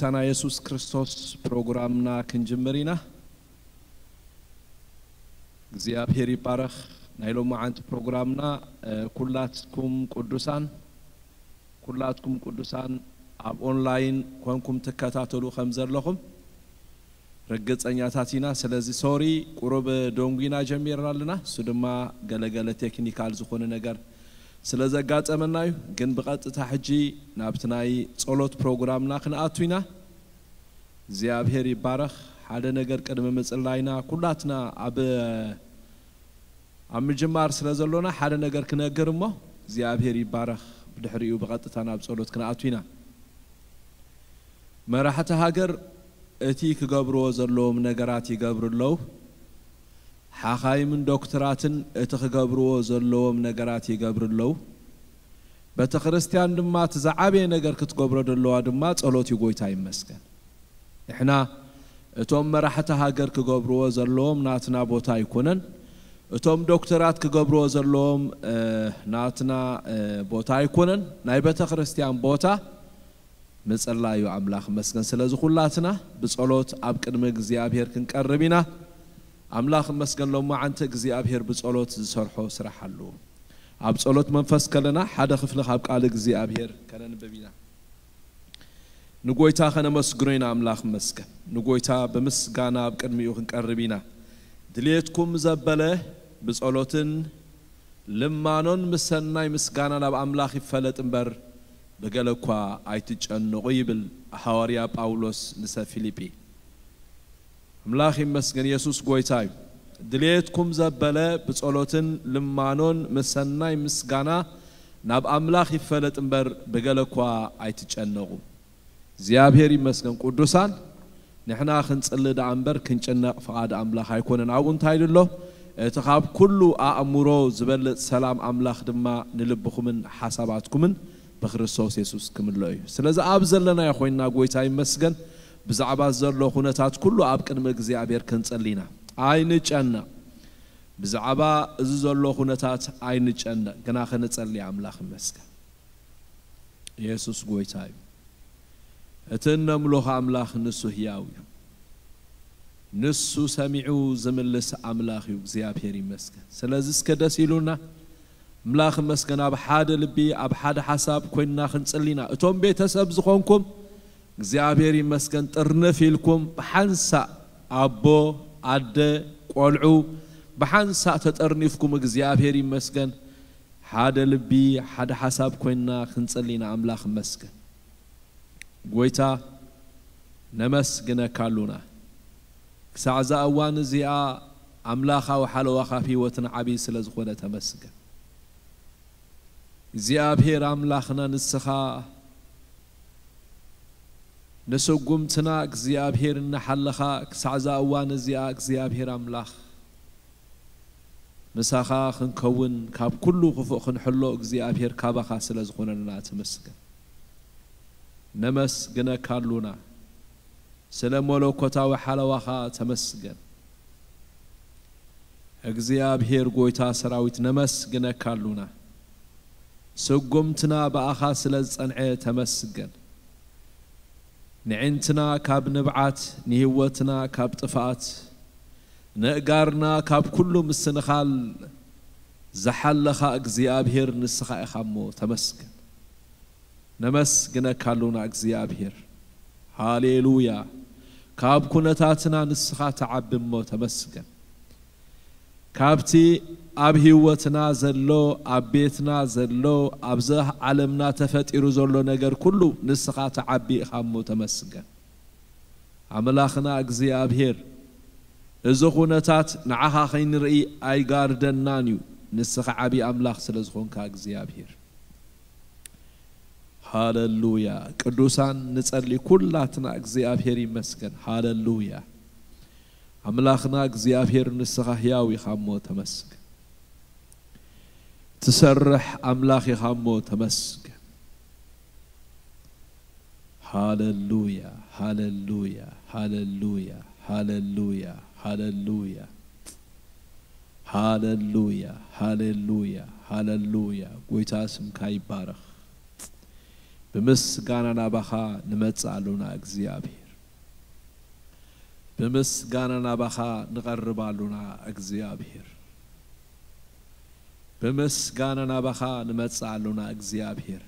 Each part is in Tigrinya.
ጎይታና የሱስ ክርስቶስ ፕሮግራምና ክንጅምር ኢና። እግዚኣብሔር ይባረኽ። ናይ ሎማዓንቲ ፕሮግራምና፣ እ፣ ኩላትኩም ቅዱሳን፣ ኩላትኩም ቅዱሳን ኣብ ኦንላይን ኮንኩም ትከታተሉ ከም ዘለኹም ርግጸኛታት ኢና። ስለዚ ሶሪ ቁሩብ ደንጉና ጀሚርና ኣለና። እሱ ድማ ገለገለ ቴክኒካል ዝኾነ ነገር ስለ ዘጋጠመና እዩ። ግን ብቐጥታ ሕጂ ናብቲ ናይ ጸሎት ፕሮግራምና ክንኣቱ ኢና። እግዚኣብሔር ይባረኽ። ሓደ ነገር ቅድሚ ምጽላይና ኩላትና ኣብ ኣብ ምጅማር ስለ ዘሎና ሓደ ነገር ክነግር እሞ እግዚኣብሔር ይባረኽ። ብድሕሪኡ ብቐጥታ ናብ ጸሎት ክንኣቱ ኢና። መራሕቲ ሃገር እቲ ክገብርዎ ዘለዎም ነገራት ይገብሩ ኣለዉ። ሓኻይምን ዶክትራትን እቲ ክገብርዎ ዘለዎም ነገራት ይገብሩ ኣለዉ። ቤተ ክርስቲያን ድማ እቲ ዝዓበየ ነገር ክትገብሮ ዘለዋ ድማ ጸሎት እዩ። ጎይታ ይመስገን። ንሕና እቶም መራሕቲ ሃገር ክገብርዎ ዘለዎም ናትና ቦታ ኣይኮነን። እቶም ዶክተራት ክገብርዎ ዘለዎም፣ እ፣ ናትና፣ እ፣ ቦታ ኣይኮነን። ናይ ቤተ ክርስቲያን ቦታ ምጽላይ እዩ። ኣምላኽ ይመስገን። ስለዚ ኩላትና ብጸሎት ኣብ ቅድሚ እግዚኣብሔር ክንቀርብ ኢና። ኣምላኽ ይመስገን። ሎማዓንቲ እግዚኣብሔር ብጸሎት ዝሰርሖ ስራሕ ኣለዎ። ኣብ ጸሎት መንፈስ ከለና ሓደ ክፍሊ ካብ ቃል እግዚኣብሔር ከነንብብ ኢና። ንጎይታ ከነመስግኖ ኢና። ኣምላኽ ይመስገን። ንጎይታ ብምስጋና ኣብ ቅድሚኡ ክንቀርብ ኢና። ድልየትኩም ዘበለ ብጸሎትን ልማኖን ምስ ሰናይ ምስጋና ናብ ኣምላኽ ይፈለጥ እምበር፣ ብገለ እኳ ኣይትጨነቑ ይብል ሃዋርያ ጳውሎስ ንሰብ ፊልጲ። ኣምላኽ ይመስገን። የሱስ ጎይታ እዩ። ድልየትኩም ዘበለ ብጸሎትን ልማኖን ምስ ሰናይ ምስጋና ናብ ኣምላኽ ይፈለጥ እምበር፣ ብገለ እኳ ኣይትጨነቑ። እግዚኣብሔር ይመስገን። ቅዱሳን፣ ንሕና ክንጽሊ ደኣ እምበር ክንጭነቕ ፍቓድ ኣምላኽ ኣይኮነን። ኣብኡ እንታይ ኣሎ? እቲ ካብ ኩሉ ኣእምሮ ዝበልጽ ሰላም ኣምላኽ ድማ ንልብኹምን ሓሳባትኩምን ብክርስቶስ የሱስ ክምልኦ እዩ። ስለዚ ኣብ ዘለናዮ ኮይንና ጎይታ ይመስገን። ብዛዕባ ዘሎ ኩነታት ኩሉ ኣብ ቅድሚ እግዚኣብሔር ክንጽሊ ኢና። ኣይንጨነቕ። ብዛዕባ እዚ ዘሎ ኩነታት ኣይንጨነቕ፣ ግና ክንጸሊ ኣምላኽ ይመስገን። የሱስ ጎይታ እዩ። እቲ እነምልኾ ኣምላኽ ንሱ ህያው እዩ። ንሱ ሰሚዑ ዝምልስ ኣምላኽ እዩ። እግዚኣብሔር ይመስገን። ስለዚ እስከ ደስ ኢሉና ኣምላኽ ይመስገን፣ ኣብ ሓደ ልቢ፣ ኣብ ሓደ ሓሳብ ኮይንና ክንጽሊ ኢና። እቶም ቤተሰብ ዝኾንኩም እግዚኣብሔር ይመስገን፣ ጥርንፍ ኢልኩም ብሓንሳእ ኣቦ፣ ኣደ፣ ቆልዑ ብሓንሳእ ተጠርኒፍኩም እግዚኣብሔር ይመስገን፣ ሓደ ልቢ፣ ሓደ ሓሳብ ኮይንና ክንጽሊ ኢና። ኣምላኽ ይመስገን። ጎይታ ነመስግነካ ኣሉና። ክሳዕ እዛ እዋን እዚኣ ኣምላኻዊ ሓለዋኻ ኣብ ህይወትና ዓብዪ ስለ ዝኾነ ተመስገን። እግዚኣብሔር ኣምላኽና ንስኻ ንስጉምትና እግዚኣብሔር እናሓለኻ ክሳዕ እዛ እዋን እዚኣ እግዚኣብሔር ኣምላኽ ምሳኻ ክንከውን ካብ ኩሉ ክፉእ ክንሕሎ እግዚኣብሔር ካባኻ ስለ ዝኾነና ተመስገን። ነመስግነካ ኣሉና። ስለ መለኮታዊ ሓለዋኻ ተመስገን። እግዚኣብሔር ጎይታ ሰራዊት ነመስግነካ ኣሉና። ስጉምትና ብኣኻ ስለ ዝጸንዐ ተመስገን። ንዕንትና ካብ ንብዓት፣ ንህይወትና ካብ ጥፍኣት፣ ነእጋርና ካብ ኩሉ ምስንኻል ዝሓለኻ እግዚኣብሔር ንስኻ ኢኻ እሞ ተመስገን። ነመስግነካ ኣሉና እግዚኣብሔር። ሃሌሉያ። ካብ ኩነታትና ንስኻ ትዓቢ እሞ ተመስገን። ካብቲ ኣብ ህይወትና ዘሎ፣ ኣብ ቤትና ዘሎ፣ ኣብዚ ዓለምና ተፈጢሩ ዘሎ ነገር ኩሉ ንስኻ ትዓቢ ኢኻ እሞ ተመስገን። ኣምላኽና እግዚኣብሔር፣ እዚ ኩነታት ንዓኻ ከይንርኢ ኣይጋርደናን እዩ። ንስኻ ዓቢ ኣምላኽ ስለ ዝኾንካ እግዚኣብሔር። ሃሌሉያ። ቅዱሳን ንጸሊ ኩላትና። እግዚኣብሔር ይመስገን። ሃሌሉያ። ኣምላኽና እግዚኣብሔር ንስኻ ህያው ኢኻ እሞ ተመስገን። ትሰርሕ ኣምላኽ ኢኻ እሞ ተመስገን። ሃሌሉያ፣ ሃሌሉያ፣ ሃሌሉያ፣ ሃሌሉያ፣ ሃሌሉያ። ሃሌሉያ፣ ሃሌሉያ፣ ሃሌሉያ። ጎይታ ስምካ ይባረኽ። ብምስጋና ናባኻ ንመጽእ ኣሉና እግዚኣብሔር። ብምስጋና ናባኻ ንቐርብ ኣሉና እግዚኣብሔር። ብምስጋና ናባኻ ንመጽእ ኣሉና እግዚኣብሔር።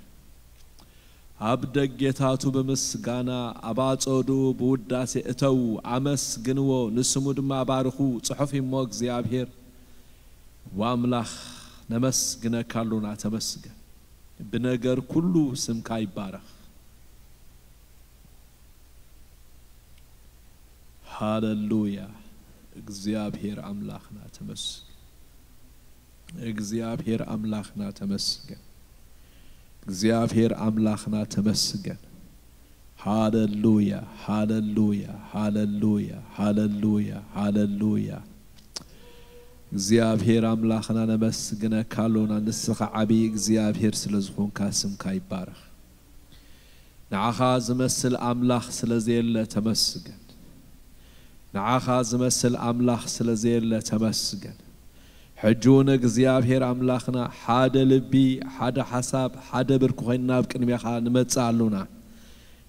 ኣብ ደጌታቱ ብምስጋና፣ ኣብ ኣጸዱ ብውዳሴ እተዉ፣ ኣመስግንዎ፣ ንስሙ ድማ ባርኹ፣ ጽሑፍ እሞ እግዚኣብሔር። ዋምላኽ ነመስግነካ ኣሉና፣ ተመስገን። ብነገር ኩሉ ስምካ ይባረኽ። ሃለሉያ። እግዚኣብሔር ኣምላኽና ተመስገን። እግዚኣብሔር ኣምላኽና ተመስገን። እግዚኣብሔር ኣምላኽና ተመስገን። ሃለሉያ፣ ሃለሉያ፣ ሃለሉያ፣ ሃለሉያ፣ ሃለሉያ። እግዚኣብሔር ኣምላኽና ነመስግነካ ኣሎና። ንስኻ ዓብዪ እግዚኣብሔር ስለ ዝኾንካ ስምካ ይባረኽ። ንዓኻ ዝመስል ኣምላኽ ስለ ዘየለ ተመስገን። ንዓኻ ዝመስል ኣምላኽ ስለ ዘየለ ተመስገን። ሕጂ እውን እግዚኣብሔር ኣምላኽና ሓደ ልቢ፣ ሓደ ሓሳብ፣ ሓደ ብርኪ ኮይንና ኣብ ቅድሜኻ ንመጽእ ኣሉና።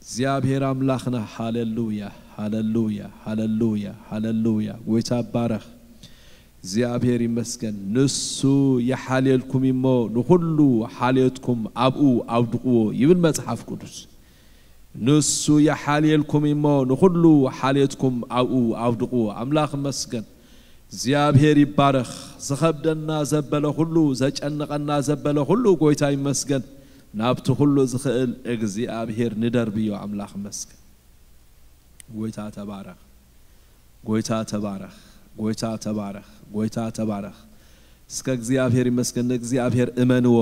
እግዚኣብሔር ኣምላኽና ሃለሉያ፣ ሃለሉያ፣ ሃለሉያ፣ ሃለሉያ። ጎይታ ባረኽ። እግዚኣብሔር ይመስገን። ንሱ ይሓልየልኩም እሞ ንኹሉ ሓልዮትኩም ኣብኡ ኣውድቕዎ ይብል መጽሓፍ ቅዱስ። ንሱ ይሓልየልኩም እሞ ንኹሉ ሓልዮትኩም ኣብኡ ኣውድቕዎ። ኣምላኽ ይመስገን። እግዚኣብሔር ይባረኽ። ዝኸብደና ዘበለ ኩሉ፣ ዘጨንቐና ዘበለ ኩሉ ጎይታ ይመስገን። ናብቲ ኩሉ ዝኽእል እግዚኣብሔር ንደርብዮ። ኣምላኽ ይመስገን። ጎይታ ተባረኽ። ጎይታ ተባረኽ። ጎይታ ተባረኽ። ጎይታ ተባረኽ። እስከ እግዚኣብሔር ይመስገን። ንእግዚኣብሔር እመንዎ።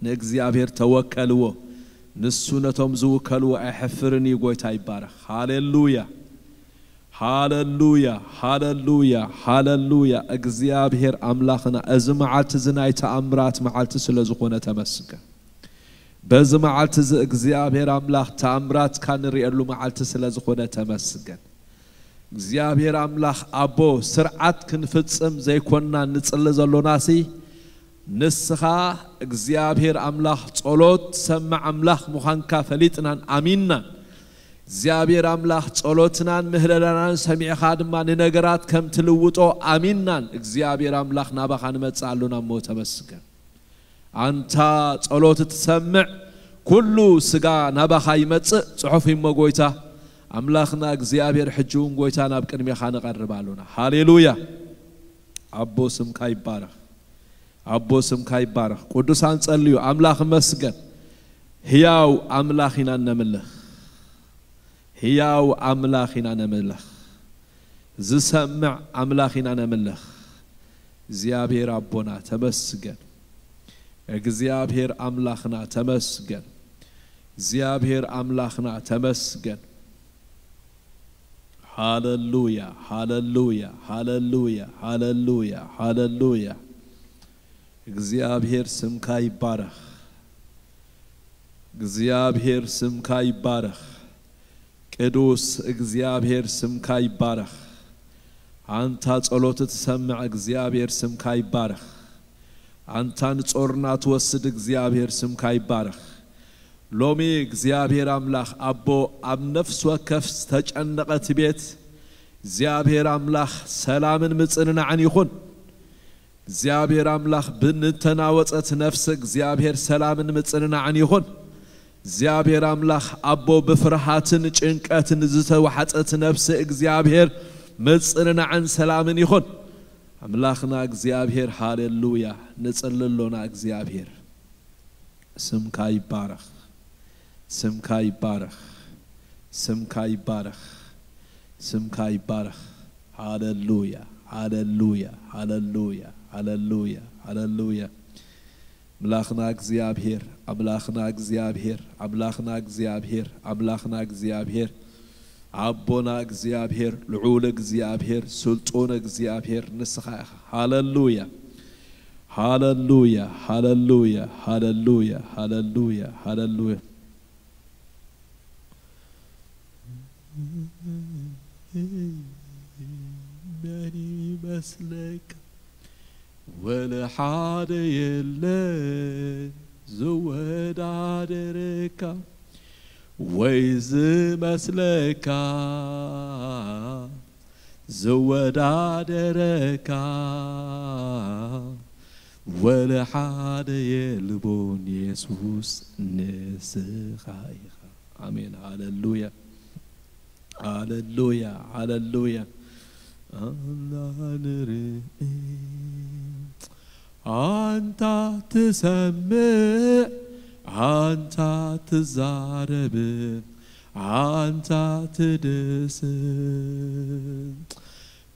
ንእግዚኣብሔር ተወከልዎ። ንሱ ነቶም ዝውከልዎ ኣይሐፍርን እዩ። ጎይታ ይባረኽ። ሃሌሉያ። ሃለሉያ፣ ሃለሉያ፣ ሃለሉያ። እግዚኣብሔር ኣምላኽና፣ እዚ መዓልቲ እዚ ናይ ተኣምራት መዓልቲ ስለ ዝኾነ ተመስገን። በዚ መዓልቲ እዚ እግዚኣብሔር ኣምላኽ ተኣምራትካ ንርእየሉ መዓልቲ ስለ ዝኾነ ተመስገን። እግዚኣብሔር ኣምላኽ ኣቦ፣ ስርዓት ክንፍጽም ዘይኮንና ንጽሊ ዘሎናሲ፣ ንስኻ እግዚኣብሔር ኣምላኽ ጸሎት ትሰምዕ ኣምላኽ ምዃንካ ፈሊጥናን ኣሚንናን። እግዚኣብሔር ኣምላኽ ጸሎትናን ምህለላናን ሰሚዕኻ ድማ ንነገራት ከም ትልውጦ ኣሚንናን። እግዚኣብሔር ኣምላኽ ናባኻ ንመጽእ ኣሉና እሞ ተመስገን። ኣንታ ጸሎት እትሰምዕ ኩሉ ስጋ ናባኻ ይመጽእ ጽሑፍ እሞ ጎይታ ኣምላኽና እግዚኣብሔር ሕጂ እውን ጎይታ ናብ ቅድሜኻ ንቐርብ ኣሉና። ሃሌሉያ። ኣቦ ስምካ ይባረኽ። ኣቦ ስምካ ይባረኽ። ቅዱሳን ጸልዩ። ኣምላኽ መስገን። ህያው ኣምላኽ ኢና ነምልኽ። ህያው ኣምላኽ ኢና ነምልኽ። ዝሰምዕ ኣምላኽ ኢና ነምልኽ። እግዚኣብሔር ኣቦና ተመስገን። እግዚኣብሔር ኣምላኽና ተመስገን። እግዚኣብሔር ኣምላኽና ተመስገን። ሃለሉያ፣ ሃለሉያ፣ ሃለሉያ፣ ሃለሉያ፣ ሃለሉያ። እግዚኣብሔር ስምካ ይባረኽ። እግዚኣብሔር ስምካ ይባረኽ። ቅዱስ እግዚኣብሔር ስምካ ይባረኽ። ኣንታ ጸሎት እትሰምዕ እግዚኣብሔር ስምካ ይባረኽ። ኣንታ ንጾርና ትወስድ እግዚኣብሔር ስምካ ይባረኽ። ሎሚ እግዚኣብሔር ኣምላኽ ኣቦ ኣብ ነፍሲ ወከፍ ዝተጨነቐት ቤት እግዚኣብሔር ኣምላኽ ሰላምን ምጽንናዕን ይኹን። እግዚኣብሔር ኣምላኽ ብንተናወጸት ነፍሲ እግዚኣብሔር ሰላምን ምጽንናዕን ይኹን። እግዚኣብሔር ኣምላኽ ኣቦ ብፍርሃትን ጭንቀትን ዝተዋሕጠት ነፍሲ እግዚኣብሔር ምጽንናዕን ሰላምን ይኹን። ኣምላኽና እግዚኣብሔር ሃሌሉያ። ንጽሊ ኣሎና እግዚኣብሔር። ስምካ ይባረኽ። ስምካ ይባረኽ። ስምካ ይባረኽ። ስምካ ይባረኽ። ሃለሉያ፣ ሃለሉያ፣ ሃለሉያ፣ ሃለሉያ፣ ሃለሉያ። ኣምላኽና እግዚኣብሔር፣ ኣምላኽና እግዚኣብሔር፣ ኣምላኽና እግዚኣብሔር፣ ኣምላኽና እግዚኣብሔር፣ ኣቦና እግዚኣብሔር፣ ልዑል እግዚኣብሔር፣ ስልጡን እግዚኣብሔር ንስኻ ኢኻ። ሃለሉያ፣ ሃለሉያ፣ ሃለሉያ፣ ሃለሉያ፣ ሃለሉያ፣ ሃለሉያ። መን ይመስለካ? ወለ ሓደ የለን ዝወዳደረካ። ወይ ዝመስለካ ዝወዳደረካ ወለ ሓደ የልቦን የሱስ ንስኻ ኢኻ። ኣሜን። ሃለሉያ፣ ሃለሉያ፣ ሃለሉያ። ኣንታ ንርኢ፣ ኣንታ ትሰምዕ፣ ኣንታ ትዛረብ፣ ኣንታ ትድስስ።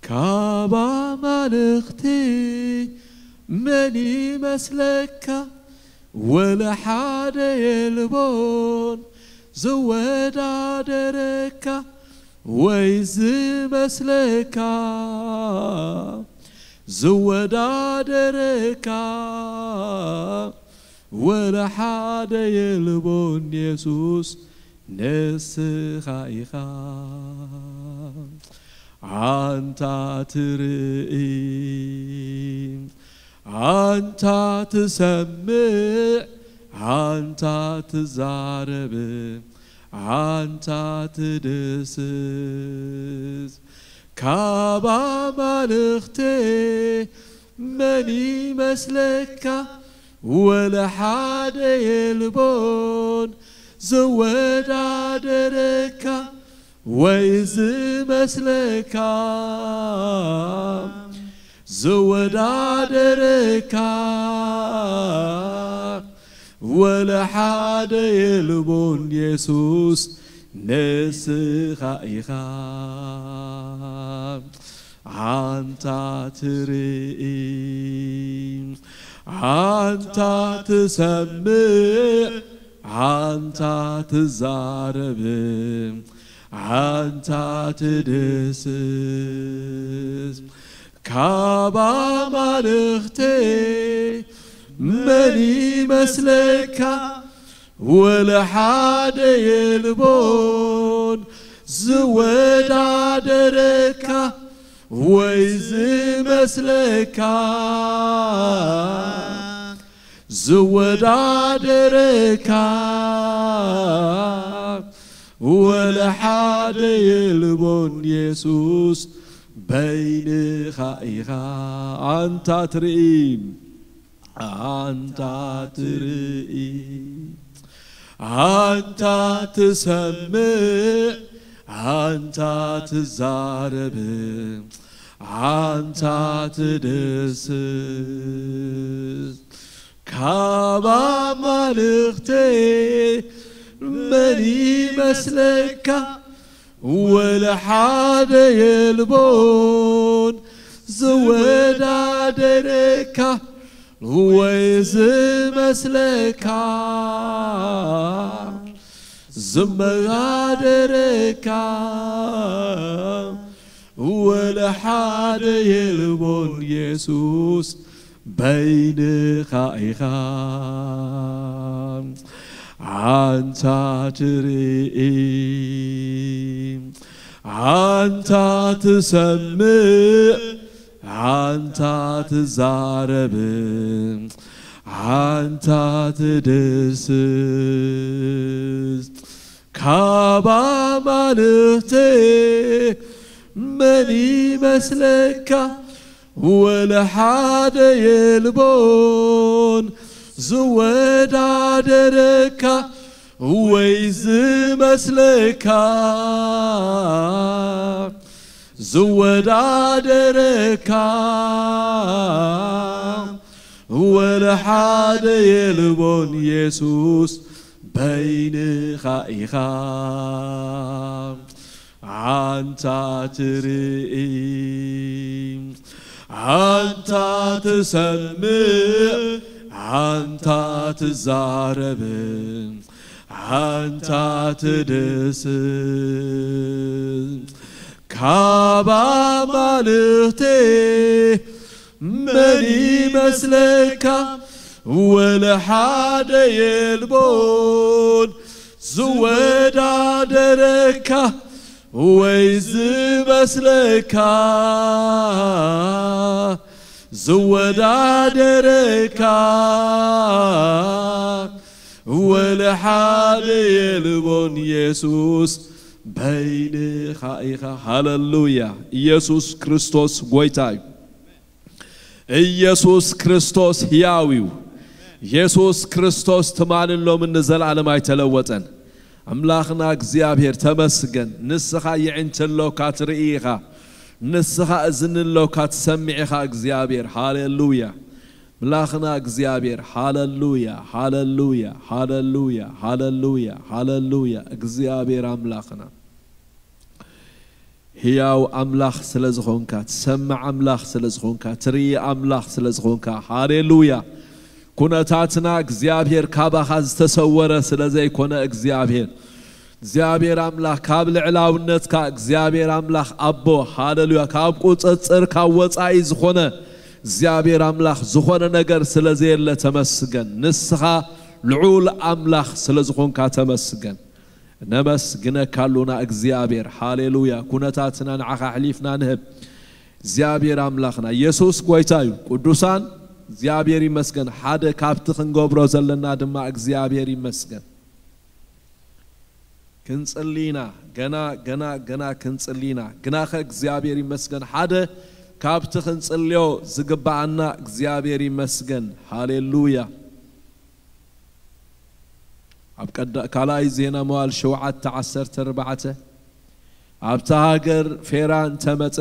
ካብ ኣማልኽቲ መን ይመስለካ? ወለ ሓደ የልቦን ዝወዳደረካ ወይ ዝመስለካ፣ ዝወዳደረካ ወለ ሓደ የልቦን የሱስ ንስኻ ኢኻ። ኣንታ ትርኢ፣ ኣንታ ትሰምዕ፣ ኣንታ ትዛረብ፣ ኣንታ ትድስስ። ካብ ኣማልኽቲ መን ይመስለካ? ወለ ሓደ የልቦን ዝወዳደረካ ወይ ዝመስለካ፣ ዝወዳደረካ ወለ ሓደ የልቦን የሱስ ንስኻ ኢኻ። ኣንታ ትርኢ፣ ኣንታ ትሰምዕ፣ ኣንታ ትዛረብ፣ ኣንታ ትድስስ። ካብ ኣማልኽቲ መን ይመስለካ? ወለ ሓደ የልቦን ዝወዳደረካ ወይ ዝመስለካ፣ ዝወዳደረካ ወለ ሓደ የልቦን የሱስ በይንኻ ኢኻ። ኣንታ ትርኢ፣ ኣንታ ትርኢ፣ ኣንታ ትሰምዕ፣ ኣንታ ትዛረብ፣ ኣንታ ትድስስ። ካብ ኣማልኽቲ መን ይመስለካ? ወለ ሓደ የልቦን ዝወዳደረካ ወይ ዝመስለካ፣ ዝመዳደረካ ወለ ሓደ የልቦን የሱስ በይንኻ ኢኻ። ኣንታ ትርኢ፣ ኣንታ ትሰምዕ፣ ኣንታ ትዛረብ፣ ኣንታ ትድስስ። ካብ ኣማልኽቲ መን ይመስለካ? ወለ ሓደ የልቦን ዝወዳደረካ ወይ ዝመስለካ፣ ዝወዳደረካ ወለ ሓደ የልቦን የሱስ በይንኻ ኢኻ። ኣንታ ትርኢ፣ ኣንታ ትሰምዕ፣ ኣንታ ትዛረብ፣ ኣንታ ትድስስ። ካብ ኣማልኽቲ መን ይመስለካ? ወለ ሓደ የልቦን ዝወዳደረካ ወይ ዝመስለካ፣ ዝወዳደረካ ወለ ሓደ የልቦን ኢየሱስ በይንኻ ኢኻ። ሃለሉያ። ኢየሱስ ክርስቶስ ጎይታ እዩ። ኢየሱስ ክርስቶስ ሕያው እዩ። ኢየሱስ ክርስቶስ ትማልን ሎምን ንዘለዓለም ኣይተለወጠን። ኣምላኽና እግዚኣብሔር ተመስገን። ንስኻ የዒንቲ ኣሎካ ትርኢ ኢኻ። ንስኻ እዝኒ ኣሎካ ትሰምዕ ኢኻ እግዚኣብሔር። ሃሌሉያ። ኣምላኽና እግዚኣብሔር። ሃሌሉያ፣ ሃሌሉያ፣ ሃሌሉያ፣ ሃሌሉያ፣ ሃሌሉያ። እግዚኣብሔር ኣምላኽና። ህያው ኣምላኽ ስለ ዝኾንካ፣ ትሰምዕ ኣምላኽ ስለ ዝኾንካ፣ ትርኢ ኣምላኽ ስለ ዝኾንካ፣ ሃሌሉያ። ኩነታትና እግዚኣብሔር ካባኻ ዝተሰወረ ስለ ዘይኮነ እግዚኣብሔር፣ እግዚኣብሔር ኣምላኽ ካብ ልዕላውነትካ፣ እግዚኣብሔር ኣምላኽ ኣቦ፣ ሃሌሉያ፣ ካብ ቁጽጽር ካብ ወጻኢ ዝኾነ እግዚኣብሔር ኣምላኽ ዝኾነ ነገር ስለ ዘየለ ተመስገን። ንስኻ ልዑል ኣምላኽ ስለ ዝኾንካ ተመስገን። ነመስግነካ ኣሉና እግዚኣብሔር። ሃሌሉያ። ኩነታትና ንዓኻ ኣሕሊፍና ንህብ። እግዚኣብሔር ኣምላኽና፣ ኢየሱስ ጎይታ እዩ። ቅዱሳን፣ እግዚኣብሔር ይመስገን። ሓደ ካብቲ ክንገብሮ ዘለና ድማ እግዚኣብሔር ይመስገን። ክንጽሊ ኢና፣ ገና፣ ገና፣ ገና ክንጽሊ ኢና። ግናኸ እግዚኣብሔር ይመስገን። ሓደ ካብቲ ክንጽልዮ ዝግብኣና እግዚኣብሔር ይመስገን። ሃሌሉያ። ኣብ ቀዳ-፣ ካልኣይ ዜና መዋዕል ሸውዓተ ዓሰርተ ኣርባዕተ፣ ኣብታ ሃገር ፌራ እንተመጸ፣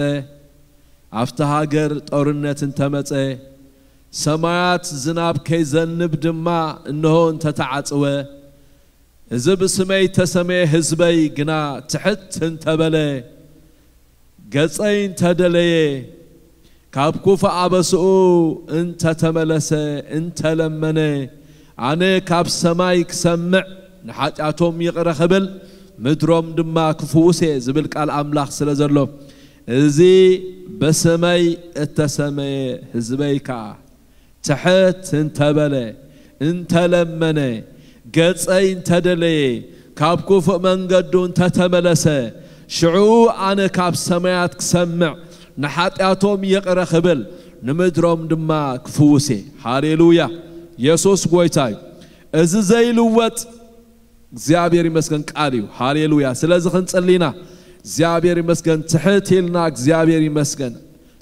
ኣብታ ሃገር ጦርነት እንተመጸ፣ ሰማያት ዝናብ ከይዘንብ ድማ እንሆ እንተተዓጽወ፣ እዚ ብስመይ እተሰመየ ህዝበይ ግና ትሕት እንተበለ፣ ገጸይ እንተደለየ፣ ካብ ክፉእ ኣበስኡ እንተተመለሰ፣ እንተለመነ፣ ኣነ ካብ ሰማይ ክሰምዕ፣ ንሓጢኣቶም ይቕረ ክብል፣ ምድሮም ድማ ክፍውስ እየ ዝብል ቃል ኣምላኽ ስለ ዘሎ፣ እዚ ብስመይ እተሰመየ ህዝበይ ከኣ ትሕት እንተበለ፣ እንተለመነ፣ ገጸይ እንተደለየ፣ ካብ ክፉእ መንገዱ እንተተመለሰ፣ ሽዑ ኣነ ካብ ሰማያት ክሰምዕ፣ ንሓጢኣቶም ይቕረ ክብል፣ ንምድሮም ድማ ክፍውስ እየ። ሃሌሉያ! የሱስ ጐይታ እዩ። እዚ ዘይልወጥ እግዚኣብሔር ይመስገን ቃል እዩ። ሃሌሉያ! ስለዚ ክንጽሊ ኢና። እግዚኣብሔር ይመስገን። ትሕት ኢልና እግዚኣብሔር ይመስገን።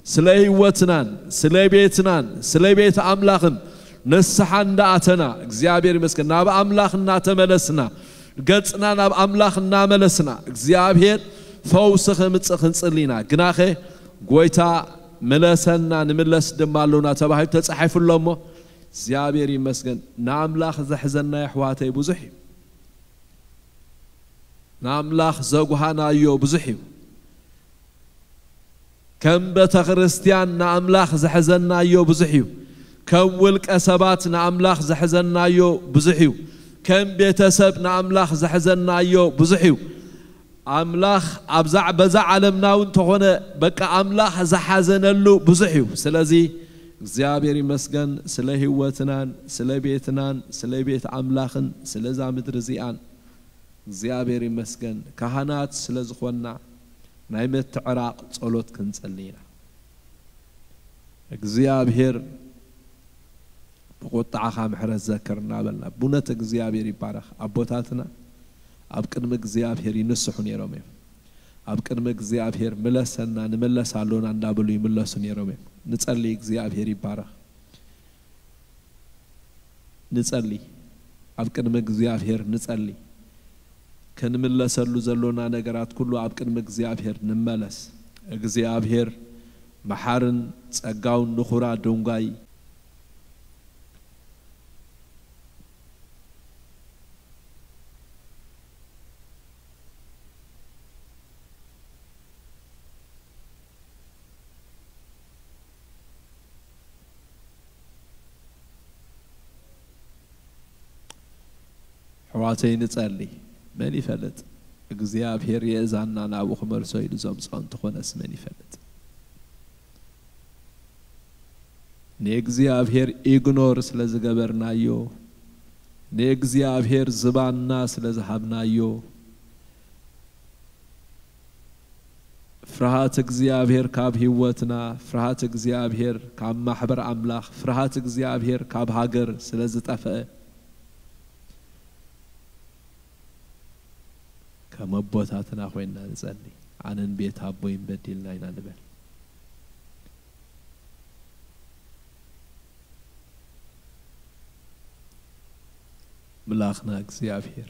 ስለ ህይወትናን ስለ ቤትናን ስለ ቤት ኣምላኽን ንስሓ እንዳኣተና እግዚኣብሔር ይመስገን። ናብ ኣምላኽ እናተመለስና፣ ገጽና ናብ ኣምላኽ እናመለስና፣ እግዚኣብሔር ፈውሲ ኸምጽእ ክንጽሊ ኢና። ግናኸ ጐይታ ምለሰና፣ ንምለስ ድማ ኣሎና ተባሂሉ ተጻሒፉ ኣሎ እሞ፣ እግዚኣብሔር ይመስገን። ንኣምላኽ ዘሕዘና የሕዋተይ ብዙሕ እዩ። ንኣምላኽ ዘጉሃናዮ ብዙሕ እዩ። ከም ቤተ ክርስቲያን ንኣምላኽ ዘሕዘናዮ ብዙሕ እዩ። ከም ውልቀ ሰባት ንኣምላኽ ዘሕዘናዮ ብዙሕ እዩ። ከም ቤተሰብ ንኣምላኽ ዘሕዘናዮ ብዙሕ እዩ። ኣምላኽ ኣብዛ፣ በዛ ዓለምና እውን እንተኾነ በቃ ኣምላኽ ዝሓዘነሉ ብዙሕ እዩ። ስለዚ እግዚኣብሔር ይመስገን ስለ ህይወትናን ስለ ቤትናን ስለ ቤት ኣምላኽን ስለዛ ምድሪ እዚኣን እግዚኣብሔር ይመስገን። ካህናት ስለ ዝኾንና ናይ ምትዕራቕ ጸሎት ክንጸሊ ኢና። እግዚኣብሔር ብቁጥዓኻ ምሕረት ዘክር እናበልና፣ ብእውነት እግዚኣብሔር ይባረኽ። ኣቦታትና ኣብ ቅድሚ እግዚኣብሔር ይንስሑ ነይሮም እዮም። ኣብ ቅድሚ እግዚኣብሔር ምለሰና፣ ንምለስ ኣሎና እንዳበሉ ይምለሱ ነይሮም እዮም። ንጸሊ፣ እግዚኣብሔር ይባረኽ። ንጸሊ፣ ኣብ ቅድሚ እግዚኣብሔር ንጸሊ። ክንምለሰሉ ዘሎና ነገራት ኩሉ ኣብ ቅድሚ እግዚኣብሔር ንመለስ። እግዚኣብሔር መሓርን ጸጋውን ንኹራ ደንጓይ። ኣሕዋተይ ንጸሊ። መን ይፈልጥ? እግዚኣብሔር የእዛንና ናብኡ ክመልሶ ኢሉ ዘምጽኦ እንተኾነስ መን ይፈልጥ? ንእግዚኣብሔር ኢግኖር ስለ ዝገበርናዮ፣ ንእግዚኣብሔር ዝባንና ስለ ዝሃብናዮ፣ ፍርሃት እግዚኣብሔር ካብ ህይወትና፣ ፍርሃት እግዚኣብሔር ካብ ማሕበር ኣምላኽ፣ ፍርሃት እግዚኣብሔር ካብ ሃገር ስለ ዝጠፍአ፣ ከም ኣቦታትና ኮይንና ንጸሊ። ኣነን ቤት ኣቦይን በዲልና ኢና ንበል። ምላኽና እግዚኣብሔር፣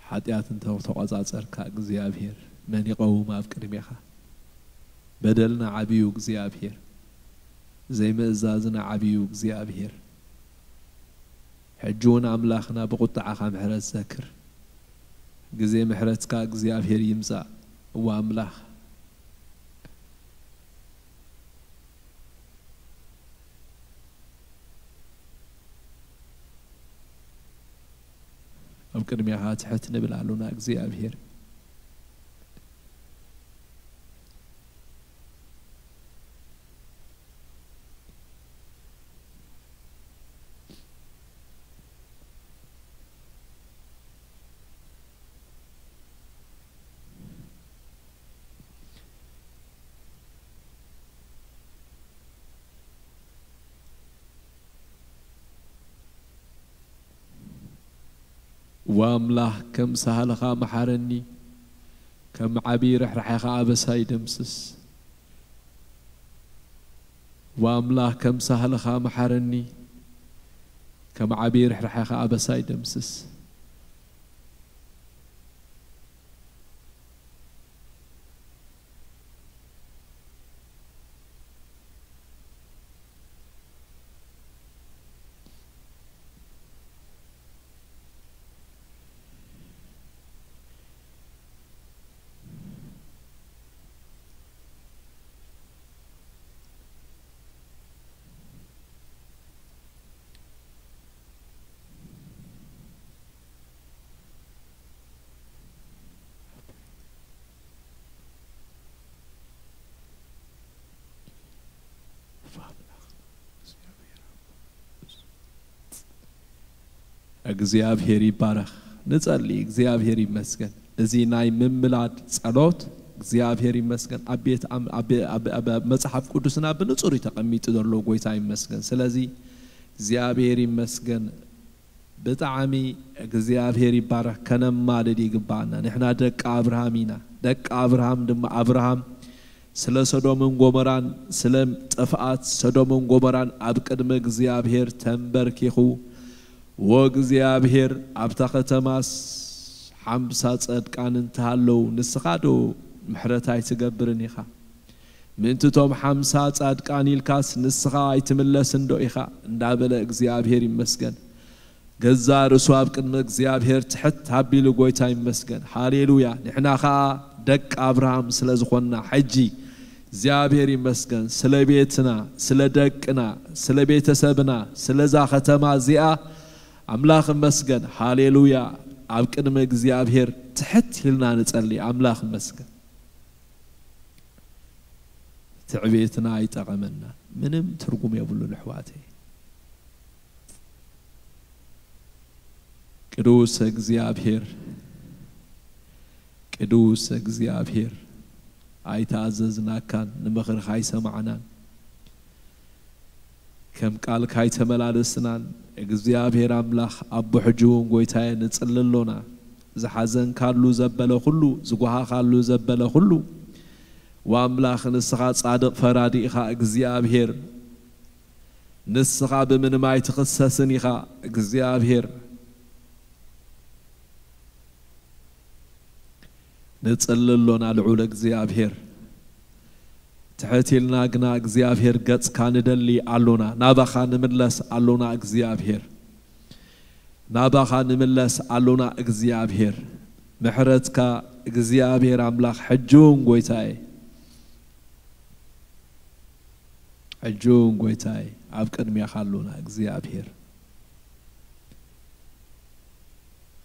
ሓጢኣት እንተ ተቖጻጸርካ እግዚኣብሔር መን ይቐውም ኣብ ቅድሜኻ? በደልና ዓብዩ እግዚኣብሔር፣ ዘይምእዛዝና ዓብዩ እግዚኣብሔር። ሕጂ እውን ኣምላኽና ብቑጥዓኻ ምሕረት ዘክር። ግዜ ምሕረትካ እግዚኣብሔር ይምጻእ። እወ ኣምላኽ፣ ኣብ ቅድሚኻ ትሕት ንብል ኣሉና እግዚኣብሔር። ዋምላኽ ከም ሳህልኻ መሓረኒ፣ ከም ዓቢ ርሕራሕኻ ኣበሳይ ደምስስ። ዋምላኽ ከም ሳህልኻ መሓረኒ፣ ከም ዓቢ ርሕራሕኻ ኣበሳይ ደምስስ። እግዚኣብሔር ይባረኽ። ንጸሊ። እግዚኣብሔር ይመስገን። እዚ ናይ ምምላድ ጸሎት እግዚኣብሔር ይመስገን። ኣብ ቤት ኣም-፣ ኣብ፣ ኣብ፣ ኣብ፣ ኣብ መጽሓፍ ቅዱስና ብንጹር እዩ ተቐሚጡ ዘሎ። ጎይታ ይመስገን። ስለዚ እግዚኣብሔር ይመስገን። ብጣዕሚ እግዚኣብሔር ይባረኽ። ከነማልድ ይግባኣና። ንሕና ደቂ ኣብርሃም ኢና። ደቂ ኣብርሃም ድማ ኣብርሃም ስለ ሰዶምን ጎሞራን ስለ ጥፍኣት ሰዶምን ጎሞራን ኣብ ቅድሚ እግዚኣብሔር ተንበርኪኹ፣ "ወእግዚኣብሔር ኣብታ ከተማስ ሓምሳ ጸድቃን እንተሃለዉ ንስኻ ዶ ምሕረት ኣይትገብርን ኢኻ? ምእንቲ እቶም ሓምሳ ጻድቃን ኢልካስ ንስኻ ኣይትምለስን ዶ ኢኻ?" እንዳበለ እግዚኣብሔር ይመስገን። ገዛ ርእሱ ኣብ ቅድሚ እግዚኣብሔር ትሕት ኣቢሉ ጎይታ ይመስገን። ሃሌሉያ። ንሕና ኸኣ ደቂ ኣብርሃም ስለ ዝኾንና ሕጂ እግዚኣብሔር ይመስገን። ስለ ቤትና፣ ስለ ደቅና፣ ስለ ቤተሰብና፣ ስለዛ ከተማ እዚኣ ኣምላኽ ይመስገን። ሃሌሉያ። ኣብ ቅድሚ እግዚኣብሔር ትሕት ኢልና ንጸሊ። ኣምላኽ ይመስገን። ትዕቤትና ኣይጠቐመናን። ምንም ትርጉም የብሉን ኣሕዋተይ። ቅዱስ እግዚኣብሔር፣ ቅዱስ እግዚኣብሔር፣ ኣይተኣዘዝናካን፣ ንምኽርኻ ኣይሰማዕናን፣ ከም ቃልካ ኣይተመላለስናን። እግዚኣብሔር ኣምላኽ፣ ኣቦ፣ ሕጂ እውን ጎይታየ ንጽሊ ኣሎና። ዝሓዘንካሉ ዘበለ ኩሉ፣ ዝጓሃኻሉ ዘበለ ኩሉ፣ ወኣምላኽ፣ ንስኻ ጻድቕ ፈራዲ ኢኻ እግዚኣብሔር። ንስኻ ብምንም ኣይትኽሰስን ኢኻ እግዚኣብሔር። ንጽሊ ኣሎና ልዑል እግዚኣብሔር። ትሕት ኢልና ግና እግዚኣብሔር ገጽካ ንደሊ ኣሎና። ናባኻ ንምለስ ኣሎና እግዚኣብሔር። ናባኻ ንምለስ ኣሎና እግዚኣብሔር። ምሕረትካ እግዚኣብሔር ኣምላኽ ሕጂ እውን ጎይታየ። ሕጂ እውን ጎይታይ ኣብ ቅድሜኻ ኣሎና እግዚኣብሔር።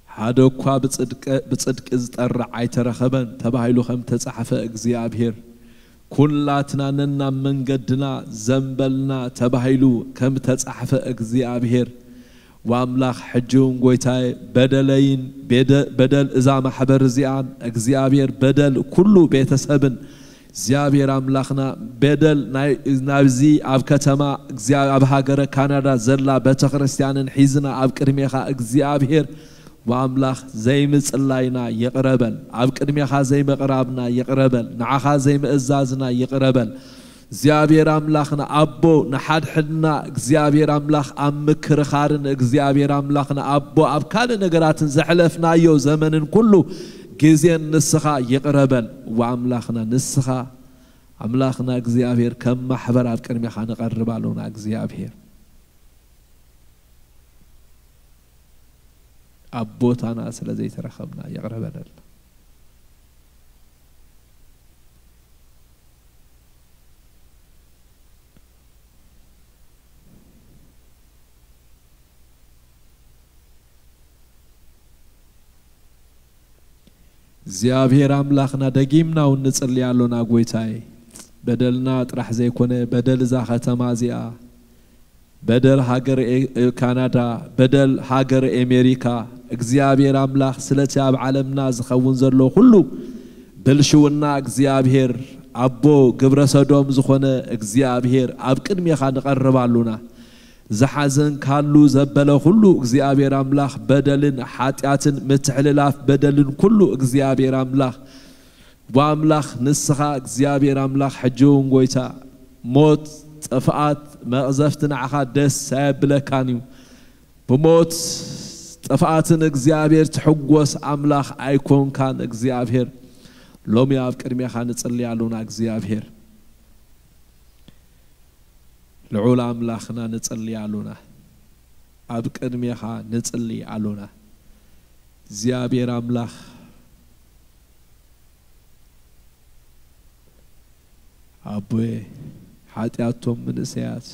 ሓደ እኳ ብጽድቀ-፣ ብጽድቂ ዝጠርዕ ኣይተረኸበን ተባሂሉ ከም ተጻሕፈ እግዚኣብሔር፣ ኩላትና ነናብ መንገድና ዘንበልና ተባሂሉ ከም ተጻሕፈ እግዚኣብሔር፣ ወኣምላኽ ሕጂ እውን ጎይታይ በደለይን ቤደ-፣ በደል እዛ ማሕበር እዚኣን እግዚኣብሔር በደል ኩሉ ቤተሰብን እግዚኣብሔር ኣምላኽና በደል ናይ፣ ናብዚ ኣብ ከተማ እግዚኣብ-፣ ኣብ ሃገረ ካናዳ ዘላ ቤተክርስትያንን ሒዝና ኣብ ቅድሜኻ እግዚኣብሔር ኣምላኽ ዘይምጽላይና ይቕረ በል። ኣብ ቅድሜኻ ዘይምቕራብና ይቕረ በል። ንዓኻ ዘይምእዛዝና ይቕረ በል። እግዚኣብሔር ኣምላኽና ኣቦ፣ ንሓድሕድና እግዚኣብሔር ኣምላኽ ኣብ ምክርኻርን እግዚኣብሔር ኣምላኽና ኣቦ ኣብ ካልእ ነገራትን ዘሕለፍናዮ ዘመንን ኩሉ ግዜን ንስኻ ይቕረ በል። ወኣምላኽና ንስኻ ኣምላኽና እግዚኣብሔር ከም ማሕበር ኣብ ቅድሜኻ ንቐርብ ኣሎና እግዚኣብሔር። ኣብ ቦታና ስለ ዘይተረኸብና ይቕረ በለልና። እግዚኣብሔር ኣምላኽና ደጊምና እውን ንጽሊ ኣሎና ጎይታይ። በደልና ጥራሕ ዘይኮነ በደል እዛ ከተማ እዚኣ፣ በደል ሃገር ኤ-፣ ካናዳ፣ በደል ሃገር ኤሜሪካ፣ እግዚኣብሔር ኣምላኽ ስለቲ ኣብ ዓለምና ዝኸውን ዘሎ ኩሉ ብልሽውና እግዚኣብሔር ኣቦ ግብረ ሰዶም ዝኾነ እግዚኣብሔር ኣብ ቅድሜኻ ንቐርብ ኣሉና። ዝሓዘንካሉ ዘበለ ኩሉ እግዚኣብሔር ኣምላኽ በደልን ሓጢኣትን ምትሕልላፍ በደልን ኩሉ እግዚኣብሔር ኣምላኽ ብኣምላኽ ንስኻ እግዚኣብሔር ኣምላኽ ሕጂ እውን ጎይታ ሞት ጥፍኣት መቕዘፍቲ ንዓኻ ደስ ኣየብለካን እዩ። ብሞት ጥፍኣትን እግዚኣብሔር ትሕጎስ ኣምላኽ ኣይኮንካን እግዚኣብሔር። ሎሚ ኣብ ቅድሜኻ ንጽሊ ኣሉና እግዚኣብሔር። ልዑል ኣምላኽና ንጽሊ ኣሉና። ኣብ ቅድሜኻ ንጽሊ ኣሉና እግዚኣብሔር ኣምላኽ። ኣቦየ፣ ሓጢኣቶም ምንእሰያት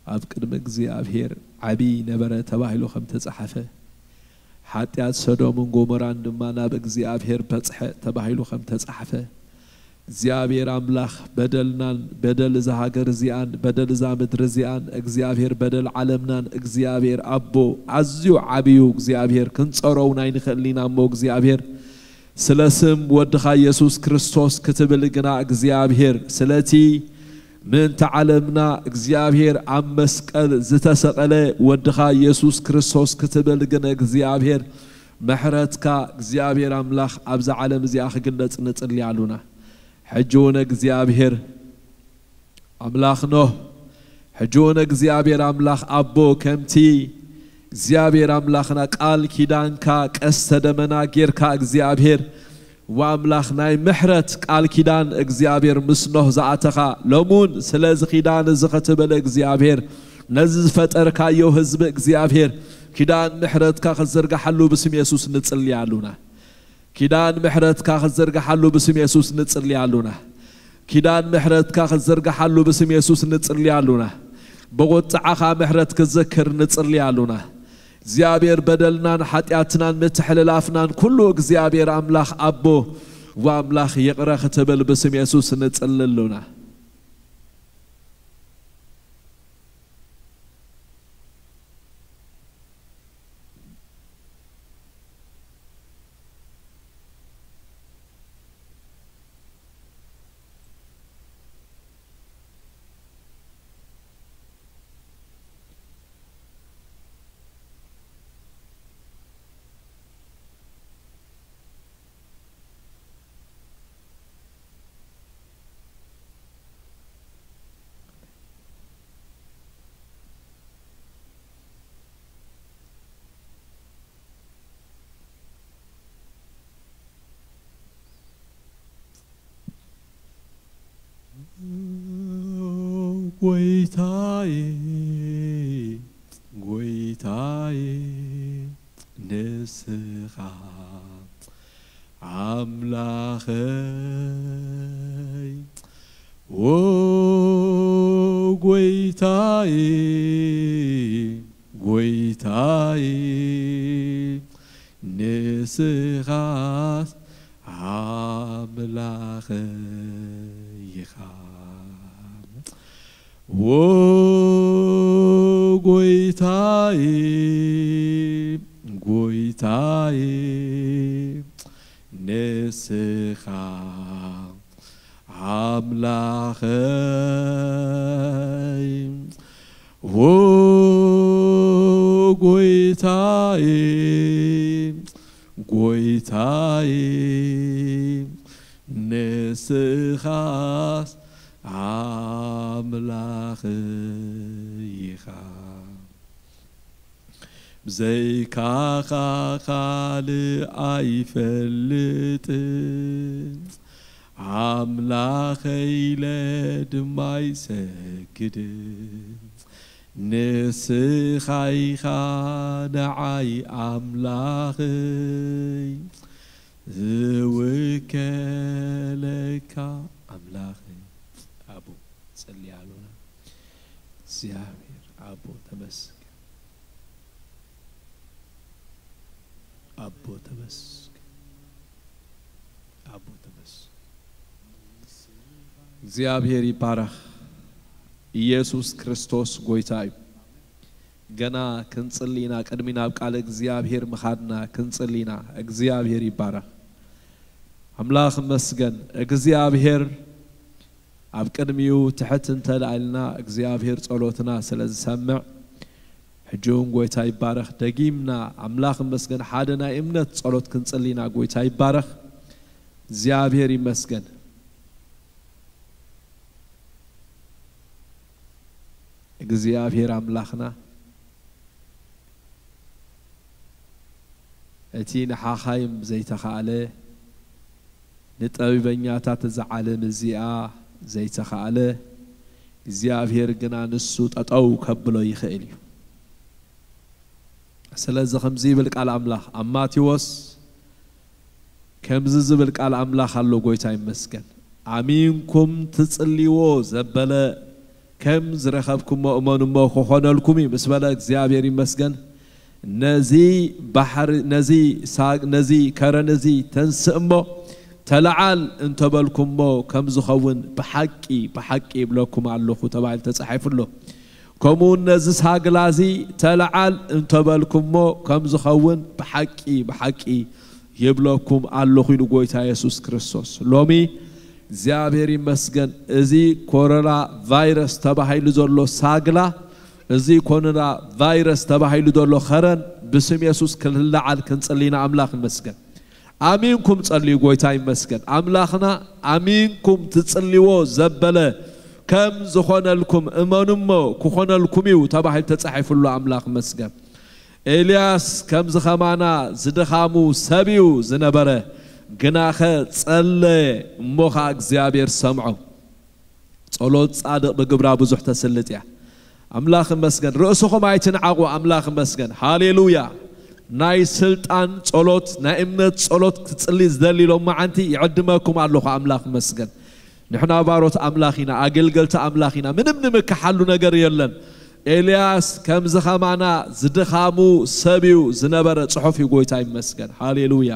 ኣብ ቅድሚ እግዚኣብሔር ዓቢ ነበረ ተባሂሉ ከም ተጻሕፈ፣ ሓጢኣት ሰዶምን ጎሞራን ድማ ናብ እግዚኣብሔር በጽሐ ተባሂሉ ከም ተጻሕፈ፣ እግዚኣብሔር ኣምላኽ በደልናን በደል እዛ ሃገር እዚኣን በደል እዛ ምድሪ እዚኣን እግዚኣብሔር በደል ዓለምናን እግዚኣብሔር ኣቦ ኣዝዩ ዓብዩ እግዚኣብሔር ክንጸሮውን ኣይንኽእልን ኢና እሞ እግዚኣብሔር ስለ ስም ወድኻ ኢየሱስ ክርስቶስ ክትብል ግና እግዚኣብሔር ስለቲ ምእንቲ ዓለምና እግዚኣብሔር ኣብ መስቀል ዝተሰቐለ ወድኻ ኢየሱስ ክርስቶስ ክትብል ግን እግዚኣብሔር ምሕረትካ እግዚኣብሔር ኣምላኽ ኣብዛ ዓለም እዚኣ ክግለጽ ንጽሊ ኣሉና። ሕጂ እውን እግዚኣብሔር ኣምላኽ ኖህ ሕጂ እውን እግዚኣብሔር ኣምላኽ ኣቦ ከምቲ እግዚኣብሔር ኣምላኽና ቃል ኪዳንካ ቀስተ ደመና ጌርካ እግዚኣብሔር ወኣምላኽ ናይ ምሕረት ቃል ኪዳን እግዚኣብሔር ምስ ኖህ ዝኣተኻ ሎሙን ስለዚ ኪዳን እዚ ክትብል እግዚኣብሔር ነዚ ዝፈጠርካዮ ህዝቢ እግዚኣብሔር ኪዳን ምሕረትካ ክትዝርግሓሉ ብስም የሱስ ንጽሊ ኣሉና። ኪዳን ምሕረትካ ክትዝርግሓሉ ብስም የሱስ ንጽሊ ኣሉና። ኪዳን ምሕረትካ ክትዝርግሓሉ ብስም የሱስ ንጽሊ ኣሉና። ብቑጥዓኻ ምሕረት ክትዝክር ንጽሊ ኣሉና። እግዚኣብሔር በደልናን ሓጢኣትናን ምትሕልላፍናን ኩሉ እግዚኣብሔር ኣምላኽ ኣቦ ወኣምላኽ ይቕረ ክትብል ብስም የሱስ ንጽሊ ኣሉና። ጎይታዬ፣ ጎይታዬ፣ ንስኻ ኣምላኸይ፣ ዎ ጎይታዬ፣ ጎይታዬ፣ ንስኻስ ኣምላኸይ ኢኻ። ዎ ጎይታዬ፣ ጎይታዬ፣ ንስኻ ኣምላኸይ፣ ዎ ጎይታዬ፣ ጎይታዬ፣ ንስኻስ ኣምላኽ ኢኻ። ብዘይካኻ ካልእ ኣይፈልጥን፣ ኣምላኸይ ኢለ ድማ ኣይሰግድን። ንስኻ ኢኻ ንዓይ ኣምላኸይ፣ ዝውከለካ ኣምላኸይ። ኣቦ፣ ጸልይ ኣሎና። እግዚኣብሔር ኣቦ ተመስገን። ኣቦ ተመስገን። ኣቦ ተመስገን። እግዚኣብሔር ይባረኽ። ኢየሱስ ክርስቶስ ጎይታ እዩ። ገና ክንጽሊ ኢና፣ ቅድሚ ናብ ቃል እግዚኣብሔር ምኻድና ክንጽሊ ኢና። እግዚኣብሔር ይባረኽ። ኣምላኽ መስገን። እግዚኣብሔር ኣብ ቅድሚኡ ትሕት እንተልኣልና እግዚኣብሔር ጸሎትና ስለ ዝሰምዕ፣ ሕጂ እውን ጎይታ ይባረኽ። ደጊምና ኣምላኽ መስገን ሓደ ናይ እምነት ጸሎት ክንጽሊ ኢና። ጎይታ ይባረኽ። እግዚኣብሔር ይመስገን። እግዚኣብሔር ኣምላኽና፣ እቲ ንሓኻይም ዘይተኻእለ፣ ንጠቢበኛታት እዛ ዓለም እዚኣ ዘይተኻእለ፣ እግዚኣብሔር ግና ንሱ ጠጠው ከብሎ ይኽእል እዩ። ስለዚ ከምዚ ይብል ቃል ኣምላኽ ኣብ ማቴዎስ፣ ከምዚ ዝብል ቃል ኣምላኽ ኣሎ። ጎይታ ይመስገን። ኣሚንኩም ትጽልይዎ ዘበለ ከም ዝረኸብኩሞ እመኑሞ ክኾነልኩም እዩ ምስ በለ፣ እግዚኣብሔር ይመስገን። ነዚ ባሕሪ፣ ነዚ ሳግ፣ ነዚ ከረን እዚ ተንስእ እሞ ተለዓል እንተበልኩሞ ከም ዝኸውን ብሓቂ፣ ብሓቂ ይብለኩም ኣለኹ ተባሂሉ ተጻሒፉ ኣሎ። ከምኡ እውን ነዚ ሳግላ እዚ ተለዓል እንተበልኩሞ ከም ዝኸውን ብሓቂ፣ ብሓቂ ይብለኩም ኣለኹ ኢሉ ጎይታ የሱስ ክርስቶስ። ሎሚ እግዚኣብሔር ይመስገን፣ እዚ ኮሮና ቫይረስ ተባሂሉ ዘሎ ሳግላ፣ እዚ ኮሮና ቫይረስ ተባሂሉ ዘሎ ኸረን ብስም የሱስ ክልዓል ክንጽሊ ኢና። ኣምላኽ ይመስገን። ኣሚንኩም ጸልዩ። ጎይታ ይመስገን። ኣምላኽና ኣሚንኩም ትጽልዎ ዘበለ ከም ዝኾነልኩም እመኑ እሞ ክኾነልኩም እዩ ተባሂሉ ተጻሒፉ ኣሎ። ኣምላኽ ይመስገን። ኤልያስ ከምዚ ኸማና ዝድኻሙ ሰብ እዩ ዝነበረ፣ ግናኸ ጸለየ እሞ ኸኣ እግዚኣብሔር ሰምዖ። ጸሎት ጻድቕ ብግብራ ብዙሕ ተስልጥ እያ። ኣምላኽ ይመስገን። ርእስኹም ኣይትንዓቑ። ኣምላኽ ይመስገን። ሃሌሉያ። ናይ ስልጣን ጸሎት፣ ናይ እምነት ጸሎት ክጽሊ ዝደሊ ሎማዓንቲ ይዕድመኩም ኣለኹ። ኣምላኽ ይመስገን። ንሕና ባሮት ኣምላኽ ኢና፣ ኣገልገልቲ ኣምላኽ ኢና። ምንም ንምክሓሉ ነገር የለን። ኤልያስ ከምዚ ኸማና ዝድኻሙ ሰብ እዩ ዝነበረ ጽሑፍ እዩ። ጎይታ ይመስገን። ሃሌሉያ።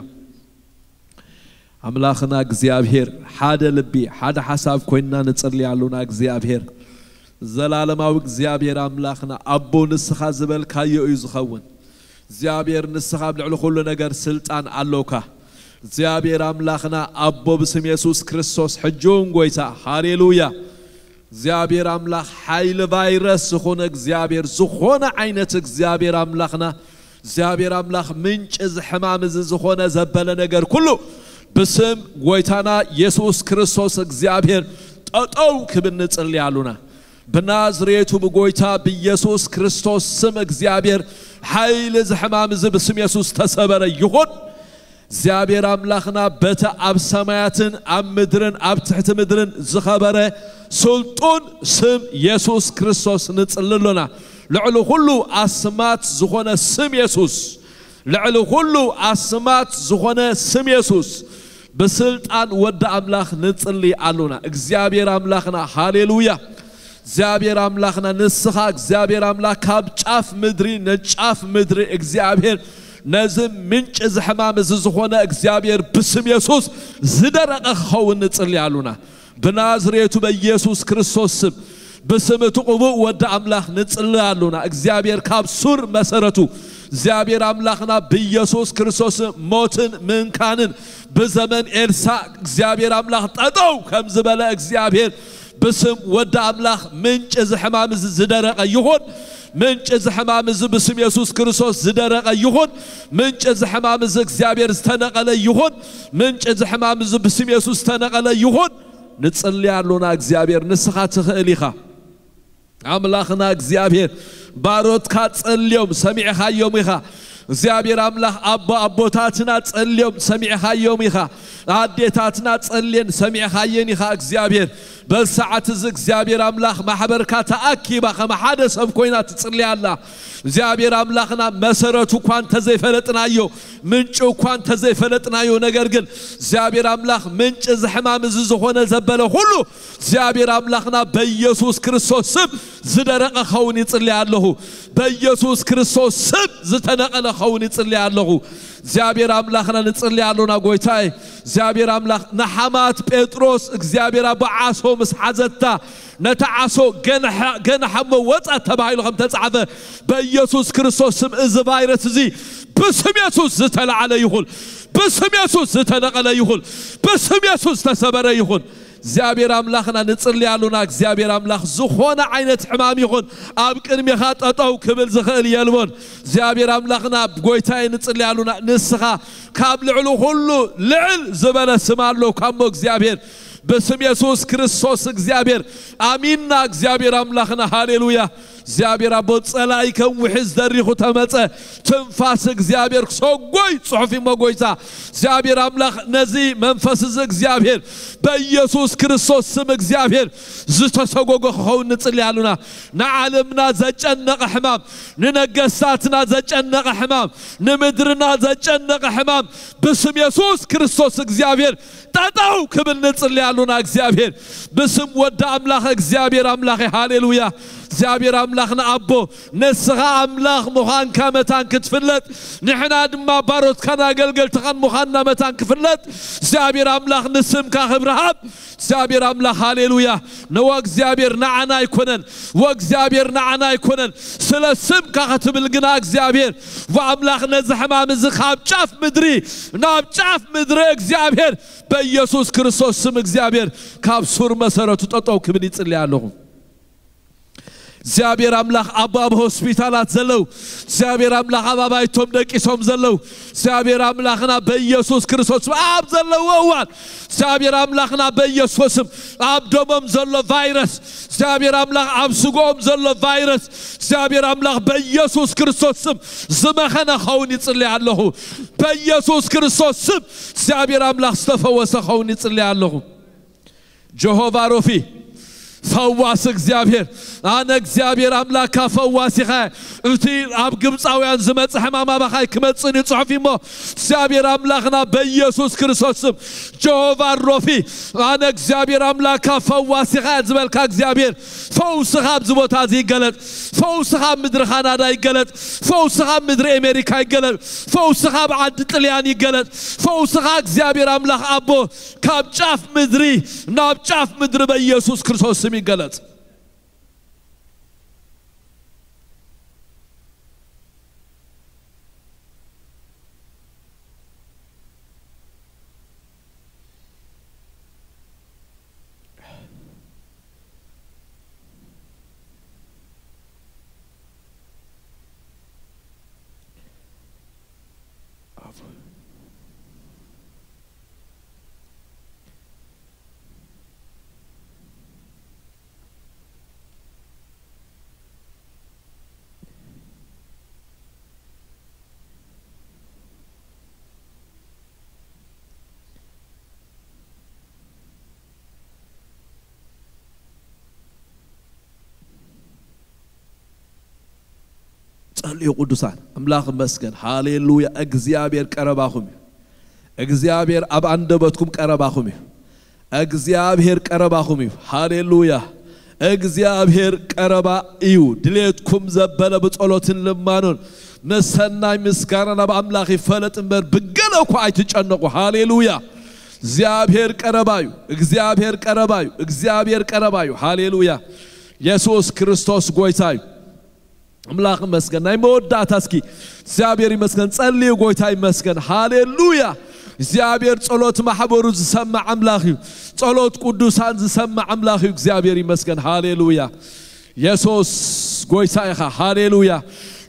ኣምላኽና እግዚኣብሔር ሓደ ልቢ፣ ሓደ ሓሳብ ኮይንና ንጽሊ ኣሉና። እግዚኣብሔር፣ ዘላለማዊ እግዚኣብሔር ኣምላኽና፣ ኣቦ ንስኻ ዝበልካዮ እዩ ዝኸውን። እግዚኣብሔር ንስኻ ኣብ ልዕሊ ኩሉ ነገር ስልጣን ኣሎካ። እግዚኣብሔር ኣምላኽና፣ ኣቦ ብስም የሱስ ክርስቶስ፣ ሕጂ እውን ጎይታ፣ ሃሌሉያ። እግዚኣብሔር ኣምላኽ ሓይሊ ቫይረስ ዝኾነ እግዚኣብሔር፣ ዝኾነ ዓይነት እግዚኣብሔር ኣምላኽና፣ እግዚኣብሔር ኣምላኽ ምንጪ እዚ ሕማም እዚ ዝኾነ ዘበለ ነገር ኩሉ ብስም ጎይታና የሱስ ክርስቶስ እግዚኣብሔር ጠጠው ክብል ንጽሊ ኣሉና። ብናዝሬቱ ብጎይታ ብየሱስ ክርስቶስ ስም እግዚኣብሔር ሓይሊ እዚ ሕማም እዚ ብስም የሱስ ተሰበረ ይኹን። እግዚኣብሔር ኣምላኽና በቲ ኣብ ሰማያትን ኣብ ምድርን ኣብ ትሕቲ ምድርን ዝኸበረ ስልጡን ስም የሱስ ክርስቶስ ንጽሊ ኣሎና። ልዕሊ ኩሉ ኣስማት ዝኾነ ስም የሱስ፣ ልዕሊ ኩሉ ኣስማት ዝኾነ ስም የሱስ ብስልጣን ወዲ ኣምላኽ ንጽሊ ኣሎና። እግዚኣብሔር ኣምላኽና፣ ሃሌሉያ። እግዚኣብሔር ኣምላኽና፣ ንስኻ እግዚኣብሔር ኣምላኽ ካብ ጫፍ ምድሪ ንጫፍ ምድሪ እግዚኣብሔር ነዚ ምንጪ እዚ ሕማም እዚ ዝኾነ እግዚኣብሔር ብስም የሱስ ዝደረቐ ክኸውን ንጽሊ ኣሉና። ብናዝሬቱ በኢየሱስ ክርስቶስ ስም ብስም እቲ ቅቡእ ወዲ ኣምላኽ ንጽሊ ኣሉና። እግዚኣብሔር ካብ ሱር መሰረቱ እግዚኣብሔር ኣምላኽና ብኢየሱስ ክርስቶስ ሞትን ምንካንን ብዘመን ኤልሳዕ እግዚኣብሔር ኣምላኽ ጠጠው ከም ዝበለ እግዚኣብሔር ብስም ወዲ ኣምላኽ ምንጪ እዚ ሕማም እዚ ዝደረቐ ይኹን። ምንጪ እዚ ሕማም እዚ ብስም የሱስ ክርስቶስ ዝደረቐ ይኹን። ምንጪ እዚ ሕማም እዚ እግዚኣብሔር ዝተነቐለ ይኹን። ምንጪ እዚ ሕማም እዚ ብስም የሱስ ዝተነቐለ ይኹን። ንጽሊ ኣሎና እግዚኣብሔር፣ ንስኻ ትኽእል ኢኻ። ኣምላኽና እግዚኣብሔር፣ ባሮትካ ጸልዮም ሰሚዕኻዮም ኢኻ። እግዚኣብሔር ኣምላኽ፣ ኣቦ ኣቦታትና ጸልዮም ሰሚዕኻዮም ኢኻ። ኣዴታትና ጸልየን ሰሚዕኻየን ኢኻ እግዚኣብሔር። በዚ ሰዓት እዚ እግዚኣብሔር ኣምላኽ፣ ማሕበርካ ተኣኪባ ከም ሓደ ሰብ ኮይና ትጽሊ ኣላ። እግዚኣብሔር ኣምላኽና፣ መሰረቱ እኳ እንተዘይፈለጥናዮ፣ ምንጩ እኳ እንተዘይፈለጥናዮ፣ ነገር ግን እግዚኣብሔር ኣምላኽ፣ ምንጪ እዚ ሕማም እዚ ዝኾነ ዘበለ ኩሉ እግዚኣብሔር ኣምላኽና፣ በኢየሱስ ክርስቶስ ስም ዝደረቐ ኸውን ይጽሊ ኣለኹ። በኢየሱስ ክርስቶስ ስም ዝተነቐለ ኸውን ይጽሊ ኣለኹ። እግዚኣብሔር ኣምላኽና፣ ንጽሊ ኣሎና ጎይታይ። እግዚኣብሔር ኣምላኽ፣ ንሓማት ጴጥሮስ እግዚኣብሔር ኣቦ ዓሶ ምስ ሓዘታ፣ ነታ ዓሶ ገንሐ-፣ ገንሐ እሞ ወጻት ተባሂሉ ከም ተጻሕፈ፣ በኢየሱስ ክርስቶስ ስም እዚ ቫይረስ እዚ ብስም የሱስ ዝተላዕለ ይኹን። ብስም የሱስ ዝተነቐለ ይኹን። ብስም የሱስ ዝተሰበረ ይኹን። እግዚኣብሔር ኣምላኽና፣ ንጽሊ ኣሉና። እግዚኣብሔር ኣምላኽ፣ ዝኾነ ዓይነት ሕማም ይኹን፣ ኣብ ቅድሜኻ ጠጠው ክብል ዝኽእል የልቦን። እግዚኣብሔር ኣምላኽና፣ ጎይታይ፣ ንጽሊ ኣሉና። ንስኻ ካብ ልዕሊ ኩሉ ልዕል ዝበለ ስም ኣሎ እኳ እሞ እግዚኣብሔር፣ ብስም የሱስ ክርስቶስ እግዚኣብሔር ኣሚንና። እግዚኣብሔር ኣምላኽና፣ ሃሌሉያ። እግዚኣብሔር ኣቦ፣ ጸላኢ ከም ውሒዝ ደሪኹ ተመጸ። ትንፋስ እግዚኣብሔር ክሰጎይ ጽሑፍ እሞ ጎይታ። እግዚኣብሔር ኣምላኽ፣ ነዚ መንፈስ እዚ እግዚኣብሔር በኢየሱስ ክርስቶስ ስም እግዚኣብሔር ዝተሰጎጎ ክኸውን ንጽሊ ኣሉና። ንዓለምና ዘጨነቐ ሕማም፣ ንነገስታትና ዘጨነቐ ሕማም፣ ንምድርና ዘጨነቐ ሕማም ብስም የሱስ ክርስቶስ እግዚኣብሔር ጠጠው ክብል ንጽሊ ኣሉና። እግዚኣብሔር ብስም ወዲ ኣምላኽ፣ እግዚኣብሔር ኣምላኽ፣ ሃሌሉያ። እግዚኣብሔር ኣምላኽና ኣቦ፣ ንስኻ ኣምላኽ ምዃንካ መታን ክትፍለጥ፣ ንሕና ድማ ባሮትካን ኣገልገልትኻን ምዃንና መታን ክፍለጥ፣ እግዚኣብሔር ኣምላኽ፣ ንስምካ ክብሪ ሃብ። እግዚኣብሔር ኣምላኽ፣ ሃሌሉያ። ንወ እግዚኣብሔር ንዓና ኣይኮነን፣ ወእግዚኣብሔር ንዓና ኣይኮነን፣ ስለ ስምካ ክትብል ግና እግዚኣብሔር ወኣምላኽ፣ ነዚ ሕማም እዚ ካብ ጫፍ ምድሪ ናብ ጫፍ ምድሪ እግዚኣብሔር በኢየሱስ ክርስቶስ ስም እግዚኣብሔር ካብ ሱር መሰረቱ ጠጠው ክብል ይጽሊ ኣለኹ። እግዚኣብሔር ኣምላኽ፣ ኣቦ ኣብ ሆስፒታላት ዘለዉ፣ እግዚኣብሔር ኣምላኽ፣ ኣብ ኣባይቶም ደቂሶም ዘለዉ፣ እግዚኣብሔር ኣምላኽና በኢየሱስ ክርስቶስ ኣብ ዘለዎ እዋን፣ እግዚኣብሔር ኣምላኽና በኢየሱስ ስም ኣብ ደሞም ዘሎ ቫይረስ፣ እግዚኣብሔር ኣምላኽ ኣብ ስግኦም ዘሎ ቫይረስ፣ እግዚኣብሔር ኣምላኽ በኢየሱስ ክርስቶስ ስም ዝመኸነ ኸውን ይጽሊ ኣለኹ። በኢየሱስ ክርስቶስ ስም እግዚኣብሔር ኣምላኽ ዝተፈወሰ ኸውን ይጽሊ ኣለኹ። ጀሆቫ ሮፊ፣ ፈዋስ እግዚኣብሔር፣ ኣነ እግዚኣብሔር ኣምላካ ፈዋሲኻ። እቲ ኣብ ግብፃውያን ዝመፀ ሕማም ኣባኻይ ክመፅእ እዩ ፅሑፍ እሞ፣ እግዚኣብሔር ኣምላኽና በኢየሱስ ክርስቶስ ስም፣ ጀሆቫ ሮፊ፣ ኣነ እግዚኣብሔር ኣምላካ ፈዋሲኻ ዝበልካ እግዚኣብሔር፣ ፈውስኻ ኣብዚ ቦታ እዚ ይገለጥ። ፈውስኻ ኣብ ምድሪ ካናዳ ይገለጥ። ፈውስኻ ኣብ ምድሪ ኣሜሪካ ይገለጥ። ፈውስኻ ኣብ ዓዲ ጥልያን ይገለጥ። ፈውስኻ እግዚኣብሔር ኣምላኽ ኣቦ ካብ ጫፍ ምድሪ ናብ ጫፍ ምድሪ በኢየሱስ ክርስቶስ ስም ይገለጽ። ጸልዩ ቅዱሳን። ኣምላኽ ይመስገን። ሃሌሉያ። እግዚኣብሔር ቀረባኹም እዩ። እግዚኣብሔር ኣብ ኣንደበትኩም ቀረባኹም እዩ። እግዚኣብሔር ቀረባኹም እዩ። ሃሌሉያ። እግዚኣብሔር ቀረባ እዩ። ድሌትኩም ዘበለ ብጸሎትን ልማኖን ምስ ሰናይ ምስጋና ናብ ኣምላኽ ይፈለጥ እምበር፣ ብገለ እኳ ኣይትጨነቑ። ሃሌሉያ። እግዚኣብሔር ቀረባ እዩ። እግዚኣብሔር ቀረባ እዩ። እግዚኣብሔር ቀረባ እዩ። ሃሌሉያ። የሱስ ክርስቶስ ጎይታ እዩ። ኣምላኽ ይመስገን። ናይ መወዳእታ እስኪ እግዚኣብሔር ይመስገን። ጸልዩ፣ ጎይታ ይመስገን። ሃሌሉያ። እግዚኣብሔር ጸሎት ማሕበሩ ዝሰምዕ ኣምላኽ እዩ። ጸሎት ቅዱሳን ዝሰምዕ ኣምላኽ እዩ። እግዚኣብሔር ይመስገን። ሃሌሉያ። የሱስ ጎይታ ኢኻ። ሃሌሉያ።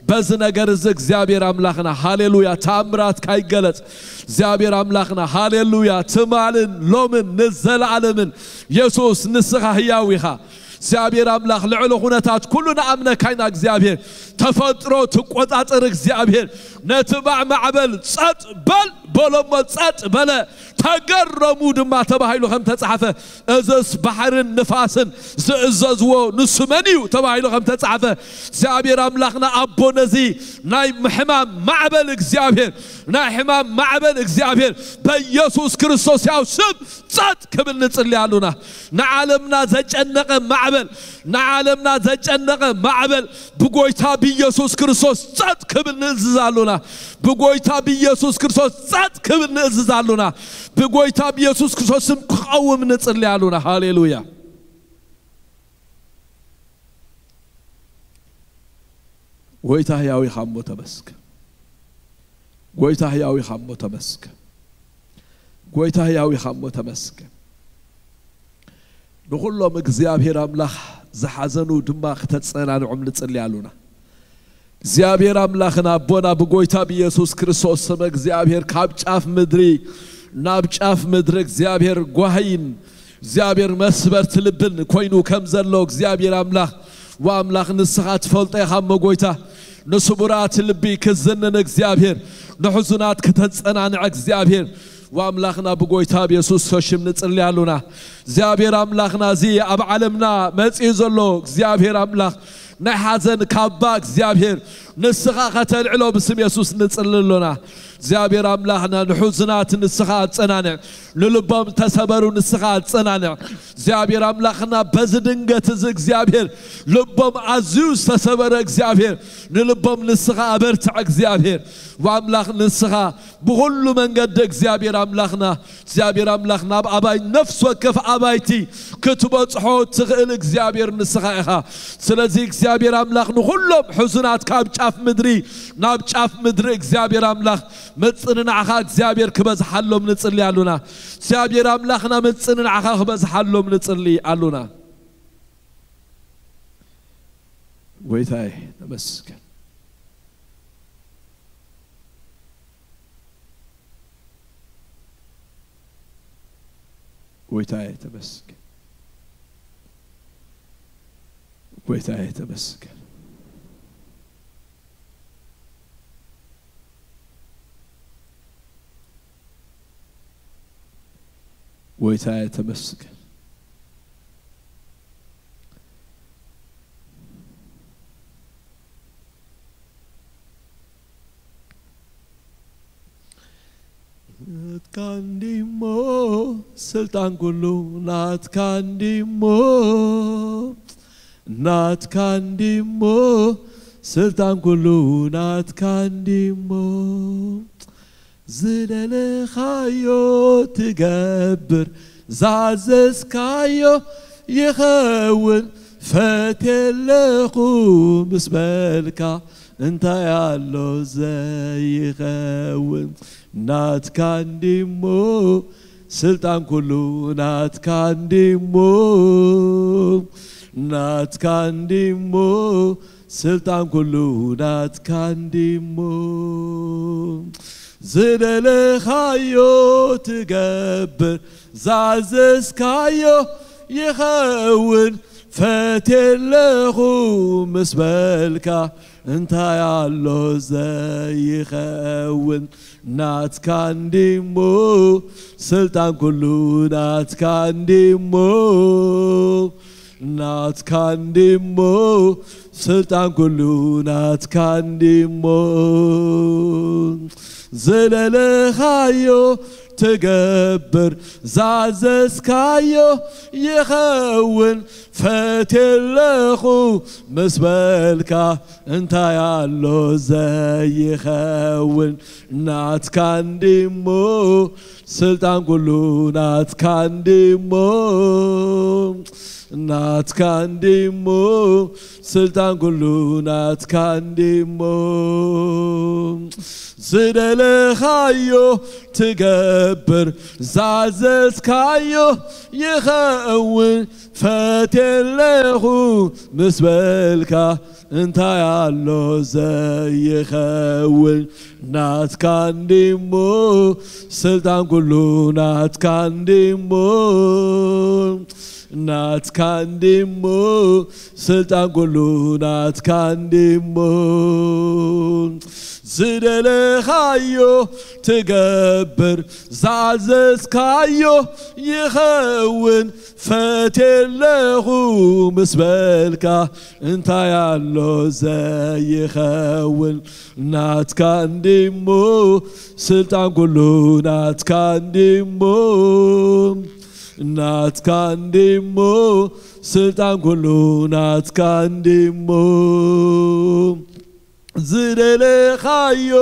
በዚ ነገር እዚ እግዚኣብሔር ኣምላኽና፣ ሃሌሉያ፣ ተኣምራት ካይገለጽ እግዚኣብሔር ኣምላኽና፣ ሃሌሉያ፣ ትማልን ሎምን ንዘለዓለምን የሱስ ንስኻ ህያው ኢኻ። እግዚኣብሔር ኣምላኽ ልዕሊ ኩነታት ኩሉ ንኣምነካ ኢና። እግዚኣብሔር ተፈጥሮ ትቆጻጸር። እግዚኣብሔር ነቲ ባዕ ማዕበል ጸጥ በል በሎ እሞ ጸጥ በለ፣ ተገረሙ ድማ ተባሂሉ ከም ተጻሕፈ፣ እዝስ ባሕርን ንፋስን ዝእዘዝዎ ንሱ መን እዩ ተባሂሉ ከም ተጻሕፈ፣ እግዚኣብሔር ኣምላኽና ኣቦ ነዚ ናይ ሕማም ማዕበል እግዚኣብሔር፣ ናይ ሕማም ማዕበል እግዚኣብሔር በኢየሱስ ክርስቶስ ያው ስም ጸጥ ክብል ንጽሊ ኣሉና። ንዓለምና ዘጨነቐ ማዕበል፣ ንዓለምና ዘጨነቐ ማዕበል ብጎይታ ብኢየሱስ ክርስቶስ ጸጥ ክብል ንእዝዝ ኣሉና። ብጎይታ ብኢየሱስ ክርስቶስ ጸጥ ክብል ንእዝዝ ኣሉና። ብጎይታ ብኢየሱስ ክርስቶስ ስም ክቐውም ንጽሊ ኣሉና። ሃሌሉያ። ጎይታ ህያው ኢኻ እሞ ተመስገን። ጎይታ ህያው ኢኻ እሞ ተመስገን። ጎይታ ህያው ኢኻ እሞ ተመስገን። ንኹሎም እግዚኣብሔር ኣምላኽ ዝሓዘኑ ድማ ክተጸናንዖም ንጽሊ ኣሉና። እግዚኣብሔር ኣምላኽን ኣቦና ብጎይታ ብኢየሱስ ክርስቶስ ስም እግዚኣብሔር ካብ ጫፍ ምድሪ ናብ ጫፍ ምድሪ እግዚኣብሔር ጓሂን እግዚኣብሔር መስበርቲ ልብን ኮይኑ ከም ዘሎ እግዚኣብሔር ኣምላኽ ወኣምላኽ ንስኻ ትፈልጦ ኢኻ እሞ ጎይታ ንስቡራት ልቢ ክዝንን እግዚኣብሔር ንሕዙናት ክተጸናንዕ እግዚኣብሔር ወኣምላኽና ብጎይታ ብየሱስ ሽም ንጽሊ ኣሉና። እግዚኣብሔር ኣምላኽና እዚ ኣብ ዓለምና መጺኡ ዘሎ እግዚኣብሔር ኣምላኽ ናይ ሓዘን ካባ እግዚኣብሔር ንስኻ ከተልዕሎ ብስም የሱስ ንጽሊ ኣሎና። እግዚኣብሔር ኣምላኽና ንሕዙናት ንስኻ ኣጸናንዕ፣ ንልቦም ተሰበሩ ንስኻ ኣጸናንዕ። እግዚኣብሔር ኣምላኽና በዚ ድንገት እዚ እግዚኣብሔር ልቦም ኣዝዩ ዝተሰበረ እግዚኣብሔር ንልቦም ንስኻ ኣበርትዕ እግዚኣብሔር ወኣምላኽ ንስኻ ብኹሉ መንገዲ እግዚኣብሔር ኣምላኽና እግዚኣብሔር ኣምላኽ ናብ ኣባይ ነፍስ ወከፍ ኣባይቲ ክትበጽሖ ትኽእል እግዚኣብሔር ንስኻ ኢኻ። ስለዚ እግዚኣብሔር ኣምላኽ ንኹሎም ሕዙናት ካብ ጫፍ ምድሪ ናብ ጫፍ ምድሪ እግዚኣብሔር ኣምላኽ ምጽንናዕኻ እግዚኣብሔር ክበዝሓሎም ንጽሊ ኣሉና። እግዚኣብሔር ኣምላኽና ምጽንናዕኻ ክበዝሓሎም ንጽሊ ኣሉና። ጎይታይ ተመስገን። ጎይታይ ተመስገን። ጎይታይ ተመስገን። ጎይታይ ተመስገን። ናትካ እንዲሞ ስልጣን ኩሉ ናትካ እንዲሞ ናትካ እንዲሞ ስልጣን ኩሉ ናትካ እንዲሞ ዝደለኻዮ ትገብር ዛዘዝካዮ ይኸውን ፈትየለኹ ምስ በልካ እንታይ ኣሎ ዘይኸውን ናትካ እንዲሞ ስልጣን ኩሉ ናትካ እንዲሞ ናትካ እንዲሞ ስልጣን ኩሉ ናትካ እንዲሞ ዝደለኻዮ ትገብር ዛዘዝካዮ ይኸውን ፈትየለኹ ምስ በልካ እንታይ ኣሎ ዘይኸውን ናትካ እንዲሞ ስልጣን ኩሉ ናትካ እንዲሞ ናትካ እንዲሞ ስልጣን ኩሉ ናትካ እንዲሞ ዝለለኻዮ ትገብር ዛዘዝካዮ ይኸውን ፈትየለኹ ምስ በልካ እንታይ ኣሎ ዘይኸውን ናትካ እንዲሞ ስልጣን ኩሉ ናትካ እንዲሞ፣ ናትካ እንዲሞ፣ ስልጣን ኩሉ ናትካ እንዲሞ። ዝደለኻዮ ትገብር፣ ዛዘዝካዮ ይኸውን። ፈትየለኹ ምስ በልካ እንታይ ኣሎ ዘይኸውን? ናትካ እንዲሞ፣ ስልጣን ኩሉ ናትካ እንዲሞ፣ ናትካ እንዲሞ፣ ስልጣን ኩሉ ናትካ እንዲሞ። ዝደለኻዮ ትገብር፣ ዝኣዘዝካዮ ይኸውን። ፈትየለኹ ምስ በልካ እንታይ ኣሎ ዘይኸውን? ናትካ እንዲሞ፣ ስልጣን ኩሉ ናትካ እንዲሞ፣ ናትካ እንዲሞ፣ ስልጣን ኩሉ ናትካ እንዲሞ። ዝደለኻዮ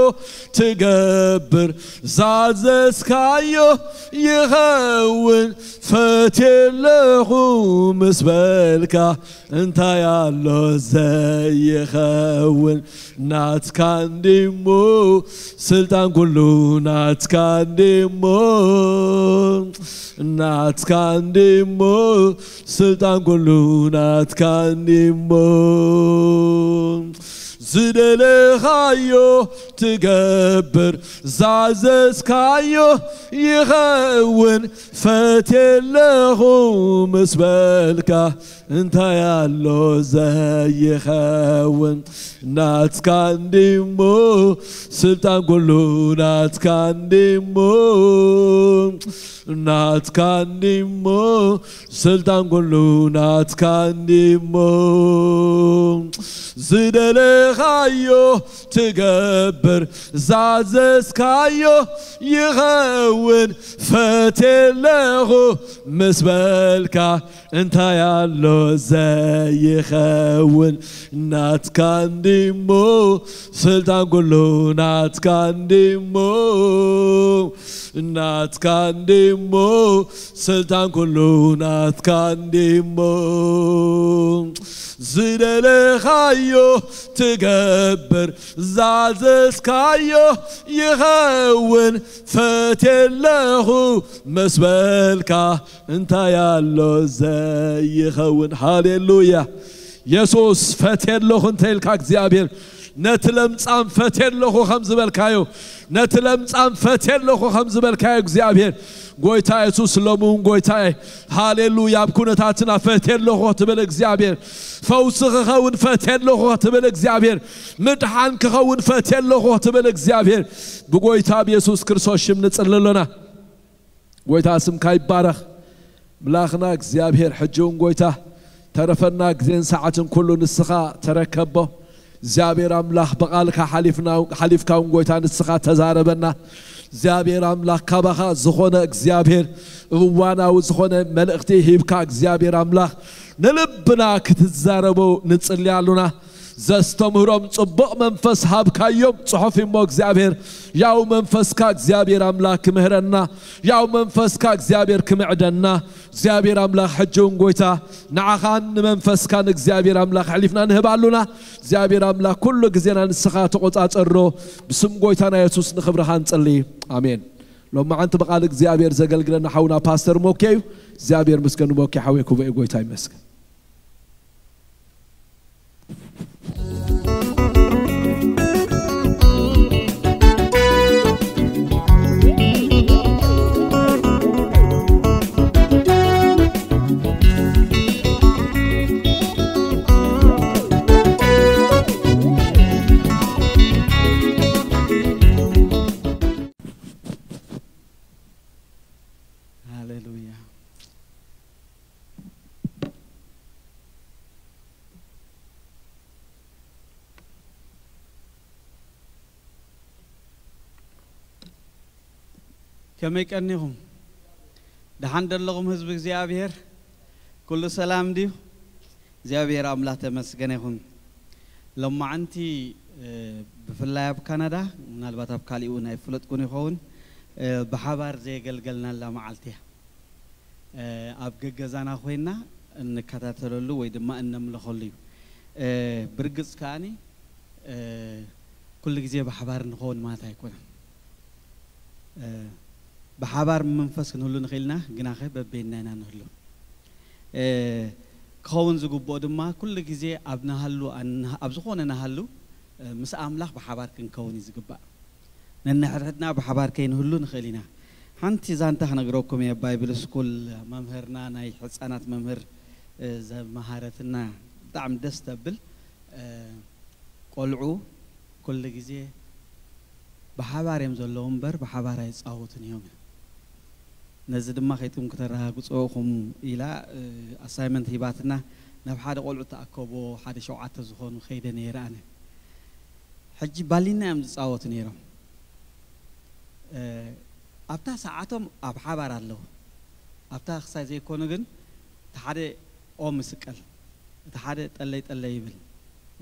ትገብር፣ ዛዘዝካዮ ይኸውን። ፈትየለኹ ምስ በልካ እንታይ ኣሎ ዘይኸውን? ናትካ እንዲሞ፣ ስልጣን ኩሉ ናትካ እንዲሞ፣ ናትካ እንዲሞ፣ ስልጣን ኩሉ ናትካ እንዲሞ። ዝደለኻዮ ትገብር፣ ዛዘዝካዮ ይኸውን። ፈትየለኹ ምስ በልካ እንታይ ኣሎ ዘይኸውን? ናትካ እንዲሞ፣ ስልጣን ኩሉ ናትካ እንዲሞ፣ ናትካ እንዲሞ፣ ስልጣን ኩሉ ናትካ እንዲሞ። ዝደለኻዮ ትገብር፣ ዛዘዝካዮ ይኸውን። ፈትየለኹ ምስ በልካ እንታይ ኣሎ ዘይኸውን? ናትካ እንዲሞ፣ ስልጣን ኩሉ ናትካ እንዲሞ፣ ናትካ እንዲሞ፣ ስልጣን ኩሉ ናትካ እንዲሞ። ዝደለኻዮ ትገብር፣ ዛዘዝካዮ ይኸውን። ፈትየለኹ ምስ በልካ እንታይ ኣሎ ዘይኸውን? ሃሌሉያ። የሱስ ፈትየ ኣለኹ እንተ ኢልካ እግዚኣብሔር፣ ነቲ ለምጻም ፈትየ ኣለኹ ከም ዝበልካዮ፣ ነቲ ለምጻም ፈትየ ኣለኹ ከም ዝበልካዮ እግዚኣብሔር፣ ጎይታ የሱስ ሎሚ እውን ጎይታየ፣ ሃሌሉያ፣ ኣብ ኩነታትና ፈትየ ኣለኹ ክትብል እግዚኣብሔር፣ ፈውሲ ክኸውን ፈትየ ኣለኹ ክትብል እግዚኣብሔር፣ ምድሓን ክኸውን ፈትየ ኣለኹ ክትብል እግዚኣብሔር፣ ብጎይታ ብየሱስ ክርስቶስ ሽም ንጽሊ ኣሎና። ጎይታ ስምካ ይባረኽ። ምላኽና እግዚኣብሔር ሕጂ እውን ጎይታ ተረፈና ግዜን ሰዓትን ኩሉ ንስኻ ተረከቦ። እግዚኣብሔር ኣምላኽ ብቓልካ ሓሊፍና ሓሊፍካ እውን ጎይታ ንስኻ ተዛረበና። እግዚኣብሔር ኣምላኽ ካባኻ ዝኾነ እግዚኣብሔር እዋናዊ ዝኾነ መልእኽቲ ሂብካ እግዚኣብሔር ኣምላኽ ንልብና ክትዛረቦ ንጽሊ ኣሉና። ዘስተምህሮም ጽቡቕ መንፈስ ሃብካዮም። ጽሑፍ እሞ እግዚኣብሔር ያው መንፈስካ እግዚኣብሔር ኣምላኽ ክምህረና፣ ያው መንፈስካ እግዚኣብሔር ክምዕደና፣ እግዚኣብሔር ኣምላኽ ሕጂ እውን ጎይታ ንዓኻን ንመንፈስካን እግዚኣብሔር ኣምላኽ ኣሕሊፍና ንህብ ኣሉና። እግዚኣብሔር ኣምላኽ ኩሉ ግዜና ንስኻ ተቖጻጸሮ። ብስም ጎይታና የሱስ ንኽብርኻ ንጽሊ። ኣሜን። ሎማዓንቲ ብቓል እግዚኣብሔር ዘገልግለና ሓውና ፓስተር ሞኬ እዩ። እግዚኣብሔር ምስገኑ ሞኬ ሓወይ ክቡእ እዩ። ጎይታ ይመስገን። ሃሌሉያ። ከመይ ቀኒኹም? ደሓን ደለኹም ህዝቢ እግዚኣብሔር? ኩሉ ሰላም ድዩ? እግዚኣብሔር ኣምላኽ ተመስገነ ይኹን። ሎማዓንቲ፣ እ፣ ብፍላይ ኣብ ካናዳ፣ ምናልባት ኣብ ካሊእ እውን ኣይፍለጥኩን ይኸውን፣ እ፣ ብሓባር ዘየገልገልናላ መዓልቲ እያ። እ፣ ኣብ ገገዛና ኮይና እንከታተለሉ ወይ ድማ እነምልኸሉ እዩ። እ፣ ብርግጽ ከኣኒ፣ እ፣ ኩሉ ግዜ ብሓባር ንኸውን ማለት ኣይኮነን። እ፣ ብሓባር መንፈስ ክንህሉ ንኽእል ኢና፣ ግናኸ በበይንና ኢና ንህሉ። እ፣ ክኸውን ዝግብኦ ድማ ኩሉ ግዜ ኣብ ንሃሉ፣ ኣብ ዝኾነ ንሃሉ፣ እ፣ ምስ ኣምላኽ ብሓባር ክንከውን እዩ ዝግባእ። ነንሕድሕድና ብሓባር ከይንህሉ ንኽእል ኢና። ሓንቲ ዛንታ ክነግረኩም እየ። ባይብል ስኩል መምህርና፣ ናይ ሕፃናት መምህር፣ እ፣ ዘመሃረትና ብጣዕሚ ደስ ተብል። እ፣ ቆልዑ ኩሉ ግዜ ብሓባር እዮም ዘለዉ እምበር ብሓባር ኣይጻወቱን እዮም። ነዚ ድማ ከይትም ክተረጋግጾ ኢኹም ኢላ፣ እ፣ ኣሳይመንት ሂባትና። ናብ ሓደ ቆልዑ ተኣከቦ፣ ሓደ ሸውዓተ ዝኾኑ ከይደ ነይረ ኣነ። ሕጂ ባሊና እዮም ዝጻወቱ ነይሮም። እ፣ ኣብታ ሰዓቶም ኣብ ሓባር ኣለዉ። ኣብታ ክሳይ ዘይኮኑ ግን፣ እቲ ሓደ ኦም ይስቀል፣ እቲ ሓደ ጠለይ ጠለይ ይብል፣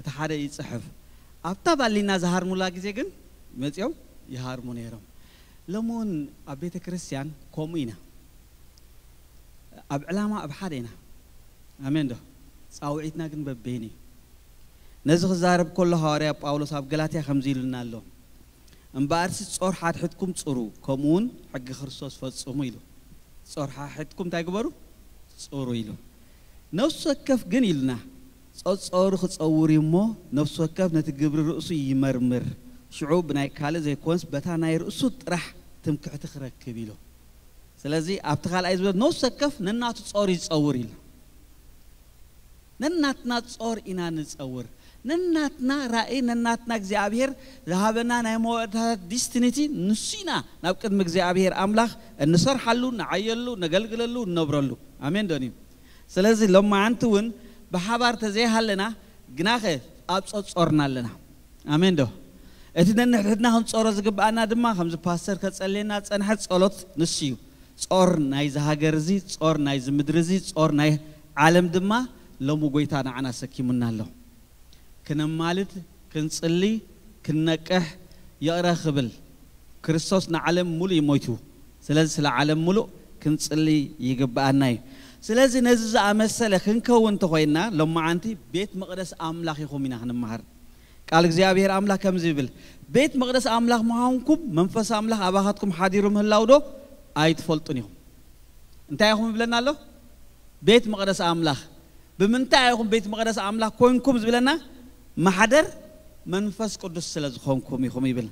እቲ ሓደ ይጽሕፍ። ኣብታ ባሊና ዝሃርሙላ ግዜ ግን መጺኦም ይሃርሙ ነይሮም። ሎሚ እውን ኣብ ቤተ ክርስቲያን ከምኡ ኢና። ኣብ ዕላማ ኣብ ሓደ ኢና። ኣሜን ዶ? ጻውዒትና ግን በበይኑ እዩ። ነዚ ክዛረብ ከሎ ሃዋርያ ጳውሎስ ኣብ ገላትያ ከምዚ ኢሉና ኣሎ። "እምበኣርሲ ጾር ሓድሕድኩም ጽሩ፣ ከምኡ እውን ሕጊ ክርስቶስ ፈጽሙ" ኢሉ። ጾር ሓድሕድኩም እንታይ ግበሩ? ጽሩ ኢሉ። ነፍሲ ወከፍ ግን ኢሉና፣ ጸጾሩ ክጸውር እዩ እሞ፣ ነፍሲ ወከፍ ነቲ ግብሪ ርእሱ ይመርምር፣ ሽዑ ብናይ ካልእ ዘይኮንስ በታ ናይ ርእሱ ጥራሕ ትምክሕቲ ክረክብ ኢሉ። ስለዚ ኣብቲ ካልኣይ ዝበለ ነፍሲ ወከፍ ነናቱ ጾር ይጸውር ኢሉ። ነናትና ጾር ኢና ንጸውር። ነናትና ራእይ፣ ነናትና እግዚኣብሔር ዝሃበና ናይ መወዳእታ ዲስቲኒቲ ንሱ ኢና ናብ ቅድሚ እግዚኣብሔር ኣምላኽ እንሰርሓሉ፣ ንዓየሉ፣ ነገልግለሉ፣ እንነብረሉ። ኣሜን ዶን እዩ? ስለዚ ሎማዓንቲ እውን ብሓባር ተዘይሃለና፣ ግናኸ ኣብ ጾጾርና ኣለና። ኣሜን ዶ? እቲ ነንሕድሕድና ክንጾሮ ዝግብኣና ድማ ከምዚ ፓስተር ከጸልየና ጸንሐ ጸሎት ንሱ እዩ። ጾር ናይዚ ሃገር እዚ፣ ጾር ናይዚ ምድሪ እዚ፣ ጾር ናይ ዓለም ድማ ሎሚ ጎይታ ንዓና ሰኪሙና ኣሎ። ክነማልድ፣ ክንጽሊ፣ ክንነቅሕ፣ ይቕረ ክብል። ክርስቶስ ንዓለም ሙሉእ እዩ ሞይቱ። ስለዚ ስለ ዓለም ሙሉእ ክንጽሊ ይግብኣና እዩ። ስለዚ ነዚ ዝኣመሰለ ክንከውን እንተኾይንና፣ ሎማዓንቲ ቤት መቕደስ ኣምላኽ ኢኹም ኢና ክንመሃር። ቃል እግዚኣብሔር ኣምላኽ ከምዚ ይብል፣ "ቤት መቕደስ ኣምላኽ ምዃንኩም መንፈስ ኣምላኽ ኣባኻትኩም ሓዲሩ ምህላው ዶ ኣይትፈልጡን ኢኹም?" እንታይ ኢኹም ይብለና ኣሎ? ቤት መቕደስ ኣምላኽ። ብምንታይ ኢኹም ቤት መቕደስ ኣምላኽ ኮንኩም ዝብለና? ማሕደር መንፈስ ቅዱስ ስለ ዝኾንኩም ኢኹም ይብል።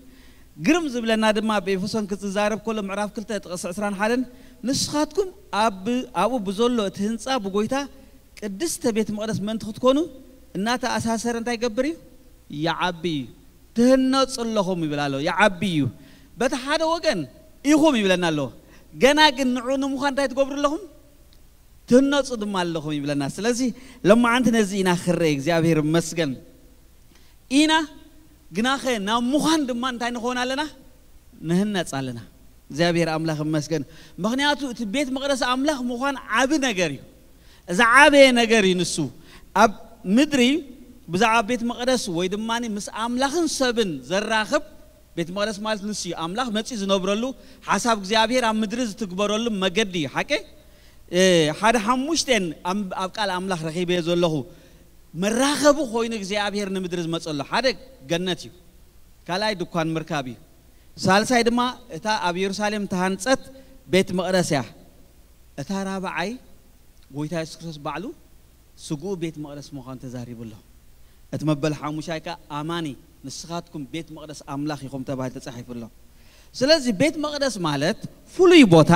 ግርም ዝብለና ድማ ኣብ ኤፌሶን ክዝዛረብ ከሎ ምዕራፍ ክልተ ጥቕሲ ዕስራን ሓደን፣ "ንስኻትኩም ኣብ-፣ ኣብኡ ብዘሎ እቲ ህንጻ ብጎይታ ቅድስተ ቤት መቕደስ ምእንቲ ክትኮኑ እናተኣሳሰረ እንታይ ይገብር እዩ? ይዓቢ እዩ። ትህነጹ ኣለኹም" ይብል ኣሎ። ይዓቢ እዩ። በቲ ሓደ ወገን ኢኹም ይብለና ኣሎ። ገና ግን ንዑ ንምዃን እንታይ ትገብሩ ኣለኹም? ትህነጹ ድማ ኣለኹም ይብለና። ስለዚ ሎማዓንቲ ነዚ ኢና ክረይ፣ እግዚኣብሔር ይመስገን። ኢና ግናኸ ናብ ምዃን ድማ እንታይ ንኸውን ኣለና? ንህነጽ ኣለና። እግዚኣብሔር ኣምላኽ ይመስገን። ምኽንያቱ እቲ ቤት መቕደስ ኣምላኽ ምዃን ዓቢ ነገር እዩ። እዚ ዓበየ ነገር እዩ ንሱ። ኣብ ምድሪ ብዛዕባ ቤት መቕደስ ወይ ድማ ምስ ኣምላኽን ሰብን ዘራኽብ፣ ቤት መቕደስ ማለት ንሱ እዩ። ኣምላኽ መጺኡ ዝነብረሉ፣ ሓሳብ እግዚኣብሔር ኣብ ምድሪ ዝትግበረሉ መገዲ እዩ። ሓቂ? እ፣ ሓደ ሓሙሽቴን ኣብ፣ ኣብ ቃል ኣምላኽ ረኺበዮ ዘለኹ መራኸቢ ኮይኑ እግዚኣብሔር ንምድሪ ዝመጸሉ። ሓደ ገነት እዩ። ካልኣይ ድኳን ምርካብ እዩ። ሳልሳይ ድማ እታ ኣብ የሩሳሌም ተሃንጸት ቤት መቕደስ እያ። እታ ራብዓይ ጎይታ የሱስ ክርስቶስ ባዕሉ ስግኡ ቤት መቕደስ ምዃኑ ተዛሪቡ ኣሎ። እቲ መበል ሓሙሻይ ከኣ ኣማኒ ንስኻትኩም ቤት መቕደስ ኣምላኽ ኢኹም ተባሂሉ ተጻሒፉ ኣሎ። ስለዚ ቤት መቕደስ ማለት ፍሉይ ቦታ፣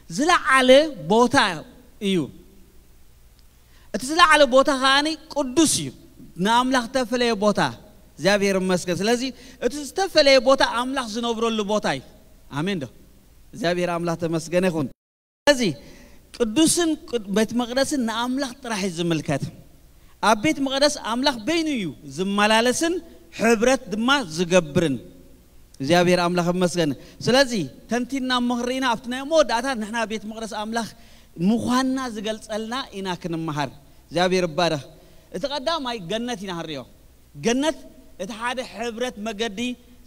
ዝለዓለ ቦታ እዩ። እቲ ዝለዓለ ቦታ ከኣኒ ቅዱስ እዩ። ንኣምላኽ ዝተፈለየ ቦታ፣ እግዚኣብሔር ይመስገን። ስለዚ እቲ ዝተፈለየ ቦታ ኣምላኽ ዝነብረሉ ቦታ እዩ። ኣሜን ዶ? እግዚኣብሔር ኣምላኽ ተመስገነ ይኹን። ስለዚ ቅዱስን ቅድ-፣ ቤት መቕደስን ንኣምላኽ ጥራሕ እዩ ዝምልከት። ኣብ ቤት መቕደስ ኣምላኽ በይኑ እዩ ዝመላለስን ሕብረት ድማ ዝገብርን። እግዚኣብሔር ኣምላኽ ይመስገን። ስለዚ ተንቲና እሞ ክንርኢና ኣብቲ ናይ መወዳእታ ንሕና ቤት መቕደስ ኣምላኽ ምዃንና ዝገልጸልና ኢና ክንመሃር። እግዚኣብሔር ይባረኽ። እቲ ቀዳማይ ገነት ኢና ክንሪኦ። ገነት እቲ ሓደ ሕብረት መገዲ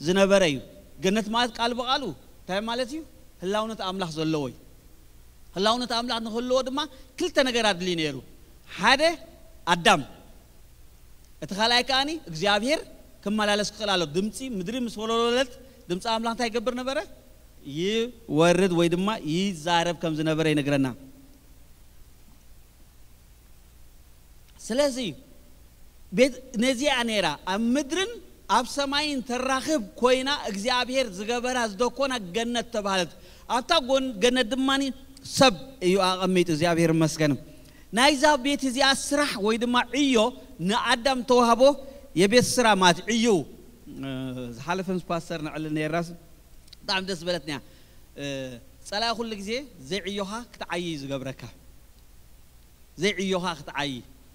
ዝነበረ እዩ። ገነት ማለት ቃል ብቓሉ እንታይ ማለት እዩ? ህላውነት ኣምላኽ ዘለዎ እዩ። ህላውነት ኣምላኽ ንክህልዎ ድማ ክልተ ነገር ኣድልዩ ነይሩ። ሓደ ኣዳም፣ እቲ ካልኣይ ከኣኒ እግዚኣብሔር ክመላለስ ክኽእል ኣሎ። ድምፂ ምድሪ ምስ ወለወለት ድምፂ ኣምላኽ እንታይ ይገብር ነበረ? ይወርድ ወይ ድማ ይዛረብ ከም ዝነበረ ይነግረና። ስለዚ ቤት ነዚኣ ነይራ ኣብ ምድርን ኣብ ሰማይን ተራኽብ ኮይና እግዚኣብሔር ዝገበራ ዝደኮና ገነት ተባህለት። ኣብታ ጎን ገነት ድማ ሰብ እዩ ኣቐሚጡ። እግዚኣብሔር ይመስገን። ናይዛ ቤት እዚኣ ስራሕ ወይ ድማ ዕዮ ንኣዳም ተዋህቦ። የቤት ስራ ማለት ዕዩ። ዝሓለፈ ምስ ፓስተር ንዕሊ ነይርናስ ብጣዕሚ ደስ በለትንያ። ፀላኢ ኩሉ ግዜ ዘይዕዮኻ ክትዓይ እዩ ዝገብረካ። ዘይዕዮኻ ክትዓይ፣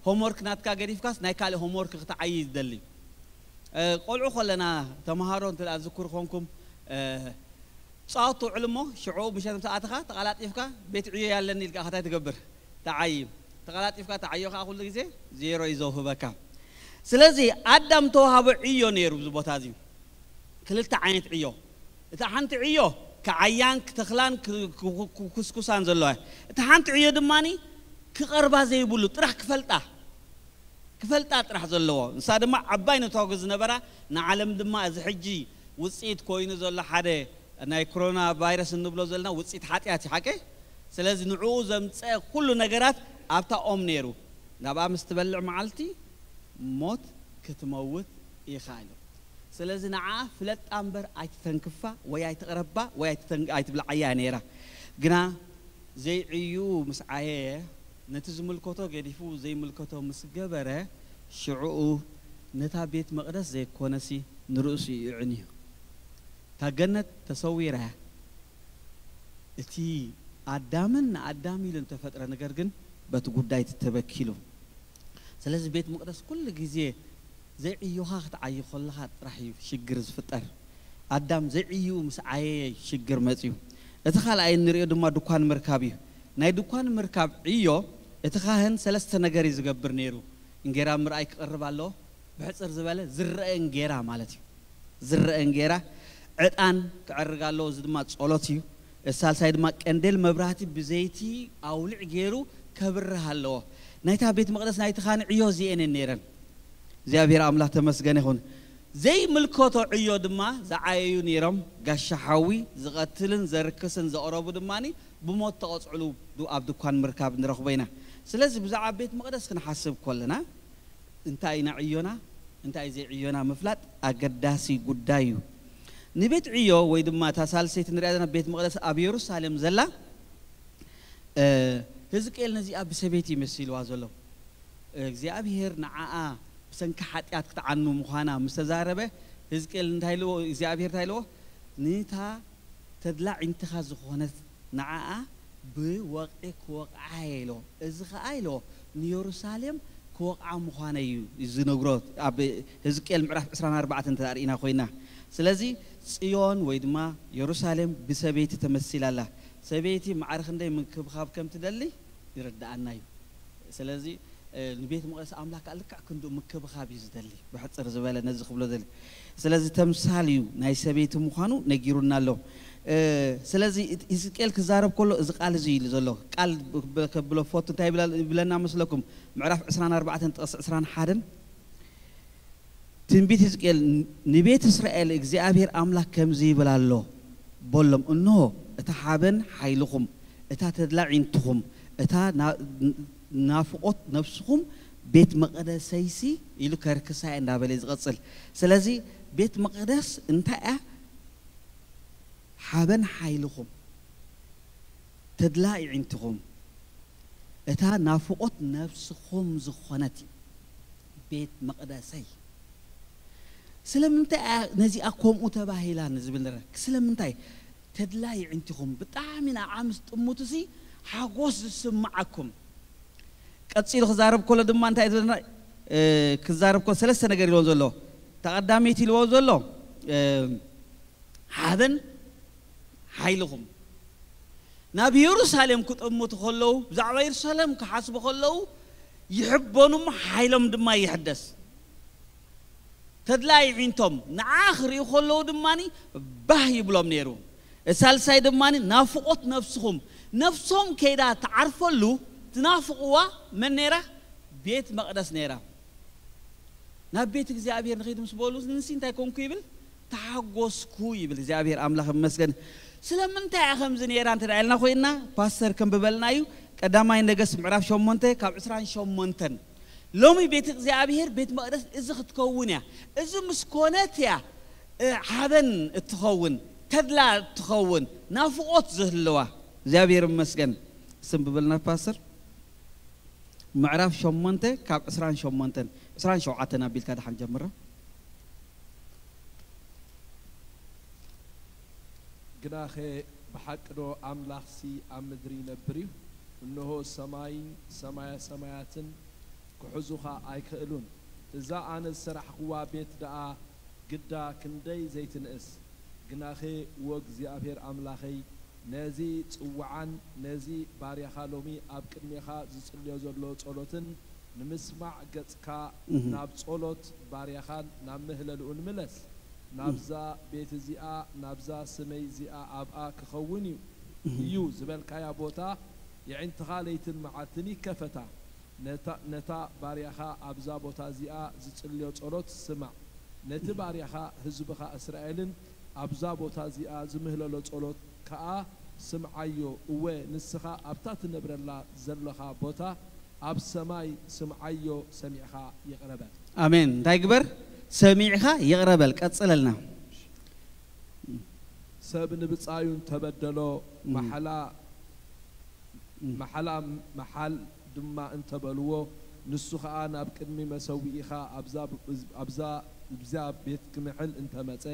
ሆምወርክ ናትካ ገዲፍካስ ናይ ካልእ ሆምወርክ ክትዓይ እዩ ዝደሊ። ቆልዑ ከለና ተምሃሮ እንተ ዝክሩ ኮንኩም፣ ፃወት ትውዕል እሞ ሽዑ ምሸት ምስ ኣተኻ ተቐላጢፍካ ቤት ዕዮ ያለኒ ኢልካ ከታይ ትገብር? ተዓይ። ተቐላጢፍካ ተዓዮ ከዓ ኩሉ ግዜ ዜሮ እዩ ዘውህበካ። ስለዚ ኣዳም ተዋሃቦ ዕዮ ነይሩ ኣብዚ ቦታ እዚ። ክልተ ዓይነት ዕዮ። እታ ሓንቲ ዕዮ ክዓያን ክተኽላን ክኩስኩሳን ዘለዋ። እታ ሓንቲ ዕዮ ድማ ክቐርባ ዘይብሉ ጥራሕ ክፈልጣ ክፈልጣ ጥራሕ ዘለዎ። ንሳ ድማ ዓባይ ነታጉ ዝነበራ ንዓለም ድማ እዚ ሕጂ ውፅኢት ኮይኑ ዘሎ ሓደ ናይ ኮሮና ቫይረስ እንብሎ ዘለና ውፅኢት ሓጢኣት እዩ ሓቀ። ስለዚ ንዕኡ ዘምፀ ኩሉ ነገራት ኣብታ ኦም ነይሩ። ናብኣ ምስ ትበልዕ መዓልቲ ሞት ክትመውት ኢኻ ኢሉ። ስለዚ ንዓ ፍለጣ እምበር ኣይትተንክፋ ወይ ኣይትቕረባ ወይ ኣይትብልዓያ ነይራ። ግና ዘይዕዩ ምስ ዓየየ ነቲ ዝምልከቶ ገዲፉ ዘይምልከቶ ምስ ገበረ ሽዕኡ ነታ ቤት መቕደስ ዘይኮነሲ ንርእሱ ይዕንዩ። እታ ገነት ተሰዊራ እያ። እቲ ኣዳምን ንኣዳም ኢሉ ዝተፈጥረ ነገር ግን በቲ ጉዳይ ተበኪሉ። ስለዚ ቤት መቕደስ ኩሉ ግዜ ዘይዕዮኻ ክትዓይ ከለኻ ጥራሕ እዩ ሽግር ዝፍጠር። ኣዳም ዘይዕዩ ምስ ዓየየ ሽግር መፅዩ። እቲ ካልኣይ እንሪኦ ድማ ድኳን ምርካብ እዩ። ናይ ድኳን ምርካብ ዕዮ እቲ ካህን ሰለስተ ነገር እዩ ዝገብር ነይሩ። እንጌራ ምርኣይ ክቐርብ ኣለዎ። ብሕፅር ዝበለ ዝረአ እንጌራ ማለት እዩ። ዝረአ እንጌራ ዕጣን ክዕርግ ኣለዎ። እዚ ድማ ጸሎት እዩ። እቲ ሳልሳይ ድማ ቀንዴል መብራህቲ ብዘይቲ ኣውልዕ ገይሩ ከብርህ ኣለዎ። ናይታ ቤት መቕደስ ናይቲ ካህን ዕዮ እዚኤን እየን ነይረን። እግዚኣብሔር ኣምላኽ ተመስገነ ይኹን። ዘይምልከቶ ዕዮ ድማ ዝዓየዩ ነይሮም። ጋሻ ሓዊ ዝቐትልን ዘርክስን ዘቕረቡ ድማ ብሞት ተቐጽዕሉ ኣብ ድኳን ምርካብ ንረኽቦ ኢና። ስለዚ ብዛዕባ ቤት መቕደስ ክንሓስብ ከለና እንታይ ኢና ዕዮና እንታይ ዘይዕዮና ምፍላጥ ኣገዳሲ ጉዳይ እዩ። ንቤት ዕዮ ወይ ድማ እታ ሳልሰይቲ ንሪኣ ዘለና ቤት መቕደስ ኣብ የሩሳሌም ዘላ። ህዝቅኤል ነዚኣ ብሰበይቲ ይመሲልዋ ዘሎ። እግዚኣብሔር ንዓኣ ብሰንኪ ሓጢኣት ክትዓኑ ምዃና ምስ ተዛረበ ህዝቅኤል እንታይ ኢልዎ እግዚኣብሔር እንታይ ኢልዎ? ንታ ተድላ ዒንትኻ ዝኾነት ንዓኣ ብወቕዒ ክወቕዓ ኢልዎ። እዚ ኸዓ ኢልዎ ንየሩሳሌም ክወቕዓ ምዃነ እዩ ዝነግሮ። ኣብ ህዝቅኤል ምዕራፍ ዕስራን ኣርባዕተን እንተ ርኢና ኮይና። ስለዚ ጽዮን ወይ ድማ የሩሳሌም ብሰበይቲ ተመሲላ ኣላ። ሰበይቲ ማዕረ ክንደይ ምንክብኻብ ከም ትደሊ ይርድኣና እዩ። ስለዚ ንቤት መቕደስ ኣምላክ ከዓ ልክዕ ክንዱ ምክብኻብ እዩ ዝደሊ። ብሕፅር ዝበለ ነዚ ክብሎ ዘለ ስለዚ ተምሳል እዩ ናይ ሰበይቲ ምዃኑ ነጊሩና ኣሎ። ስለዚ ህዝቅኤል ክዛረብ ከሎ እዚ ቃል እዚ ኢሉ ዘሎ ቃል ከብሎ ፈቱ እንታይ ይብለና መስለኩም? ምዕራፍ ዕስራን ኣርባዕተን ጥቕሲ ዕስራን ሓደን ትንቢት ህዝቅኤል ንቤት እስራኤል እግዚኣብሔር ኣምላክ ከምዚ ይብል ኣሎ በሎም፣ እንሆ እታ ሓበን ሓይልኹም፣ እታ ተድላ ዒንትኹም፣ እታ ናፍቖት ነፍስኹም ቤት መቕደሰይሲ ኢሉ ከርክሳ እየ እንዳበለ እዩ ዝቐጽል። ስለዚ ቤት መቕደስ እንታይ እያ? ሓበን ሓይልኹም፣ ተድላ ይዒንትኹም፣ እታ ናፍቖት ነፍስኹም ዝኾነት እዩ ቤት መቕደሰይ። ስለምንታይ እያ ነዚኣ ከምኡ ተባሂላ ንዝብል ንረ ስለምንታይ ተድላ ይዕንቲኹም ብጣዕሚ ንዓ ምስ ጥሙትሲ ሓጎስ ዝስምዓኩም። ቀጺሉ ክዛረብ ከሎ ድማ እንታይ ዝብለና? ክዛረብ ከሎ ሰለስተ ነገር ኢልዎ ዘሎ፣ ተቐዳመይቲ ኢልዎ ዘሎ ሓበን ሓይልኹም። ናብ የሩሳሌም ክጥምቱ ከለዉ ብዛዕባ የሩሳሌም ክሓስቡ ከለዉ ይሕበኑም ሓይሎም ድማ ይሕደስ። ተድላ ይዒንቶም ንዓ ክርእዩ ከለዉ ድማ ባህ ይብሎም ነይሩ። ሳልሳይ ድማ ናፍቆት ነፍስኹም፣ ነፍሶም ከይዳ ትዓርፈሉ ትናፍቕዋ መን ነይራ? ቤት መቕደስ ነይራ። ናብ ቤት እግዚኣብሔር ንኸይድ ምስ በሉ፣ ንሲ እንታይ ኮንኩ ይብል? ተሓጎስኩ ይብል። እግዚኣብሔር ኣምላኽ ይመስገን። ስለምንታይ እያ ከምዚ ነይራ እንተ ደኣ ኢልና ኮይንና፣ ፓስተር ከንብበልና እዩ። ቀዳማይ ነገስት ምዕራፍ ሸሞንተ ካብ ዕስራን ሸሞንተን። ሎሚ ቤት እግዚኣብሔር ቤት መቕደስ እዚ ክትከውን እያ። እዚ ምስ ኮነት እያ፣ እ፣ ሓበን እትኸውን፣ ተድላ እትኸውን፣ ናፍቆት ዝህልዋ። እግዚኣብሔር ይመስገን። ስንብበልና ፓስተር። ምዕራፍ ሸሞንተ ካብ ዕስራን ሸሞንተን፣ ዕስራን ሸውዓተን ኣቢልካ ደሓን ጀምራ። ግናኸ ብሓቂ ዶ ኣምላኽሲ ኣብ ምድሪ ይነብር እዩ? እንሆ ሰማይን ሰማየ ሰማያትን ክሕዙኻ ኣይክእሉን። እዛ ኣነ ዝሰራሕኽዋ ቤት ደኣ ግዳ ክንደይ ዘይትንእስ! ግናኸ ወእግዚኣብሔር ኣምላኸይ፣ ነዚ ጽውዓን ነዚ ባርያኻ ሎሚ ኣብ ቅድሜኻ ዝጽልዮ ዘሎ ጸሎትን ንምስማዕ ገጽካ ናብ ጸሎት ባርያኻን ናብ ምህለልኡን ምለስ። ናብዛ ቤት እዚኣ ናብዛ ስመይ እዚኣ ኣብኣ ክኸውን እዩ እዩ ዝበልካያ ቦታ የዒንትኻ ለይትን መዓልትን ይከፈታ። ነታ ነታ ባርያኻ ኣብዛ ቦታ እዚኣ ዝጽልዮ ጸሎት ስማዕ። ነቲ ባርያኻ ህዝብኻ እስራኤልን ኣብዛ ቦታ እዚኣ ዝምህለሎ ጸሎት ከኣ ስምዓዮ። እወ፣ ንስኻ ኣብታ ትነብረላ ዘለኻ ቦታ ኣብ ሰማይ ስምዓዮ፣ ሰሚዕኻ ይቕረ በል። ኣሜን። እንታይ ግበር? ሰሚዕኻ ይቕረ በል። ቀጽለልና። ሰብ ንብጻዩ እንተበደሎ፣ ማሕላ ማሕላ ምሓል ድማ እንተ በልዎ፣ ንሱ ኸኣ ናብ ቅድሚ መሰውኢኻ ኣብዛ ኣብዛ ኣብዛ ቤት ክምሕል እንተ መጸ፣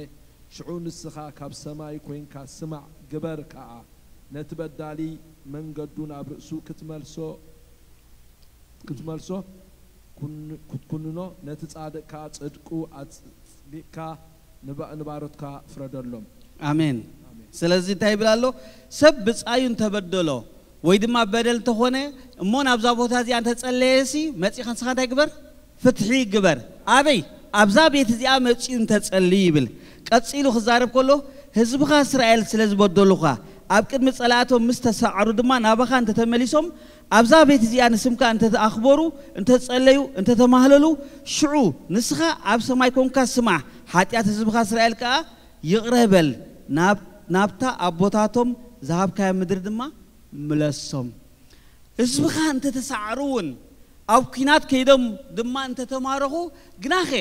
ሽዑ ንስኻ ካብ ሰማይ ኰይንካ ስማዕ፣ ግበር ከኣ። ነቲ በዳሊ መንገዱ ናብ ርእሱ ክትመልሶ ክትመልሶ ክትኩንኖ፣ ነቲ ጻድቕ ከኣ ጽድቁ ኣጽዲቕካ ንባሮትካ ፍረደሎም። ኣሜን። ስለዚ እንታይ ይብል ኣሎ? ሰብ ብጻዩ እንተበደሎ ወይ ድማ በደል እንተኾነ እሞ ናብዛ ቦታ እዚኣ እንተጸለየሲ መጺኻ ንስኻ እንታይ ግበር? ፍትሒ ግበር። ኣበይ? ኣብዛ ቤት እዚኣ መጺኡ እንተጸልዩ ይብል። ቀጺሉ ክዛረብ ከሎ ህዝብኻ እስራኤል ስለ ዝበደሉኻ ኣብ ቅድሚ ጸላእቶም ምስ ተሳዕሩ ድማ ናባኻ እንተተመሊሶም ኣብዛ ቤት እዚኣ ንስምካ እንተተኣኽበሩ፣ እንተጸለዩ፣ እንተተማህለሉ፣ ሽዑ ንስኻ ኣብ ሰማይ ኮንካ ስማዕ፣ ሓጢኣት ህዝብኻ እስራኤል ከኣ ይቕረ በል፣ ናብ ናብታ ኣቦታቶም ዝሃብካያ ምድሪ ድማ ምለሶም። ህዝብኻ እንተተሳዕሩ እውን ኣብ ኲናት ከይዶም ድማ እንተተማረኹ፣ ግናኸ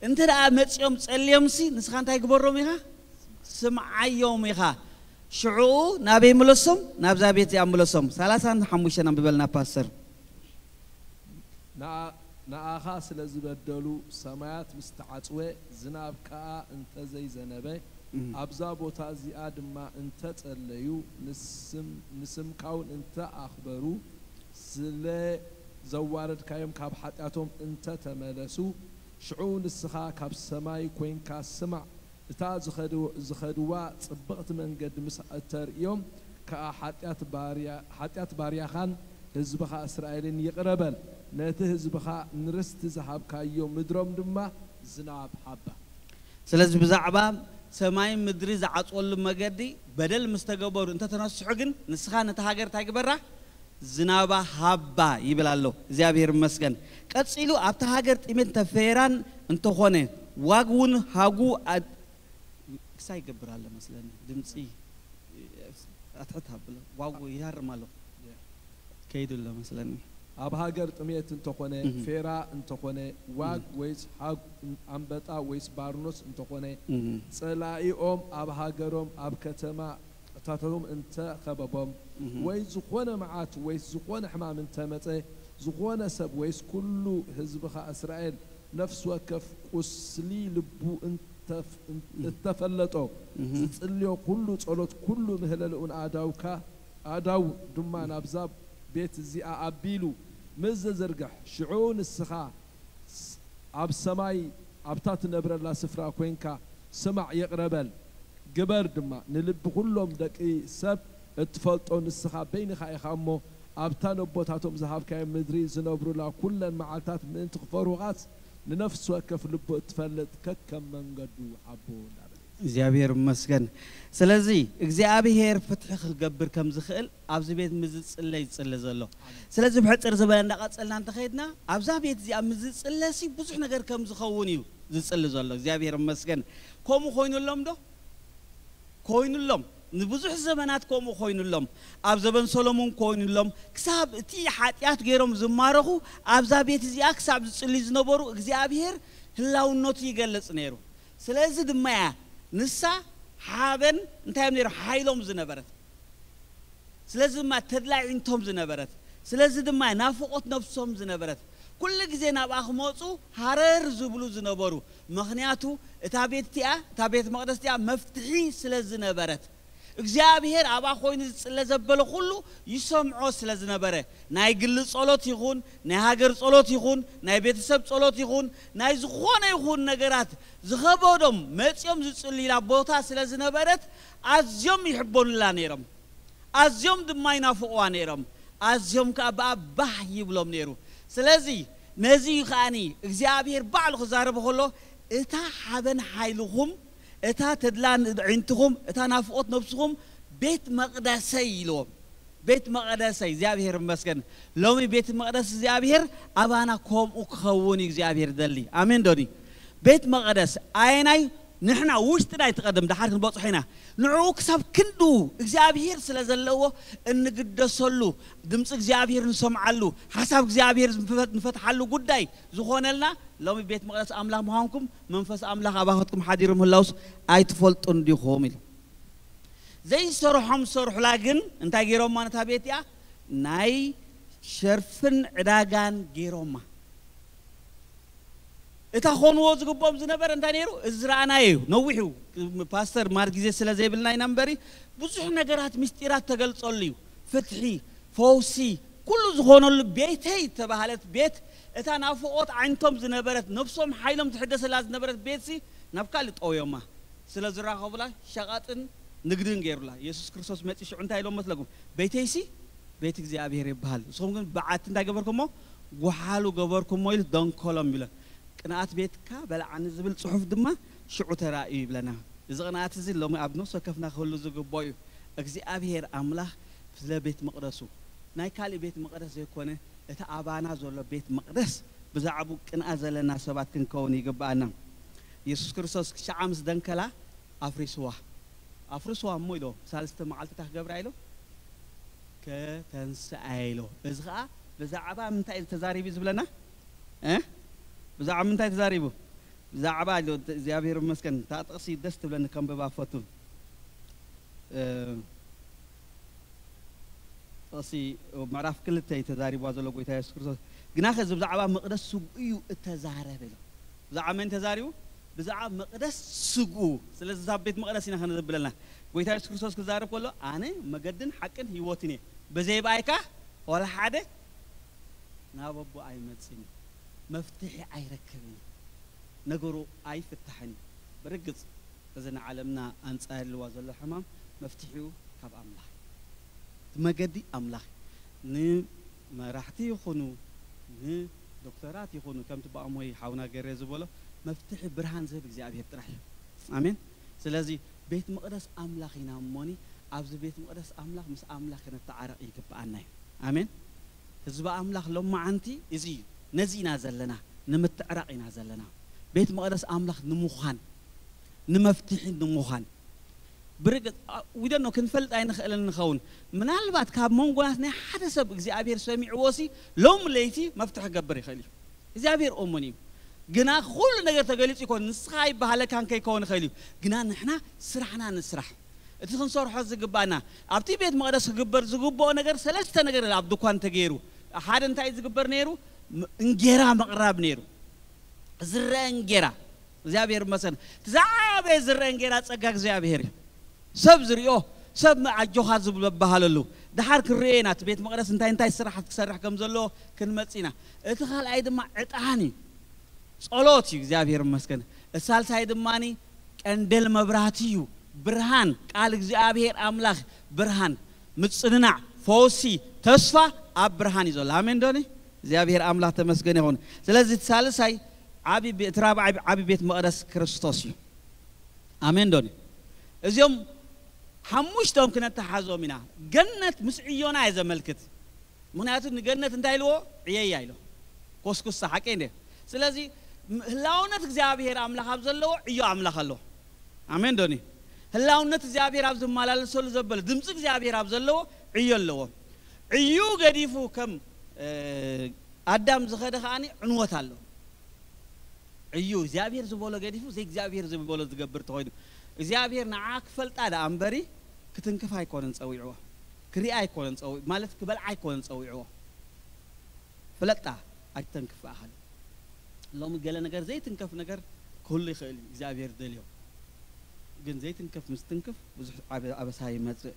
እንተ ደኣ መጺኦም ጸልዮምሲ ንስኻ እንታይ ግበሮም ኢኻ? ስምዓዮም ኢኻ። ሽዑ ናበይ ምለሶም? ናብዛ ቤት እዚኣ ምለሶም። ሰላሳን ሓሙሽተን ኣንብበልና ፓስተር። ንኣኻ ስለ ዝበደሉ ሰማያት ምስ ተዓጽወ፣ ዝናብ ከኣ እንተ ዘይዘነበ፣ ኣብዛ ቦታ እዚኣ ድማ እንተ ጸለዩ፣ ንስምካ እውን እንተ ኣኽበሩ፣ ስለ ዘዋረድካዮም ካብ ሓጢኣቶም እንተ ተመለሱ፣ ሽዑ ንስኻ ካብ ሰማይ ኰይንካ ስማዕ፣ እታ ዝኸድዋ ጽብቕቲ መንገዲ ምስ እተርእዮም ከኣ፣ ሓጢኣት ባርያኻን ህዝብኻ እስራኤልን ይቕረ በል፣ ነቲ ህዝብኻ ንርስቲ ዝሃብካዮ ምድሮም ድማ ዝናብ ሃባ። ስለዚ ብዛዕባ ሰማይን ምድሪ ዝዓጽወሉ መገዲ በደል ምስ ተገበሩ እንተ ተነስሑ ግን፣ ንስኻ ነታ ሃገር እንታይ ግበራ? ዝናባ ሃባ ይብል ኣሎ። እግዚኣብሔር ይመስገን። ቀጺሉ ኣብታ ሃገር ጥሜት እንተ ፌራን እንተኾነ ዋግ እውን ሃጉ ክሳይ ይገብር ኣሎ መስለኒ። ድምፂ ኣትሕት ኣብሎ ዋጉ ይሃርም ኣሎ። ከይዱ ኣሎ መስለኒ። ኣብ ሃገር ጥሜት እንተኾነ፣ ፌራ እንተኾነ፣ ዋግ ወይስ ሃጉ፣ ኣንበጣ ወይስ ባርኖስ እንተኾነ፣ ጸላኢኦም ኣብ ሃገሮም ኣብ ከተማ ታቶም እንተ ኸበቦም፣ ወይ ዝኾነ መዓት ወይስ ዝኾነ ሕማም እንተ መጸ፣ ዝኾነ ሰብ ወይስ ኩሉ ህዝብኻ እስራኤል ነፍሲ ወከፍ ቁስሊ ልቡ እንተ እተፈለጦ፣ ዝጽልዮ ኩሉ ጸሎት፣ ኩሉ ምህለልኡን ኣእዳውካ ኣእዳው ድማ ናብዛ ቤት እዚኣ ኣቢሉ ምስ ዘዝርግሕ፣ ሽዑ ንስኻ ኣብ ሰማይ ኣብታ ትነብረላ ስፍራ ኰይንካ ስማዕ፣ ይቕረ በል፣ ግበር ድማ። ንልቢ ኵሎም ደቂ ሰብ እትፈልጦ ንስኻ በይንኻ ኢኻ እሞ፣ ኣብታ ነቦታቶም ዝሃብካዮም ምድሪ ዝነብሩላ ኵለን መዓልታት ምእንቲ ኽፈርሁኻስ፣ ንነፍሲ ወከፍ ልቡ እትፈልጥ ከከም መንገዱ ሃቦ እንዳበለ እዩ። እግዚኣብሔር ይመስገን። ስለዚ እግዚኣብሔር ፍትሒ ክገብር ከም ዝኽእል ኣብዚ ቤት ምዝጽለ ይጽለ ዘሎ። ስለዚ ብሕጽር ዝበለ እንዳቐጸልና እንተኸይድና ኣብዛ ቤት እዚኣ ምዝጽለሲ ብዙሕ ነገር ከም ዝኸውን እዩ ዝጽሊ ዘሎ። እግዚኣብሔር ይመስገን። ከምኡ ኮይኑሎም ዶ? ኮይኑሎም። ንብዙሕ ዘመናት ከምኡ ኮይኑሎም። ኣብ ዘበን ሰሎሞን ኮይኑሎም። ክሳብ እቲ ሓጢኣት ገይሮም ዝማረኹ ኣብዛ ቤት እዚኣ ክሳብ ዝጽልዩ ዝነበሩ እግዚኣብሔር ህላውነቱ ይገልጽ ነይሩ። ስለዚ ድማ እያ ንሳ ሓበን እንታይ እዮም ነይሩ ሓይሎም ዝነበረት። ስለዚ ድማ ተድላ ዒንቶም ዝነበረት፣ ስለዚ ድማ ናፍቖት ነፍሶም ዝነበረት፣ ኩሉ ግዜ ናብኣ ክመፁ ሃረር ዝብሉ ዝነበሩ። ምኽንያቱ እታ ቤት እቲኣ፣ እታ ቤት መቕደስ እቲኣ መፍትሒ ስለ ዝነበረት፣ እግዚኣብሔር ኣብኣ ኮይኑ ዝፅለ ዘበለ ኩሉ ይሰምዖ ስለ ዝነበረ፣ ናይ ግሊ ጸሎት ይኹን፣ ናይ ሃገር ጸሎት ይኹን፣ ናይ ቤተሰብ ጸሎት ይኹን፣ ናይ ዝኾነ ይኹን ነገራት ዝኸበዶም መጺኦም ዝጽልዩላ ቦታ ስለ ዝነበረት፣ ኣዝዮም ይሕበኑላ ነይሮም። ኣዝዮም ድማ ይናፍቕዋ ነይሮም። ኣዝዮም ከኣ ብኣ ባህ ይብሎም ነይሩ። ስለዚ ነዚ እዩ ከኣኒ እግዚኣብሔር ባዕሉ ክዛረብ ከሎ፣ እታ ሓበን ሓይልኹም፣ እታ ተድላ ኣዒንትኹም፣ እታ ናፍቖት ነብስኹም ቤት መቕደሰይ ኢልዎም። ቤት መቐደሰይ እግዚኣብሔር ይመስገን። ሎሚ ቤት መቕደስ እግዚኣብሔር ኣባና ከምኡ ክኸውን እዩ እግዚኣብሔር ደሊ። ኣሜን ዶኒ? ቤት መቐደስ ኣየናይ ንሕና ውሽጥና ኣይትቐድም፣ ደሓር ክንበጽሖ ኢና። ንዕኡ ክሳብ ክንድኡ እግዚኣብሔር ስለ ዘለዎ እንግደሰሉ፣ ድምፂ እግዚኣብሔር ንሰምዓሉ፣ ሓሳብ እግዚኣብሔር ንፈት-፣ ንፈትሓሉ ጉዳይ ዝኾነልና ሎሚ ቤት መቕደስ ኣምላኽ ምዃንኩም መንፈስ ኣምላኽ ኣባኸትኩም ሓዲሩ ምህላውስ ኣይትፈልጡን ዲኹም ኢሉ። ዘይሰርሖም ዝሰርሑላ ግን እንታይ ገይሮማ ነታ ቤት እያ? ናይ ሸርፍን ዕዳጋን ገይሮማ። እታ ኾንዎ ዝግብኦም ዝነበረ እንታይ ነይሩ? እዚ ዝረኣናዮ እዩ። ነዊሕ እዩ። ፓስተር ማር ግዜ ስለ ዘይብልና ኢና እምበሪ ብዙሕ ነገራት ምስጢራት ተገልጸሉ እዩ። ፍትሒ፣ ፈውሲ፣ ኩሉ ዝኾነሉ ቤተይ ተባህለት ቤት እታ ናፍቖት ዓይንቶም ዝነበረት ነብሶም ሓይሎም ትሕደሰላ ዝነበረት ቤትሲ ናብ ካልእ ጠውዮማ። ስለ ዝራኸቡላ ሸቐጥን ንግድን ገይሩላ። የሱስ ክርስቶስ መጺ ሽዑ እንታይ ኢሎም መስለኩም? ቤተይሲ ቤት እግዚኣብሔር ይበሃል። ንስኹም ግን በዓቲ እንታይ ገበርኩሞ? ጓሓሉ ገበርኩሞ ኢሉ ደንኮሎም ይብለን። ቅንኣት ቤትካ በልዓኒ ዝብል ጽሑፍ ድማ ሽዑ ተራእዩ ይብለና። እዚ ቅንኣት እዚ ሎሚ ኣብ ነፍሲ ወከፍና ክህሉ ዝግብኦ እዩ። እግዚኣብሔር ኣምላኽ ስለ ቤት መቕደሱ፣ ናይ ካልእ ቤት መቕደስ ዘይኮነ፣ እቲ ኣባና ዘሎ ቤት መቕደስ ብዛዕባኡ ቅንኣት ዘለና ሰባት ክንከውን ይግብኣና። የሱስ ክርስቶስ ክሻዓ ምስ ደንከላ ኣፍሪስዋ። ኣፍርስዋ እሞ ኢሎ፣ ሳልስተ መዓልቲ እንታይ ክገብራ ኢሎ? ከተንስኣ ኢሎ። እዚ ኸኣ ብዛዕባ ምንታይ እዩ ተዛሪቡ ዝብለና? እ? ብዛዕባ ምንታይ ተዛሪቡ? ብዛዕባ ኢሎ፣ እግዚኣብሔር ይመስገን። እታ ጥቕሲ ደስ ትብለኒ፣ ከንብባ ፈቱ። እ፣ ጥቕሲ ምዕራፍ ክልተ እዩ ተዛሪብዋ ዘሎ ጎይታ የሱስ ክርስቶስ። ግናኸ እዚ ብዛዕባ መቕደስ ስግኡ እዩ እተዛረበ ኢሎ። ብዛዕባ መን ተዛሪቡ? ብዛዕባ መቕደስ ስግኡ። ስለዚ እዛ ቤት መቕደስ ኢና ከነዘብለና። ጎይታ የሱስ ክርስቶስ ክዛረብ ከሎ፣ "ኣነ መገድን ሓቅን ህይወትን እየ። ብዘይ ብኣይካ ዋላ ሓደ ናብ ኣቦ ኣይመጽእን እዩ። መፍትሒ ኣይረክብን እዩ። ነገሩ ኣይፍታሕን እዩ." ብርግጽ እዚ ንዓለምና ኣንጻር ልዋ ዘሎ ሕማም መፍትሒኡ ካብ ኣምላኽ እዩ። እቲ መገዲ ኣምላኽ እዩ። ንመራሕቲ ይኹኑ፣ ንዶክተራት ይኹኑ፣ ከምቲ ብኣሞይ ሓውና ገሬ ዝበሎ፣ መፍትሒ ብርሃን ዝህብ እግዚኣብሔር ጥራሕ እዩ። ኣሜን። ስለዚ ቤት መቕደስ ኣምላኽ ኢና እሞኒ፣ ኣብዚ ቤት መቕደስ ኣምላኽ ምስ ኣምላኽ ክንተዓረቕ ይግብኣና እዩ። ኣሜን። ህዝቢ ኣምላኽ ሎማዓንቲ እዚ እዩ። ነዚ ኢና ዘለና፣ ንምትዕራቕ ኢና ዘለና። ቤት መቕደስ ኣምላኽ ንምዃን፣ ንመፍትሒ ንምዃን። ብርግጽ፣ አ፣ we don't know፣ ክንፈልጥ ኣይንኽእልን ንኸውን። ምናልባት ካብ መንጎናት ናይ ሓደ ሰብ እግዚኣብሔር ሰሚዕዎ ሲ ሎም ለይቲ መፍትሒ ክገብር ይኽእል እዩ። እግዚኣብሔር እሙን እዩ። ግና ኩሉ ነገር ተገሊጹ ይኮን፣ ንስኻ ኣይበሃለካን ከይከውን ይኽእል እዩ። ግና ንሕና ስራሕና ንስራሕ። እቲ ክንሰርሖ ዝግባና፣ ኣብቲ ቤት መቕደስ ክግበር ዝግብኦ ነገር ሰለስተ ነገር ኣብ ድኳን ተገይሩ። ሓደ እንታይ ዝግበር ነይሩ? ም-፣ እንጌራ ምቕራብ ነይሩ። ዝረአ እንጌራ። እግዚኣብሔር ይመስገን። እቲ ዝዓበየ ዝረአ እንጌራ ጸጋ እግዚኣብሔር እዩ። ሰብ ዝሪኦ፣ ሰብ ኣጆኻ ዝብሎ ዝበሃለሉ። ደሓር ክንሪኦ ኢና፣ እቲ ቤት መቕደስ እንታይ እንታይ ስራሓት ክሰርሕ ከም ዘለዎ ክንመጽእ ኢና። እቲ ካልኣይ ድማ ዕጣን እዩ። ጸሎት እዩ፣ እግዚኣብሔር ይመስገን። እቲ ሳልሳይ ድማኒ ቀንደል መብራህቲ እዩ። ብርሃን፣ ቃል እግዚኣብሔር ኣምላኽ ብርሃን፣ ምጽንናዕ፣ ፈውሲ፣ ተስፋ ኣብ ብርሃን እዩ ዘሎ። ኣሜን ዶኒ? እግዚኣብሔር ኣምላኽ ተመስገን ይኹን። ስለዚ እቲ ሳልሳይ ዓቢ ቤ-፣ እቲ ራብዓይ ዓቢ ቤት መቕደስ ክርስቶስ እዩ። ኣሜን ዶኒ? እዚኦም ሓሙሽቶም ክነተሓዞም ኢና። ገነት ምስ ዕዮና እየ ዘመልክት። ምኽንያቱ ንገነት እንታይ ኢልዎ? ዕየያ ኢሎ። ኮስኩሳ ሓቂ እንደ። ስለዚ ህላውነት እግዚኣብሔር ኣምላኽ ኣብ ዘለዎ ዕዮ ኣምላኽ ኣሎ። ኣሜን ዶኒ? ህላውነት እግዚኣብሔር ኣብ ዝመላለሰሉ ዘበለ ድምፂ እግዚኣብሔር ኣብ ዘለዎ ዕዮ ኣለዎ። ዕዩ ገዲፉ ከም ኣዳም ዝኸደ ከዓኒ ዕንወት ኣሎ። እዩ እግዚኣብሔር ዝበሎ ገዲፉ ዘይ እግዚኣብሔር ዝበሎ ዝገብር ተኾይኑ እግዚኣብሔር ንዓ ክፈልጣ ደኣ እምበሪ ክትንክፍ ኣይኮነን ጸዊዕዎ። ክሪኣ ኣይኮነን ጸዊዕ ማለት ክበልዓ ኣይኮነን ጸዊዕዎ። ፍለጣ ኣይተንክፍ ኣኻል። ሎሚ ገለ ነገር ዘይትንከፍ ነገር ክህሉ ይኽእል እዩ እግዚኣብሔር ደልዮ። ግን ዘይትንከፍ ምስ ትንክፍ ብዙሕ ኣበ- ኣበሳ ይመጽእ።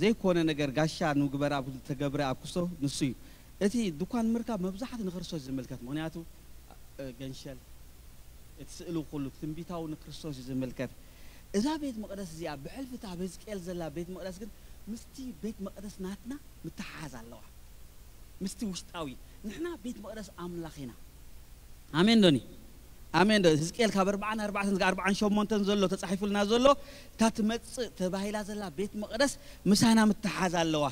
ዘይኮነ ነገር ጋሻ ንግበራ ተገብረ ኣብ ክስቶ ንሱ እዩ። እቲ ድኳን ምርካብ መብዛሕት ንክርስቶስ ዝምልከት ምክንያቱ ገንሸል እቲ ስእሉ ኩሉ ትንቢታዊ ንክርስቶስ እዩ ዝምልከት። እዛ ቤት መቅደስ እዚኣ ብሕልፊ እታ ኣብ ህዝቅኤል ዘላ ቤት መቅደስ ግን ምስቲ ቤት መቅደስ ናትና ምትሓዝ ኣለዋ። ምስቲ ውሽጣዊ ንሕና ቤት መቅደስ ኣምላኽ ኢና። ኣሜን ዶኒ? ኣሜን ዶ? ህዝቅኤል ካብ ኣርባዓን ኣርባዕተን እስከ ኣርባዓን ሸሞንተን ዘሎ ተጻሒፉልና ዘሎ እታ ትመጽእ ተባሂላ ዘላ ቤት መቅደስ ምሳና ምትሓዝ ኣለዋ።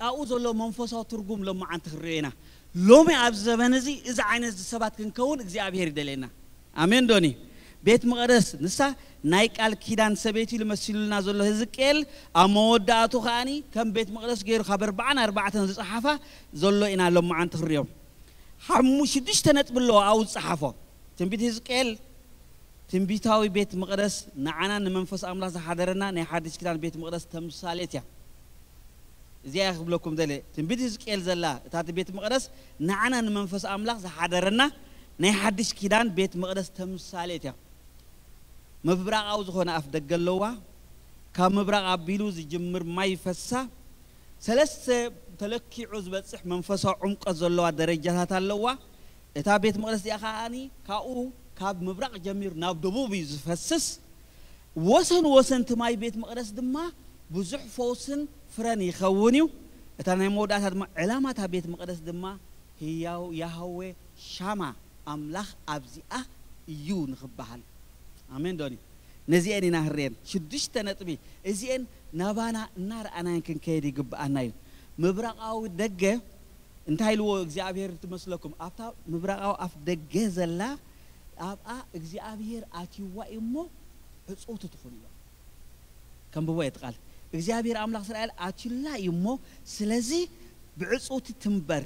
ኣብኡ ዘሎ መንፈሳዊ ትርጉም ሎማዓንቲ ክንሪኦ ኢና። ሎሚ ኣብ ዘበን እዚ እዚ ዓይነት ሰባት ክንከውን እግዚኣብሔር ይደልየና። ኣሜን ዶኒ? ቤት መቅደስ ንሳ ናይ ቃል ኪዳን ሰበይቲ ኢሉ መሲሉልና ዘሎ ህዝቅኤል ኣብ መወዳእቱ ከዓኒ ከም ቤት መቅደስ ገይሩ ካብ ኣርባዓን ኣርባዕተን ዝጸሓፋ ዘሎ ኢና ሎማዓንቲ ክንሪኦ። ሓሙ ሽዱሽተ ነጥቢ ኣለዎ ኣብኡ ዝጸሓፎ። ትንቢት ህዝቅኤል ትንቢታዊ ቤት መቕደስ ንዓና ንመንፈስ ኣምላኽ ዝሓደረና ናይ ሓድሽ ኪዳን ቤት መቕደስ ተምሳሌት እያ። እዚኣ እያ ክብለኩም ደለ ትንቢት ህዝቅኤል ዘላ እታ እቲ ቤት መቕደስ ንዓና ንመንፈስ ኣምላኽ ዝሓደረና ናይ ሓድሽ ኪዳን ቤት መቕደስ ተምሳሌት እያ። ምብራቓዊ ዝኾነ ኣፍ ደገ ኣለዋ። ካብ ምብራቕ ኣቢሉ ዝጅምር ማይ ይፈሳ። ሰለስተ ተለኪዑ ዝበጽሕ መንፈሳዊ ዕምቆት ዘለዋ ደረጃታት ኣለዋ። እታ ቤት መቕደስ እዚኣ ከዓኒ ካብኡ ካብ ምብራቕ ጀሚሩ ናብ ደቡብ እዩ ዝፈስስ። ወሰን ወሰን እቲ ማይ ቤት መቕደስ ድማ ብዙሕ ፈውስን ፍረን ይኸውን እዩ። እታ ናይ መወዳእታ ድማ ዕላማ እታ ቤት መቕደስ ድማ ህያው ያህዌ ሻማ ኣምላኽ ኣብዚኣ እዩ ንኽበሃል። ኣሜን ዶኒ? ነዚኤን ኢና ህርየን ሽዱሽተ ነጥቢ እዚኤን ናባና እናረኣናየን ክንከይድ ይግብኣና እዩ። ምብራቓዊ ደገ እንታይ ኢልዎ እግዚኣብሔር ትመስለኩም? ኣብታ ምብራቓዊ ኣፍ ደገ ዘላ ኣብኣ እግዚኣብሔር ኣትይዋ እዩ እሞ ዕፅውቲ ትኹን ኢልዋ። ከንብቦ እየ እቲ ቃል እግዚኣብሔር ኣምላኽ እስራኤል ኣትዩላ እዩ እሞ ስለዚ ብዕፅውቲ ትንበር።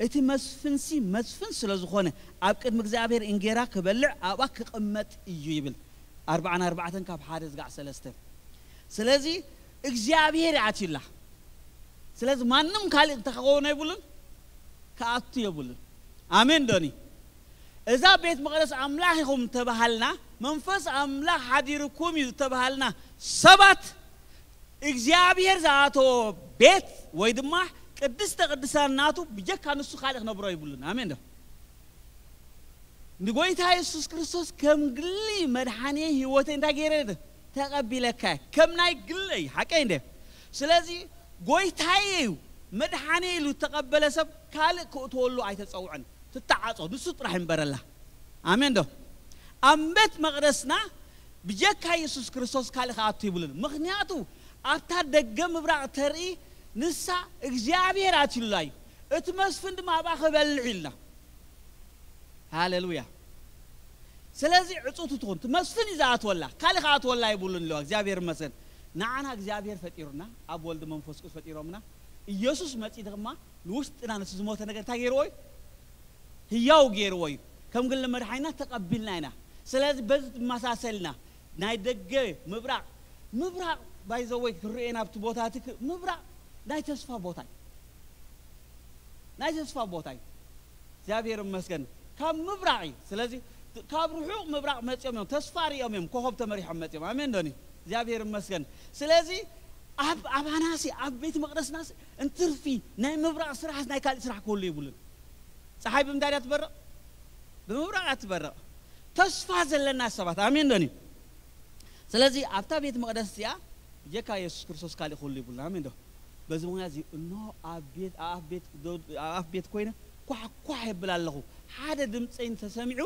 እቲ መስፍንሲ መስፍን ስለ ዝኾነ ኣብ ቅድሚ እግዚኣብሔር እንጌራ ክበልዕ ኣብኣ ክቕመጥ እዩ ይብል። ኣርባዓን ኣርባዕተን ካብ ሓደ ዝጋዕ ሰለስተ። ስለዚ እግዚኣብሔር ኣትዩላ። ስለዚ ማንም ካልእ እንተኸኾነ የብሉን ክኣቱ የብሉን። ኣሜን ዶኒ? እዛ ቤት መቕደስ ኣምላኽ ኢኹም እንተባሃልና መንፈስ ኣምላኽ ሓዲርኩም እዩ ዝተባሃልና ሰባት እግዚኣብሔር ዝኣተዎ ቤት ወይ ድማ ቅድስተ ቅድሳን ናቱ ብጀካ ንሱ ካልእ ክነብሮ ይብሉን። ኣሜን ዶ? ንጎይታ የሱስ ክርስቶስ ከም ግሊ መድሓኒ ህይወተይ እንታይ ገይረ ተቐቢለካ ከም ናይ ግለይ ሓቀይ እንደ ስለዚ ጎይታየ እዩ መድሓኒ ኢሉ ዝተቐበለ ሰብ ካልእ ክእትወሉ ኣይተፀውዐን። ትተዓፆ ንሱ ጥራሕ ይንበረላ። ኣሜን ዶ? ኣብ ቤት መቕደስና ብጀካ የሱስ ክርስቶስ ካልእ ክኣቱ ይብሉን። ምኽንያቱ ኣብታ ደገ ምብራቕ ተርኢ ንሳ እግዚኣብሔር ኣትዩላ እዩ። እቲ መስፍን ድማ ኣብኣ ክበልዕ ኢልና። ሃሌሉያ። ስለዚ ዕፁቲ ትኹን እቲ መስፍን እዩ ዝኣትወላ ካልእ ክኣትወላ ይብሉን ኣለዋ። እግዚኣብሔር ይመስገን። ንዓና እግዚኣብሔር ፈጢሩና ኣብ ወልዲ መንፈስ ቅዱስ ፈጢሮምና። ኢየሱስ መፂ ድማ ንውሽጥና ነቲ ዝሞተ ነገር እንታይ ገይርዎ እዩ? ህያው ገይርዎ እዩ። ከም ግሊ መድሓኒና ተቐቢልና ኢና። ስለዚ በዚ ትመሳሰልና ናይ ደገ ምብራቕ ምብራቕ ባይዘወይ ክርኤና ኣብቲ ቦታ እቲ ክ- ምብራቕ ናይ ተስፋ ቦታ እዩ። ናይ ተስፋ ቦታ እዩ። እግዚኣብሔር ይመስገን ካብ ምብራቕ እዩ። ስለዚ ት- ካብ ርሑቕ ምብራቕ መፂኦም እዮም ተስፋ ሪኦም እዮም ኮኸብ ተመሪሖም መፂኦም ኣሜን ዶኒ? እግዚኣብሔር ይመስገን። ስለዚ ኣብ ኣባናሲ ኣብ ቤት መቕደስናሲ እንትርፊ ናይ ምብራቕ ስራሕስ ናይ ካልእ ስራሕ ክህሉ ይብሉን። ፀሓይ ብምንታይ ድያ ትበርቕ? ብምብራቕ እያ ትበርቕ። ተስፋ ዘለና ሰባት ኣሜን ዶኒ? ስለዚ ኣብታ ቤት መቕደስ እዚኣ ብጀካ የሱስ ክርስቶስ ካሊእ ኩሉ ይብሉና ኣሜን ዶ? በዚ ምክንያት እዚ እኖ ኣብ ቤት ኣብ ቤት ዶ- ኣብ ቤት ኮይነ ኳሕ ኳሕ የብል ኣለኹ። ሓደ ድምፀይ እንተሰሚዑ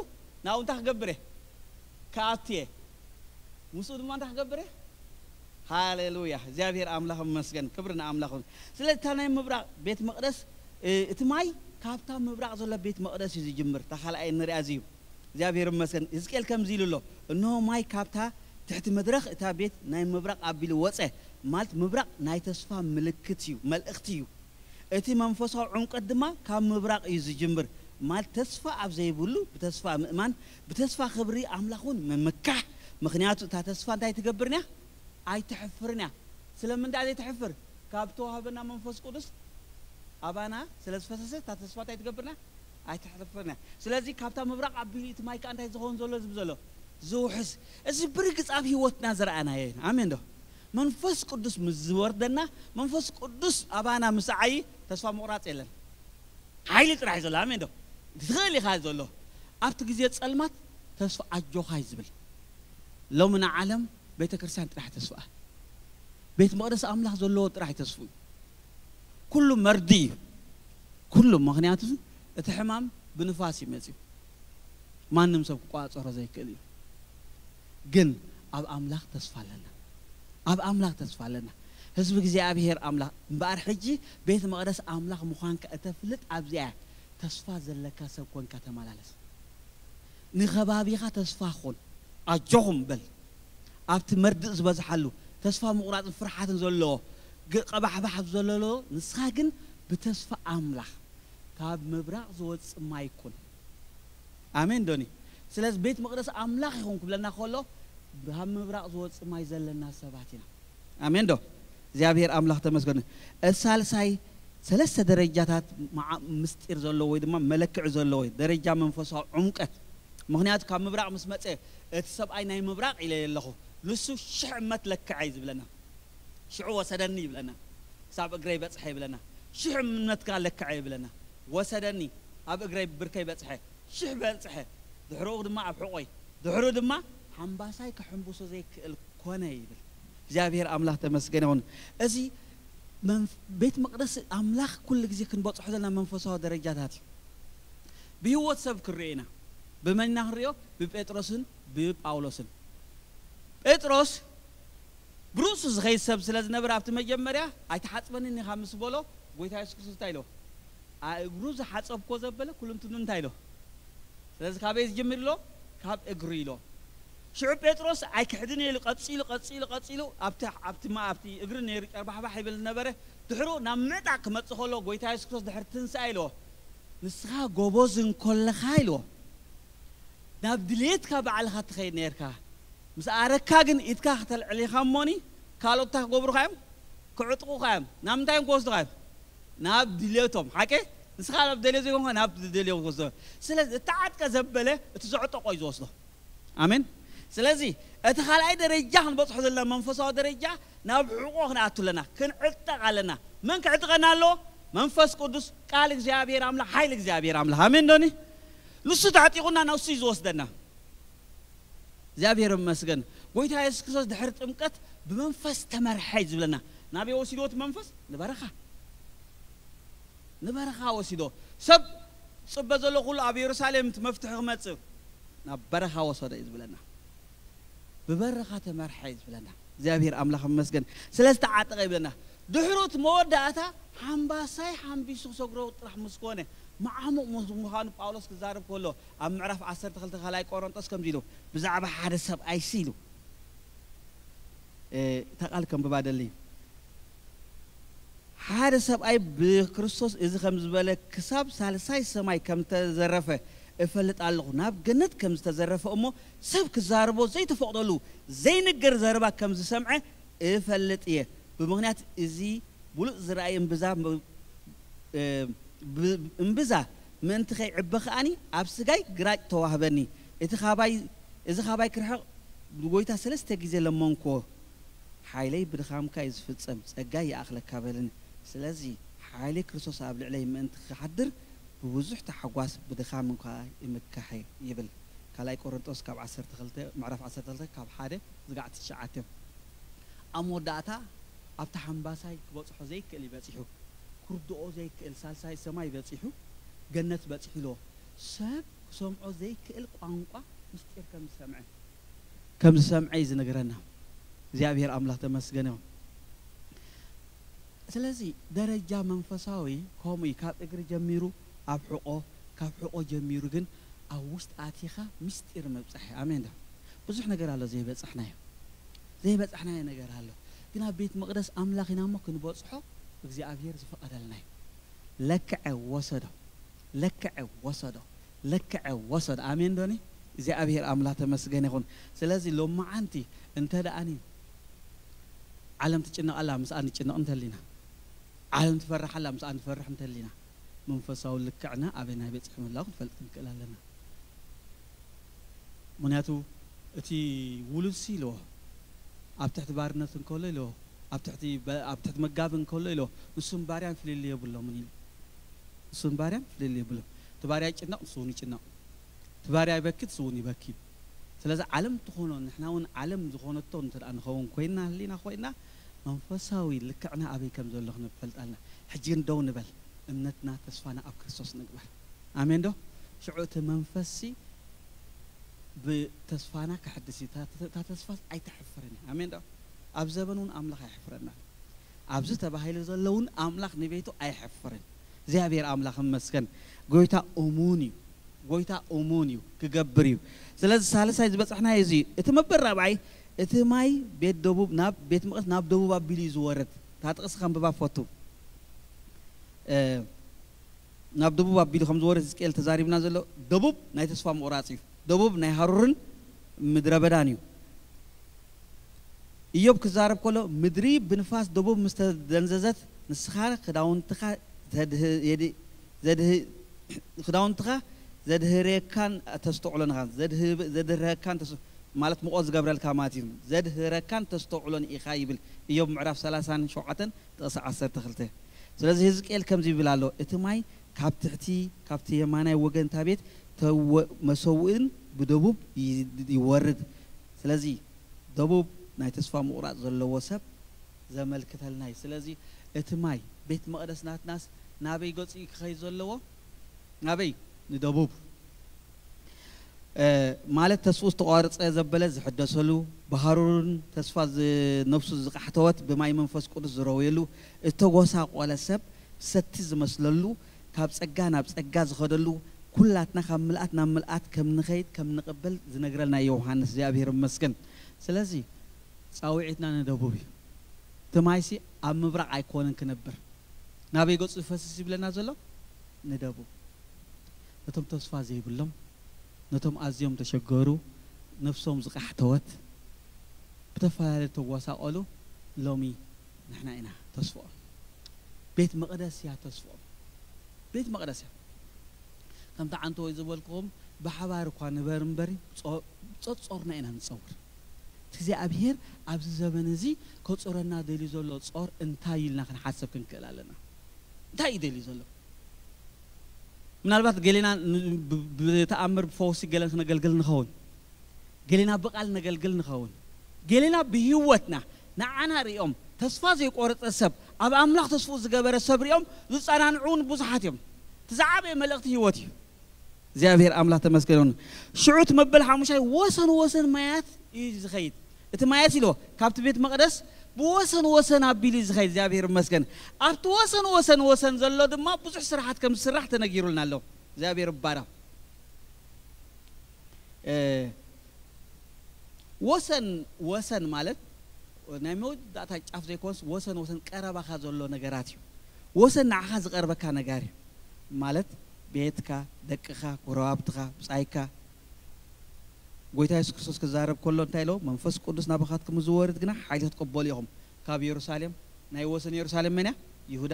ናብኡ እንታይ ክገብር እየ? ክኣቱ እየ። ምስኡ ድማ እንታይ ክገብር እየ? ሃሌሉያ፣ እግዚኣብሔር ኣምላኽ ይመስገን፣ ክብሪ ንኣምላኽ ይኹን። ስለዚ እታ ናይ ምብራቕ ቤት መቕደስ፣ እ፣ እቲ ማይ ካብታ ምብራቕ ዘሎ ቤት መቕደስ እዩ ዝጅምር። እታ ካልኣይ ንሪኣ እዚ እዩ። እግዚኣብሔር ይመስገን። ህዝቅኤል ከምዚ ኢሉ ኣሎ፣ "እንሆ ማይ ካብታ ትሕቲ መድረኽ እታ ቤት ናይ ምብራቕ ኣቢሉ ወጸ"፣ ማለት ምብራቕ ናይ ተስፋ ምልክት እዩ፣ መልእኽቲ እዩ። እቲ መንፈሳዊ ዕምቀት ድማ ካብ ምብራቕ እዩ ዝጅምር፣ ማለት ተስፋ ኣብ ዘይብሉ ብተስፋ ምእማን፣ ብተስፋ ክብሪ ኣምላኽ እውን ምምካሕ። ምኽንያቱ እታ ተስፋ እንታይ ትገብርንያ? ኣይትሕፍርንያ። ስለምንታይ ዘይትሕፍር? ካብ ተዋህበና መንፈስ ቅዱስ ኣባና ስለ ዝፈሰሰ እታ ተስፋ እንታይ ትገብርና? ኣይትሕፍርንያ። ስለዚ ካብታ ምብራቕ ኣቢሉ እቲ ማይ ከኣ እንታይ ዝኸውን ዘሎ ዝብል ዘሎ? ዝውሕዝ። እዚ ብርግጽ ኣብ ህይወትና ዝረኣናዮ ኢና። ኣሜን ዶ? መንፈስ ቅዱስ ምስ ዝወርደና፣ መንፈስ ቅዱስ ኣባና ምስ ዓዪ ተስፋ ምቑራጽ የለን። ሓይሊ ጥራሕ እዩ ዘሎ። ኣሜን ዶ? ትኽእል ኢኻ ዘሎ። ኣብቲ ግዜ ጸልማት ተስፋ ኣጆኻ እዩ ዝብል። ሎሚ ንዓለም ቤተ ክርስቲያን ጥራሕ ተስፋ። ቤት መቕደስ ኣምላኽ ዘለዎ ጥራሕ ተስፉ እዩ። ኩሉ መርዲ እዩ። ኩሉ፣ ምኽንያቱ እቲ ሕማም ብንፋስ እዩ መጺኡ። ማንም ሰብ ክቋጸሮ ዘይክእል እዩ። ግን ኣብ ኣምላኽ ተስፋ ኣለና። ኣብ ኣምላኽ ተስፋ ኣለና። ህዝቢ እግዚኣብሔር ኣምላኽ፣ እምበኣር ሕጂ ቤት መቕደስ ኣምላኽ ምዃንካ እተፍልጥ ኣብዚኣ እያ። ተስፋ ዘለካ ሰብ ኮንካ ተመላለስ። ንኸባቢኻ ተስፋ ኹን። ኣጆኹም በል። ኣብቲ መርድእ ዝበዝሓሉ፣ ተስፋ ምቑራጽን ፍርሓትን ዘለዎ፣ ግ-፣ ቀባሕባሕ ኣብ ዘለዎ፣ ንስኻ ግን ብተስፋ ኣምላኽ ካብ ምብራቕ ዝወጽእ ማይ ኩን። ኣሜን ዶኒ? ስለዚ ቤት መቕደስ ኣምላኽ ይኹን ክብለና ከሎ፣ ካብ ምብራቕ ዝወጽእ ማይ ዘለና ሰባት ኢና። ኣሜን ዶ? እግዚኣብሔር ኣምላኽ ተመስገን። እቲ ሳልሳይ ሰለስተ ደረጃታት መዓ-፣ ምስጢር ዘለዎ ወይ ድማ መለክዒ ዘለዎ እዩ። ደረጃ መንፈሳዊ ዕምቀት። ምኽንያቱ ካብ ምብራቕ ምስ መጸ፣ እቲ ሰብኣይ ናይ ምብራቕ ኢለ ኣለኹ፣ ንሱ ሽሕ እመት ለክዐ እዩ ዝብለና። ሽዑ ወሰደኒ ይብለና። ክሳብ እግረይ በጽሐ ይብለና። ሽሕ እምነትካ ለክዐ ይብለና። ወሰደኒ፣ ኣብ እግረይ ብርከይ በጽሐ። ሽሕ በጽሐ። ድሕርኡ ድማ ኣብ ሕቖይ። ድሕሩ ድማ ሓምባሳይ ከሐምብሶ ዘይክእል ኮነ ይብል። እግዚኣብሔር ኣምላኽ ተመስገን ይኹን። እዚ መንፍ-፣ ቤት መቕደስ ኣምላኽ ኩሉ ግዜ ክንበጽሖ ዘለና መንፈሳዊ ደረጃታት እዩ። ብህይወት ሰብ ክንሪኦ ኢና። ብመን ኢና ክንሪኦ? ብጴጥሮስን ብጳውሎስን። ጴጥሮስ ብርእሱ ዝኸይድ ሰብ ስለ ዝነበረ፣ ኣብቲ መጀመርያ "ኣይትሓጽበንን ኢኻ" ምስ በሎ፣ ጎይታ የሱስ ክርስቶስ እንታይ ኢልዎ? "ኣእግሩ ዝሓጸብኮ" ዘበለ ኩልንትኑ እንታይ ኢሎ? ስለዚ ካበይ ዝጅምር ኢሎ? ካብ እግሩ ኢሎ። ሽዑ ጴጥሮስ "ኣይክሕድን" ኢሉ ቀጺሉ፣ ቀጺሉ፣ ቀጺሉ፣ ኣብቲ፣ ኣብቲ ማ-፣ ኣብቲ እግሪ ነይሩ ጨርባሕባሕ ይብል ዝነበረ። ድሕሩ ናብ ምዕጣቕ ክመጽእ ከሎ፣ ጎይታ የሱስ ክርስቶስ ድሕሪ ትንሳኤ ኢልዎ፣ "ንስኻ ጎበዝ እንኮለኻ" ኢልዎ። ናብ ድሌትካ ባዕልኻ ትኸይድ ነርካ። ምስ ኣረካ ግን ኢድካ ክተልዕል ኢኻ እሞኒ፣ ካልኦት እንታይ ክገብሩኻ እዮም? ክዕጥቑኻ እዮም። ናብ ምንታይ እዮም ክወስዱኻ እዮም? ናብ ድሌቶም። ሓቂ? ንስኻ ናብ ደልዮ ዘይኮንካ ናብ ዝደልዮ ክወስዶ። ስለዚ እተዓጥቀ ዘበለ እቲ ዘዕጠቆ እዩ ዝወስዶ። ኣሜን። ስለዚ እቲ ካልኣይ ደረጃ ክንበጽሖ ዘለና መንፈሳዊ ደረጃ ናብ ሕቖ ክንኣቱ ኣለና፣ ክንዕጠቕ ኣለና። መን ክዕጥቀና ኣለዎ? መንፈስ ቅዱስ፣ ቃል እግዚኣብሔር ኣምላኽ፣ ሓይሊ እግዚኣብሔር ኣምላኽ። ኣሜን ዶኒ? ንሱ ተዕጢቑና ንሱ እዩ ዝወስደና። እግዚኣብሔር ይመስገን። ጎይታ የሱስ ክርስቶስ ድሕሪ ጥምቀት ብመንፈስ ተመርሐ እዩ ዝብለና። ናበይ ወሲድዎ እቲ መንፈስ? ንበረኻ። ንበረኻ ወሲዶ። ሰብ ዝጽበ ዘሎ ኩሉ ኣብ የሩሳሌም እቲ መፍትሒ ክመጽእ ናብ በረኻ ወሰዶ እዩ ዝብለና። ብበረኻ ተመርሐ እዩ ዝብለና። እግዚኣብሔር ኣምላኽ ይመስገን። ስለ ዝተዓጠቐ ይብለና። ድሕሩ እቲ መወዳእታ ሓምባሳይ ሓምቢሱ ክሰግሮ ጥራሕ ምስ ኮነ፣ መዓሙቕ ምስ ምዃኑ ጳውሎስ ክዛረብ ከሎ፣ ኣብ ምዕራፍ ዓሰርተ ክልተ ካልኣይ ቆሮንጦስ ከምዚ ኢሉ፣ ብዛዕባ ሓደ ሰብኣይሲ ኢሉ፣ እ፣ እታ ቃል ከንብባ ደሊ። ሓደ ሰብኣይ ብክርስቶስ እዚ ከም ዝበለ ክሳብ ሳልሳይ ሰማይ ከም ዝተዘረፈ እፈልጥ ኣለኹ። ናብ ገነት ከም ዝተዘረፈ እሞ ሰብ ክዛረቦ ዘይተፈቕደሉ ዘይንገር ዘረባ ከም ዝሰምዐ እፈልጥ እየ። ብምኽንያት እዚ ብሉጽ ዝረኣየ እምብዛ ብ-፣ እ፣ ብ-፣ እምብዛ ምእንቲ ከይዕበ ከኣኒ ኣብ ስጋይ ግራጭ ተዋህበኒ። እቲ ካባይ፣ እዚ ካባይ ክርሕቕ ንጎይታ ሰለስተ ግዜ ለመንክዎ። "ሓይለይ ብድኻምካ እዩ ዝፍጸም፣ ጸጋይ ይኣኽለካ" በለኒ። ስለዚ ሓይሊ ክርስቶስ ኣብ ልዕለይ ምእንቲ ክሓድር ብብዙሕ ታሕጓስ ብድኻም እንኳ ይምካሕ ይብል። ካልኣይ ቆሮንጦስ ካብ ዓሰርተ ክልተ፣ ምዕራፍ ዓሰርተ ክልተ ካብ ሓደ ዝጋዕ ትሽዓተ። ኣብ መወዳእታ ኣብቲ ሓምባሳይ ክበጽሖ ዘይክእል እዩ በጺሑ። ክርድኦ ዘይክእል ሳልሳይ ሰማይ በጺሑ፣ ገነት በጺሑ ኢልዎ። ሰብ ክሰምዖ ዘይክእል ቋንቋ ምስጢር ከም ዝሰምዐ። ከም ዝሰምዐ እዩ ዝነግረና። እግዚኣብሔር ኣምላኽ ተመስገን ይኹን። ስለዚ ደረጃ መንፈሳዊ ከምኡ እዩ። ካብ እግሪ ጀሚሩ ኣብ ሕቆ፣ ካብ ሕቆ ጀሚሩ ግን ኣብ ውስጥ ኣቲኻ ምስጢር ምብጻሕ እዩ። ኣሜን ዶ? ብዙሕ ነገር ኣሎ ዘይበጻሕናዮ። ዘይበጻሕናዮ ነገር ኣሎ። ግን ኣብ ቤት መቕደስ ኣምላኽ ኢና እሞ ክንበጽሖ እግዚኣብሔር ዝፈቐደልና እዩ። ለክዐ ወሰዶ፣ ለክዐ ወሰዶ፣ ለክዐ ወሰዶ። ኣሜን ዶኒ? እግዚኣብሔር ኣምላኽ ተመስገን ይኹን። ስለዚ ሎመዓንቲ እንተ ደኣኒ ዓለም ትጭነቕ ኣላ፣ ምስኣ ንጭነቕ እንተሊና፣ ዓለም ትፈርሕ ኣላ፣ ምስኣ ንፈርሕ እንተሊና፣ መንፈሳዊ ልክዕና ኣበይ ናይ በጽሒ ምህላው ክንፈልጥ ክንክእል ኣለና። ምኽንያቱ እቲ ውሉድሲ ኢልዎ ኣብ ትሕቲ ባርነት እንከሎ ኢልዎ ኣብ ትሕቲ በ-፣ ኣብ ትሕቲ መጋቢ እንከሎ ኢልዎ ንሱን ባርያን ፍልልይ የብሎምን ኢሉ። ንሱን ባርያን ፍልልይ የብሎም። እቲ ባርያ ይጭነቕ፣ ንሱ እውን ይጭነቕ። እቲ ባርያ ይበኪ፣ ንሱ እውን ይበኪ። ስለዚ ዓለም ትኾኖ፣ ንሕና እውን ዓለም ዝኾነቶ እንተ ደኣ ንኸውን ኮይንና፣ ህሊና ኮይንና፣ መንፈሳዊ ልክዕና ኣበይ ከም ዘሎ ክንፈልጥ ኣለና። ሕጂ ግን ደው ንበል፣ እምነትና ተስፋና ኣብ ክርስቶስ ንግበር። ኣሜን ዶ? ሽዑ እቲ መንፈስሲ ብተስፋና ከሐድስ እዩ። እታ፣ እታ ተስፋስ ኣይተሕፍርን እያ። ኣሜን ዶ? ኣብ ዘበን እውን ኣምላኽ ኣየሕፍረናን። ኣብዚ ተባሂሉ ዘሎ እውን ኣምላኽ ንቤቱ ኣየሕፍርን። እግዚኣብሔር ኣምላኽ ይመስገን። ጎይታ እሙን እዩ። ጎይታ እሙን እዩ፣ ክገብር እዩ። ስለዚ ሳልሳይ ዝበጻሕናዮ እዚ እዩ። እቲ መበል ራብዓይ፣ እቲ ማይ ቤት ደቡብ ናብ ቤት መቕደስ ናብ ደቡብ ኣቢሉ እዩ ዝወርድ። እታ ጥቕሲ ከንብባ ፈቱ። እ፣ ናብ ደቡብ ኣቢሉ ከም ዝወርድ ሕዝቅኤል ተዛሪብና ዘሎ፣ ደቡብ ናይ ተስፋ ምቑራጽ እዩ። ደቡብ ናይ ሃሩርን ምድረ በዳን እዩ። ኢዮብ ክዛረብ ከሎ፣ ምድሪ ብንፋስ ደቡብ ምስ ተደንዘዘት፣ ንስኻ ክዳውንትኻ ዘድህ-፣ የድ-፣ ዘድህ-፣ ክዳውንትኻ ዘድህረካን ተስተውዕሎን ኢኻ። ዘድህ-፣ ዘድህረካን ተስ-፣ ማለት ምቖት ዝገብረልካ ማለት እዩ። ዘድህረካን ተስተውዕሎን ኢኻ ይብል ኢዮብ ምዕራፍ ሰላሳን ሸውዓተን ጥቕሲ ዓሰርተ ክልተ። ስለዚ ህዝቅኤል ከምዚ ይብል ኣሎ፣ እቲ ማይ ካብ ትሕቲ፣ ካብቲ የማናይ ወገን እታ ቤት ተወ-፣ መሰውእን ብደቡብ ይ-፣ ይወርድ። ስለዚ ደቡብ ናይ ተስፋ ምቑራጽ ዘለዎ ሰብ ዘመልክተልና እዩ። ስለዚ እቲ ማይ ቤት መቕደስ ናትናስ ናበይ ገጹ እዩ ክኸይድ ዘለዎ? ናበይ? ንደቡብ። እ፣ ማለት ተስፋ ዝተቋረጸ ዘበለ ዝሕደሰሉ፣ ብሃሩርን ተስፋ ዝ-፣ ነፍሱ ዝቃሕተወት ብማይ መንፈስ ቅዱስ ዝረወየሉ፣ እተጎሳቆለ ሰብ ሰቲ ዝመስለሉ፣ ካብ ጸጋ ናብ ጸጋ ዝኸደሉ፣ ኩላትና ካብ ምልኣት ናብ ምልኣት ከም ንኸይድ ከም ንቕበል ዝነግረልና ዮሃንስ። እግዚኣብሔር ይመስገን። ስለዚ ጻውዒትና ንደቡብ እዩ። እቲ ማይሲ ኣብ ምብራቕ ኣይኮነን ክነብር። ናበይ ገጹ ዝፈስስ ይብለና ዘሎ? ንደቡብ። ነቶም ተስፋ ዘይብሎም፣ ነቶም ኣዝዮም ተሸገሩ፣ ነፍሶም ዝቃሕተወት፣ ብተፈላለየ ተጎሳቆሉ፣ ሎሚ ንሕና ኢና ተስፍኦም። ቤት መቕደስ እያ ተስፍኦም። ቤት መቕደስ እያ። ከምቲ ዓንተወይ ዝበልኩኹም ብሓባር እኳ ንበር እምበሪ ጾ-፣ ጸጾርና ኢና ንጸውር። እቲ እግዚኣብሔር ኣብዚ ዘበን እዚ ከጾረና ደልዩ ዘሎ ጾር እንታይ ኢልና ክንሓሰብ ክንክእል ኣለና። እንታይ እዩ ደልዩ ዘሎ? ምናልባት ገሌና ን-፣ ብ-፣ ብተኣምር ብፈውሲ ገለን ክነገልግል ንኸውን። ገሌና ብቓል ነገልግል ንኸውን። ገሌና ብህይወትና ንዓና ሪኦም ተስፋ ዘይቆረጸ ሰብ፣ ኣብ ኣምላኽ ተስፍኡ ዝገበረ ሰብ ሪኦም ዝጸናንዑ እውን ብዙሓት እዮም። እቲ ዝዓበየ መልእኽቲ ህይወት እዩ። እግዚኣብሔር ኣምላኽ ተመስገን ይሁን። ሽዑ እቲ መበል ሓሙሻይ ወሰን ወሰን ማያት እዩ ዝኸይድ። እቲ ማያት ኢልዎ ካብቲ ቤት መቕደስ ብወሰን ወሰን ኣቢሉ እዩ ዝኸይድ። እግዚኣብሔር ይመስገን። ኣብቲ ወሰን ወሰን ወሰን ዘሎ ድማ ብዙሕ ስራሓት ከም ዝስራሕ ተነጊሩልና ኣሎ። እግዚኣብሔር ይባረኽ። እ፣ ወሰን፣ ወሰን ማለት ናይ መወዳእታ ጫፍ ዘይኮንስ ወሰን፣ ወሰን ቀረባኻ ዘሎ ነገራት እዩ። ወሰን ንዓኻ ዝቐርበካ ነገር እዩ። ማለት ቤትካ፣ ደቅኻ፣ ጎረባብትኻ፣ ብጻይካ። ጎይታ የሱስ ክርስቶስ ክዛረብ ከሎ እንታይ ኢሎ? መንፈስ ቅዱስ ናባኻትኩም ዝወርድ ግና ሓይሊ ክትቅበሉ ኢኹም። ካብ የሩሳሌም፣ ናይ ወሰን የሩሳሌም መን እያ? ይሁዳ።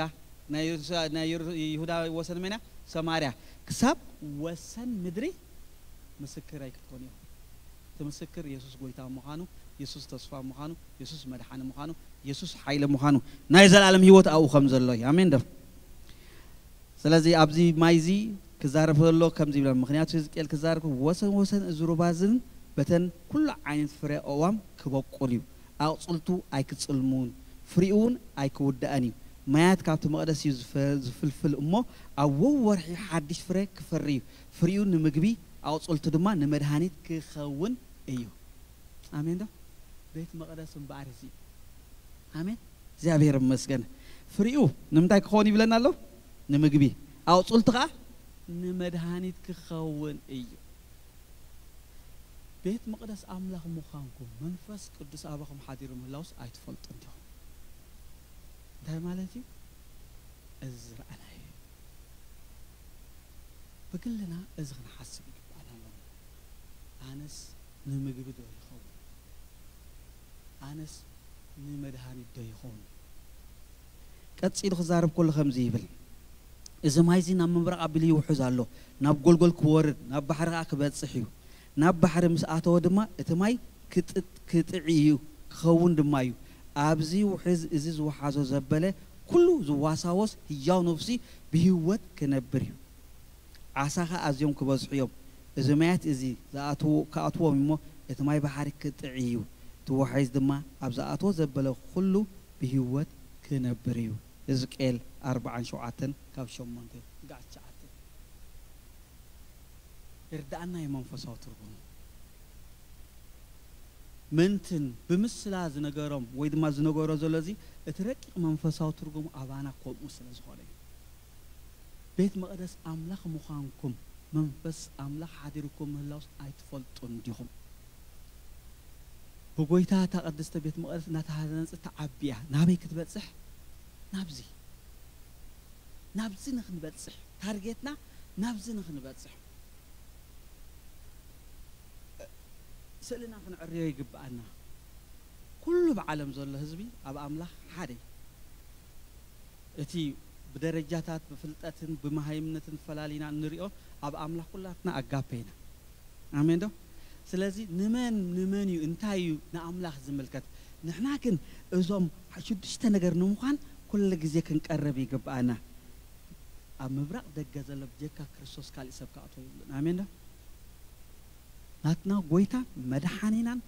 ናይ የሩሳ-፣ ናይ የሩ-፣ ይሁዳ ወሰን መን እያ? ሰማርያ። ክሳብ ወሰን ምድሪ ምስክረይ ክትኮኑ ኢኹም። እቲ ምስክር የሱስ ጎይታ ምዃኑ፣ የሱስ ተስፋ ምዃኑ፣ የሱስ መድሓኒ ምዃኑ፣ የሱስ ሓይሊ ምዃኑ፣ ናይ ዘላለም ህይወት ኣብኡ ከም ዘሎ እዩ። ኣሜን ዶ? ስለዚ ኣብዚ ማይ እዚ ክዛረብ ከሎ ከምዚ ይብለን፣ ምኽንያቱ ህዝቅኤል ክዛረብ ከሎ፣ "ወሰን ወሰን እዚ ሩባ እዝን በተን ኩሉ ዓይነት ፍረ ኣእዋም ክበቁል እዩ፣ ኣቕጽልቱ ኣይክጽልሙን፣ ፍሪኡ እውን ኣይክውዳእን እዩ። ማያት ካብቲ መቕደስ እዩ ዝፈ-፣ ዝፍልፍል እሞ፣ ኣብ ወርሒ ሓድሽ ፍረ ክፈሪ እዩ። ፍሪኡ ንምግቢ፣ ኣቕጽልቱ ድማ ንመድሃኒት ክኸውን እዩ።" ኣሜን ዶ? ቤት መቕደስ እምበኣር እዚ። ኣሜን። እግዚኣብሔር ይመስገን። ፍሪኡ ንምንታይ ክኸውን ይብለና ኣሎ? ንምግቢ። ኣቑጽልቱ ኸዓ ንመድሃኒት ክኸውን እዩ። ቤት መቕደስ ኣምላኽ ምዃንኩም መንፈስ ቅዱስ ኣባኹም ሓዲሩ ምህላውስ ኣይትፈልጡን ዲኹም? እንታይ ማለት እዩ? እዚ ዝረኣናዮ እዩ። ብግልና እዚ ክንሓስብ ይግባኣና ኣሎ። ኣነስ ንምግቢ ዶ ይኸውን? ኣነስ ንመድሃኒት ዶ ይኸውን? ቀጺሉ ክዛረብ ከሎ ከምዚ ይብል፣ እዚ ማይ እዚ ናብ ምብራቕ ኣቢሉ ይውሕዝ ኣሎ፣ ናብ ጎልጎል ክወርድ፣ ናብ ባሕሪ ኸዓ ክበጽሕ እዩ። ናብ ባሕሪ ምስ ኣተወ ድማ እቲ ማይ ክጥጥ-፣ ክጥዒ እዩ፣ ክኸውን ድማ እዩ። ኣብዚ ውሕዝ እዚ ዝወሓዞ ዘበለ ኩሉ ዝዋሳወስ ህያው ነፍሲ ብህይወት ክነብር እዩ። ዓሳ ኸኣ ኣዝዮም ክበዝሑ እዮም። እዚ ማያት እዚ ዝኣትዉ-፣ ክኣትዎም እሞ እቲ ማይ ባሕሪ ክጥዒ እዩ። እቲ ወሓይዝ ድማ ኣብ ዝኣትዎ ዘበለ ኩሉ ብህይወት ክነብር እዩ። ሕዝቅኤል ኣርብዓን ሸውዓተን ካብ ሸሞንተ ስጋዕ ትሽዓተ። ይርድኣና እዩ መንፈሳዊ ትርጉሙ። ምንትን ብምስላ ዝነገሮም ወይ ድማ ዝነገሮ ዘሎ እዚ እቲ ረቂቕ መንፈሳዊ ትርጉሙ ኣባና ከምኡ ስለ ዝኾነ እዩ። ቤት መቕደስ ኣምላኽ ምዃንኩም መንፈስ ኣምላኽ ሓዲርኩም ምህላውስ ኣይትፈልጡን ዲኹም? ብጎይታ እታ ቅድስተ ቤት መቕደስ እናተሃነጸት ትዓቢ እያ። ናበይ ክትበጽሕ? ናብዚ። ናብዚ ንኽንበጽሕ። ታርጌትና ናብዚ ንኽንበጽሕ። ስእልና ክንዕርዮ ይግብኣና። ኩሉ ብዓለም ዘሎ ህዝቢ ኣብ ኣምላኽ ሓደ እዩ። እቲ ብደረጃታት፣ ብፍልጠትን ብመሃይምነትን ፈላሊና እንሪኦ፣ ኣብ ኣምላኽ ኩላትና ኣጋፔ ኢና። ኣሜን ዶ? ስለዚ ንመን፣ ንመን እዩ፣ እንታይ እዩ ንኣምላኽ ዝምልከት? ንሕና ግን እዞም ሽዱሽተ ነገር ንምዃን ኩሉ ግዜ ክንቀርብ ይግብኣና። ኣብ ምብራቕ ደገ ዘሎ ብጀካ ክርስቶስ ካሊእ ሰብ ክኣትዎ የብሉን። ኣሜን ዶ? ናትና ጎይታን መድሓኒናን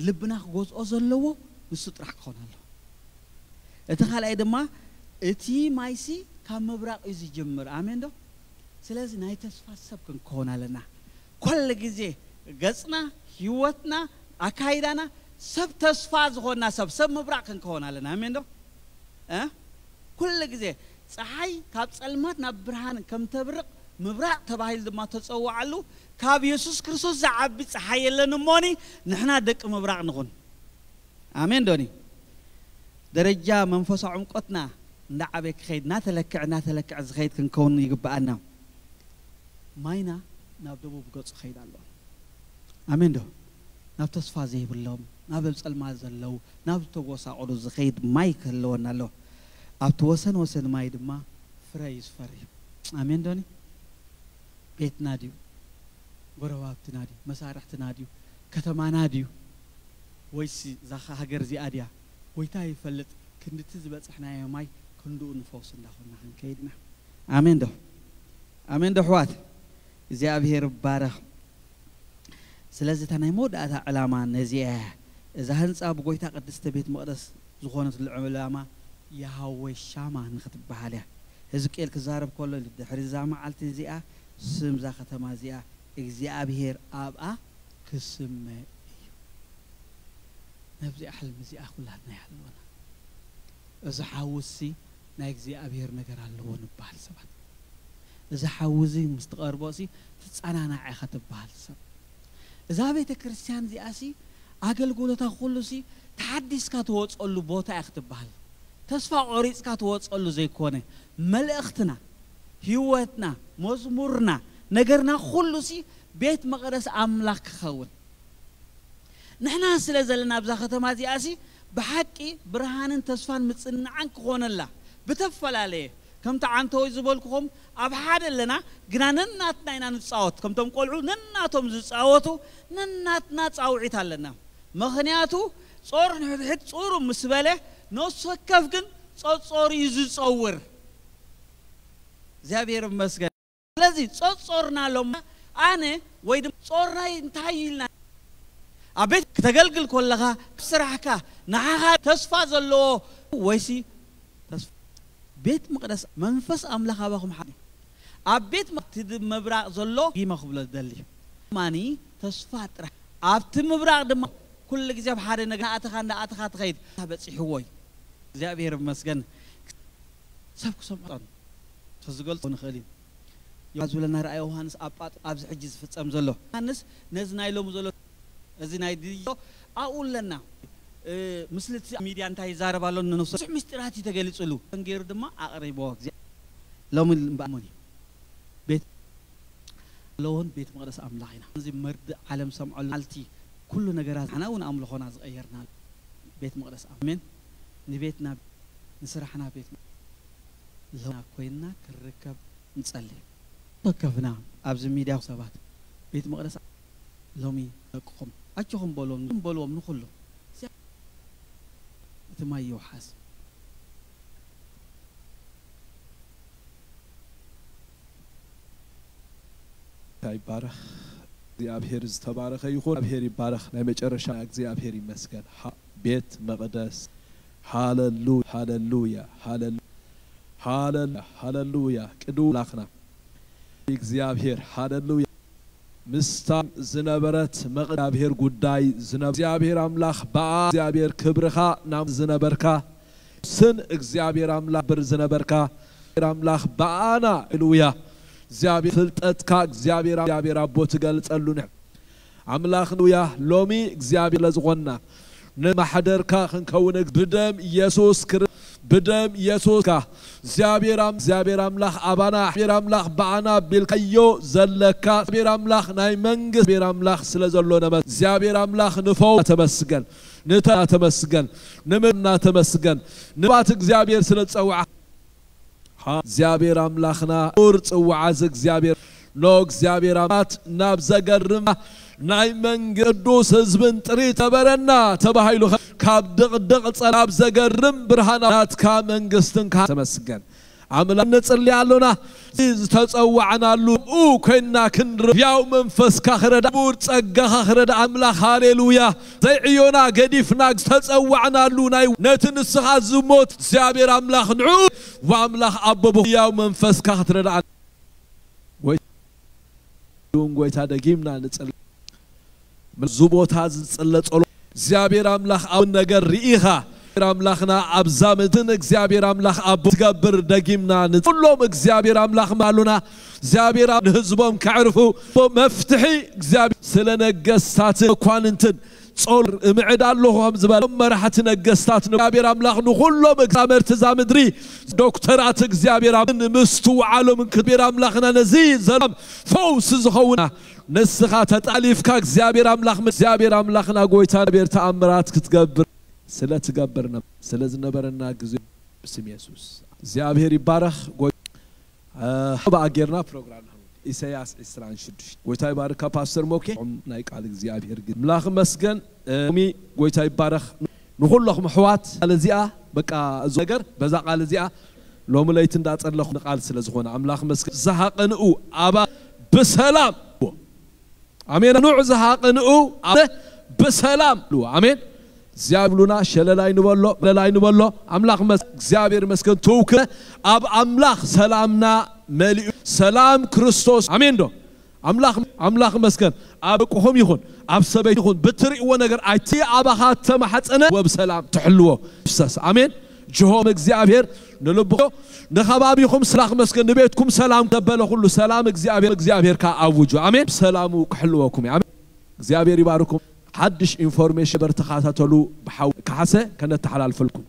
ልብና ክገዝኦ ዘለዎ ንሱ ጥራሕ ክኾን ኣለዎ። እቲ ካልኣይ ድማ እቲ ማይሲ ካብ ምብራቕ እዩ ዝጅምር። ኣሜን ዶ? ስለዚ ናይ ተስፋ ሰብ ክንከውን ኣለና። ኩሉ ግዜ ገጽና፣ ህይወትና፣ ኣካይዳና ሰብ ተስፋ ዝኾንና ሰብ፣ ሰብ ምብራቕ ክንከውን ኣለና። ኣሜን ዶ? እ? ኩሉ ግዜ ጸሓይ ካብ ጸልማት ናብ ብርሃን ከም ተብርቕ ምብራቕ ተባሂሉ ድማ ተጸውዓሉ። ካብ የሱስ ክርስቶስ ዝዓቢ ጸሓይ የለን እሞኒ ንሕና ደቂ ምብራቕ ንኹን። ኣሜን ዶኒ? ደረጃ መንፈሳዊ ዕምቆትና እንዳዓበየ ክኸይድ፣ እናተለክዐ፣ እናተለክዐ ዝኸይድ ክንከውን ይግብኣና። ማይና ናብ ደቡብ ገጹ ክኸይድ ኣለዎ። ኣሜን ዶ? ናብ ተስፋ ዘይብሎም፣ ናብ ኣብ ጸልማት ዘለዉ፣ ናብ ዝተጎሳቆሉ ዝኸይድ ማይ ክህልወና ኣለዎ። ኣብቲ ወሰን ወሰን ማይ ድማ ፍረ እዩ ዝፈሪ። ኣሜን ዶኒ? ቤትና ድዩ? ጎረባብትና ድዩ? መሳርሕትና ድዩ? ከተማና ድዩ? ወይስ እዛ ሃገር እዚኣ ድያ? ጎይታ ይፈልጥ። ክንድቲ ዝበጻሕናዮ ማይ ክንድኡ ንፈውስ እንዳኾንና ክንከይድ ኢና። ኣሜን ዶ? ኣሜን ዶ ኣሕዋት? እግዚኣብሔር ይባረኽ። ስለዚ እታ ናይ መወዳእታ ዕላማ ነዚኣ እያ። እዛ ህንጻ ብጎይታ ቅድስተ ቤት መቕደስ ዝኾነትሉ ዕላማ የሃዌ ሻማ ንኽትበሃል እያ። ህዝቅኤል ክዛረብ ከሎ ድሕሪ እዛ መዓልቲ እዚኣ ስም እዛ ከተማ እዚኣ እግዚኣብሔር ኣብኣ ክስመ እዩ። ነብዚኣ ሕልሚ እዚኣ ኩላትና ይሃልወና። እዚ ሓዊ እዚ ናይ እግዚኣብሔር ነገር ኣለዎ ንበሃል ሰባት። እዚ ሓዊ እዚ ምስ ትቐርቦ እዚ ትጸናናዕ ኢኻ ትበሃል ሰብ። እዛ ቤተ ክርስቲያን እዚኣ ሲ ኣገልግሎታ ኩሉ ሲ ተሓዲስካ ትወጸሉ ቦታ ኢኻ ትበሃል። ተስፋ ቆሪጽካ ትወጸሉ ዘይኮነ፣ መልእኽትና፣ ህይወትና፣ መዝሙርና፣ ነገርና ኩሉ ሲ ቤት መቕደስ ኣምላኽ ክኸውን። ንሕና ስለ ዘለና ኣብዛ ከተማ እዚኣ ሲ ብሓቂ ብርሃንን ተስፋን ምጽንናዕን ክኾነላ ብተፈላለየ፣ ከምቲ ዓንተወይ ዝበልኩኹም ኣብ ሓደ ኣለና፣ ግና ነናትና ኢና ንጻወት። ከምቶም ቆልዑ ነናቶም ዝጻወቱ ነናትና ጻውዒት ኣለና። ምኽንያቱ ጾር ንሕድሕድ ጹሩ ምስ በለ ነፍሲ ወከፍ ግን ጸጾሩ እዩ ዝጸውር። እግዚኣብሔር ይመስገን። ስለዚ ጾጾርና ሎም ኣነ ወይ ድማ ጾርናይ እንታይ ኢልና ኣብ ቤት ክተገልግል ከለኻ ስራሕካ ንዓኻ ተስፋ ዘለዎ ወይሲ ተስፋ ቤት መቕደስ መንፈስ ኣምላኽ ኣባኹም ሓደ ኣብ ቤት መ-፣ እቲ ድ-፣ ምብራቕ ዘሎ ዲማ ክብሎ ዝደሊ ማኒ ተስፋ ጥራሕ ኣብቲ ምብራቕ ድማ ኩሉ ግዜ ኣብ ሓደ ነገር እናኣተኻ እናኣተኻ ትኸይድ። በፂሕዎ እዩ። እግዚኣብሔር ይመስገን። ሰብ ክሰምዖን ተዝገልጾ ንኽእል እዩ። ዮሃንስ ዝብለና ራእይ ዮሃንስ ኣብ ጳጥ-፣ ኣብዚ ሕጂ ዝፍጸም ዘሎ። ዮሃንስ ነዚ ናይ ሎሚ ዘሎ፣ እዚ ናይ ድዮ ኣብኡ ኣለና። እ፣ ምስልቲ ሚድያ እንታይ ይዛረብ ኣሎ ንነፍሱ ብዙሕ ምስጢራት እዩ ተገሊጹሉ። ገይሩ ድማ ኣቕሪብዎ። እግዚኣብሔር ሎሚ እምበኣር እዩ። ቤት ኣለዎን ቤት መቕደስ ኣምላኽ ኢና። እዚ መርድእ ዓለም ሰምዖ ኣልቲ ኩሉ ነገራት ንሕና እውን ኣምልኾና ዝቐየርና ቤት መቕደስ ኣሜን። ንቤትና ንስራሕና ቤት ለውና ኮይንና ክንርከብ ንጸሊ። ተከፍና ኣብዚ ሚድያ ሰባት ቤት መቕደስ ሎሚ ደቅኹም ኣጆኹም በልዎም፣ በልዎም ንኹሉ እቲ ማይ ይውሓስ። ይባረኽ። እግዚኣብሔር ዝተባረኸ ይኹን። እግዚኣብሔር ይባረኽ። ናይ መጨረሻ እግዚኣብሔር ይመስገን። ሃ-፣ ቤት መቕደስ። ሃለሉ-፣ ሃለሉያ፣ ሃለሉ-፣ ሃለሉ-፣ ሃለሉያ። ቅዱስ ኣምላኽና እግዚኣብሔር፣ ሃለሉያ። ምስታ ዝነበረት መቕ-፣ እግዚኣብሔር ጉዳይ ዝነ-፣ እግዚኣብሔር ኣምላኽ በኣ እግዚኣብሔር ክብርኻ ናብ ዝነበርካ ስን እግዚኣብሔር ኣምላኽ ብር ዝነበርካ ኣምላኽ በኣና፣ ሃሌሉያ። እግዚኣብሔር ፍልጠትካ እግዚኣብሔር፣ እግዚኣብሔር ኣቦ ትገልጸሉ ንሕ-፣ ኣምላኽ ንውያ ሎሚ እግዚኣብሔር ለዝኾንና ንማሕደርካ ክንከውን እግ-፣ ብደም ኢየሱስ ክር-፣ ብደም ኢየሱስካ እግዚኣብሔር ኣም-፣ እግዚኣብሔር ኣምላኽ ኣባና፣ እግዚኣብሔር ኣምላኽ በኣና ቢልካዮ ዘለካ እግዚኣብሔር ኣምላኽ ናይ መንግስት እግዚኣብሔር ኣምላኽ ስለ ዘሎ ነመ-፣ እግዚኣብሔር ኣምላኽ ንፈው ተመስገን፣ ንተ-፣ ተመስገን፣ ንምና ተመስገን፣ ንባት እግዚኣብሔር ስለ ዝጸውዓ። ሃ-፣ እግዚኣብሔር ኣምላኽና ቁር ጽውዓ እዚ እግዚኣብሔር ኖ እግዚኣብሔር ኣማት ናብ ዘገርም ናይ መንግስት ቅዱስ ህዝብን ጥሪ ተበረና ተባሂሉ ከ-፣ ካብ ድቕድቕ ጸ-፣ ናብ ዘገርም ብርሃን ናትካ መንግስትን ካ-፣ ተመስገን። ኣምላኽ ንጽሊ ኣሎና። እዚ ዝተጸዋዕናሉ ኡ ኮይንና ክንር-፣ ያው መንፈስካ ክረዳ፣ ቡር ጸጋኻ ክረዳ ኣምላኽ፣ ሃሌሉያ። ዘይዕዮና ገዲፍና ዝተጸዋዕናሉ ናይ ነቲ ንስኻ ዝሞት እግዚኣብሔር ኣምላኽ ንዑ፣ ወኣምላኽ ኣቦ ብህያው መንፈስካ ክትረድኣና። ጎይ-፣ እውን ጎይታ ደጊምና ንጽል-፣ እዚ ቦታ ዝጽለ ጸሎ እግዚኣብሔር ኣምላኽ ኣብ ነገር ርኢኻ እግዚኣብሔር ኣምላኽና ኣብዛ ምድርን እግዚኣብሔር ኣምላኽ ኣብ ትገብር ደጊምና ንጽ-፣ ኩሎም እግዚኣብሔር ኣምላኽ ማሉና እግዚኣብሔር ኣብ ንህዝቦም ከዕርፉ መፍትሒ እግዚኣብሔር ስለ ነገስታትን መኳንንትን ጾል እምዕድ ኣለኹ ከም ዝበለ መራሕቲ ነገስታት ንእግዚኣብሔር ኣምላኽ ንኹሎም መግዛመርቲ እዛ ምድሪ ዶክተራት እግዚኣብሔር ኣብ ንምስትውዓሎም እንክብሔር ኣምላኽና ነዚ ዘላም ፈውስ ዝኸውና ንስኻ ተጣሊፍካ እግዚኣብሔር ኣምላኽ እግዚኣብሔር ኣምላኽና ጎይታ እግዚኣብሔር ተኣምራት ክትገብር ስለ ትገብርና ስለ ዝነበረና ግዜ ብስም የሱስ እግዚኣብሔር ይባረኽ። ጎይ-፣ እ፣ ብኣ ጌርና ፕሮግራም ኢሳያስ ዕስራን ሽዱሽተ። ጎይታ ይባርካ ፓስተር ሞኬ። ናይ ቃል እግዚኣብሔር ግን ኣምላኽ መስገን። እ፣ ሎሚ ጎይታ ይባረኽ። ንኹለኹም ኣሕዋት ቃል እዚኣ በቃ እዚ ነገር በዛ ቃል እዚኣ ሎሚ ለይቲ እንዳጸለኹ ንቃል ስለ ዝኾነ ኣምላኽ መስገን። ዝሃቐንኡ ኣባ ብሰላም ኣሜን። ኑዕ ዝሃቐንኡ ኣበ ብሰላም ሉ። ኣሜን። እግዚኣብሉና ሸለላይ ንበሎ፣ ሸለላይ ንበሎ። ኣምላኽ መስ-፣ እግዚኣብሔር መስገን ትውክለ ኣብ ኣምላኽ ሰላምና መሊኡ ሰላም ክርስቶስ። ኣሜን ዶ? ኣምላኽ፣ ኣምላኽ መስገን ኣብ ደቅኹም ይኹን፣ ኣብ ሰበይቲ ይኹን፣ ብትርእይዎ ነገር ኣይቲ ኣባኻ ተማሕፀነ ወብ ሰላም ትሕልዎ ይፍሰስ። ኣሜን። ጅሆም እግዚኣብሔር ንልብኹም ንኸባቢኹም ስላኽ መስገን ንቤትኩም ሰላም ዘበለ ኩሉ ሰላም እግዚኣብሔር፣ እግዚኣብሔር ከኣ ኣውጁ። ኣሜን። ሰላሙ ክሕልወኩም እዩ። ኣሜን። እግዚኣብሔር ይባርኩም። ሓድሽ ኢንፎርሜሽን በር ተኸታተሉ። ብሓው ካሓሰ ከነተሓላልፈልኩም።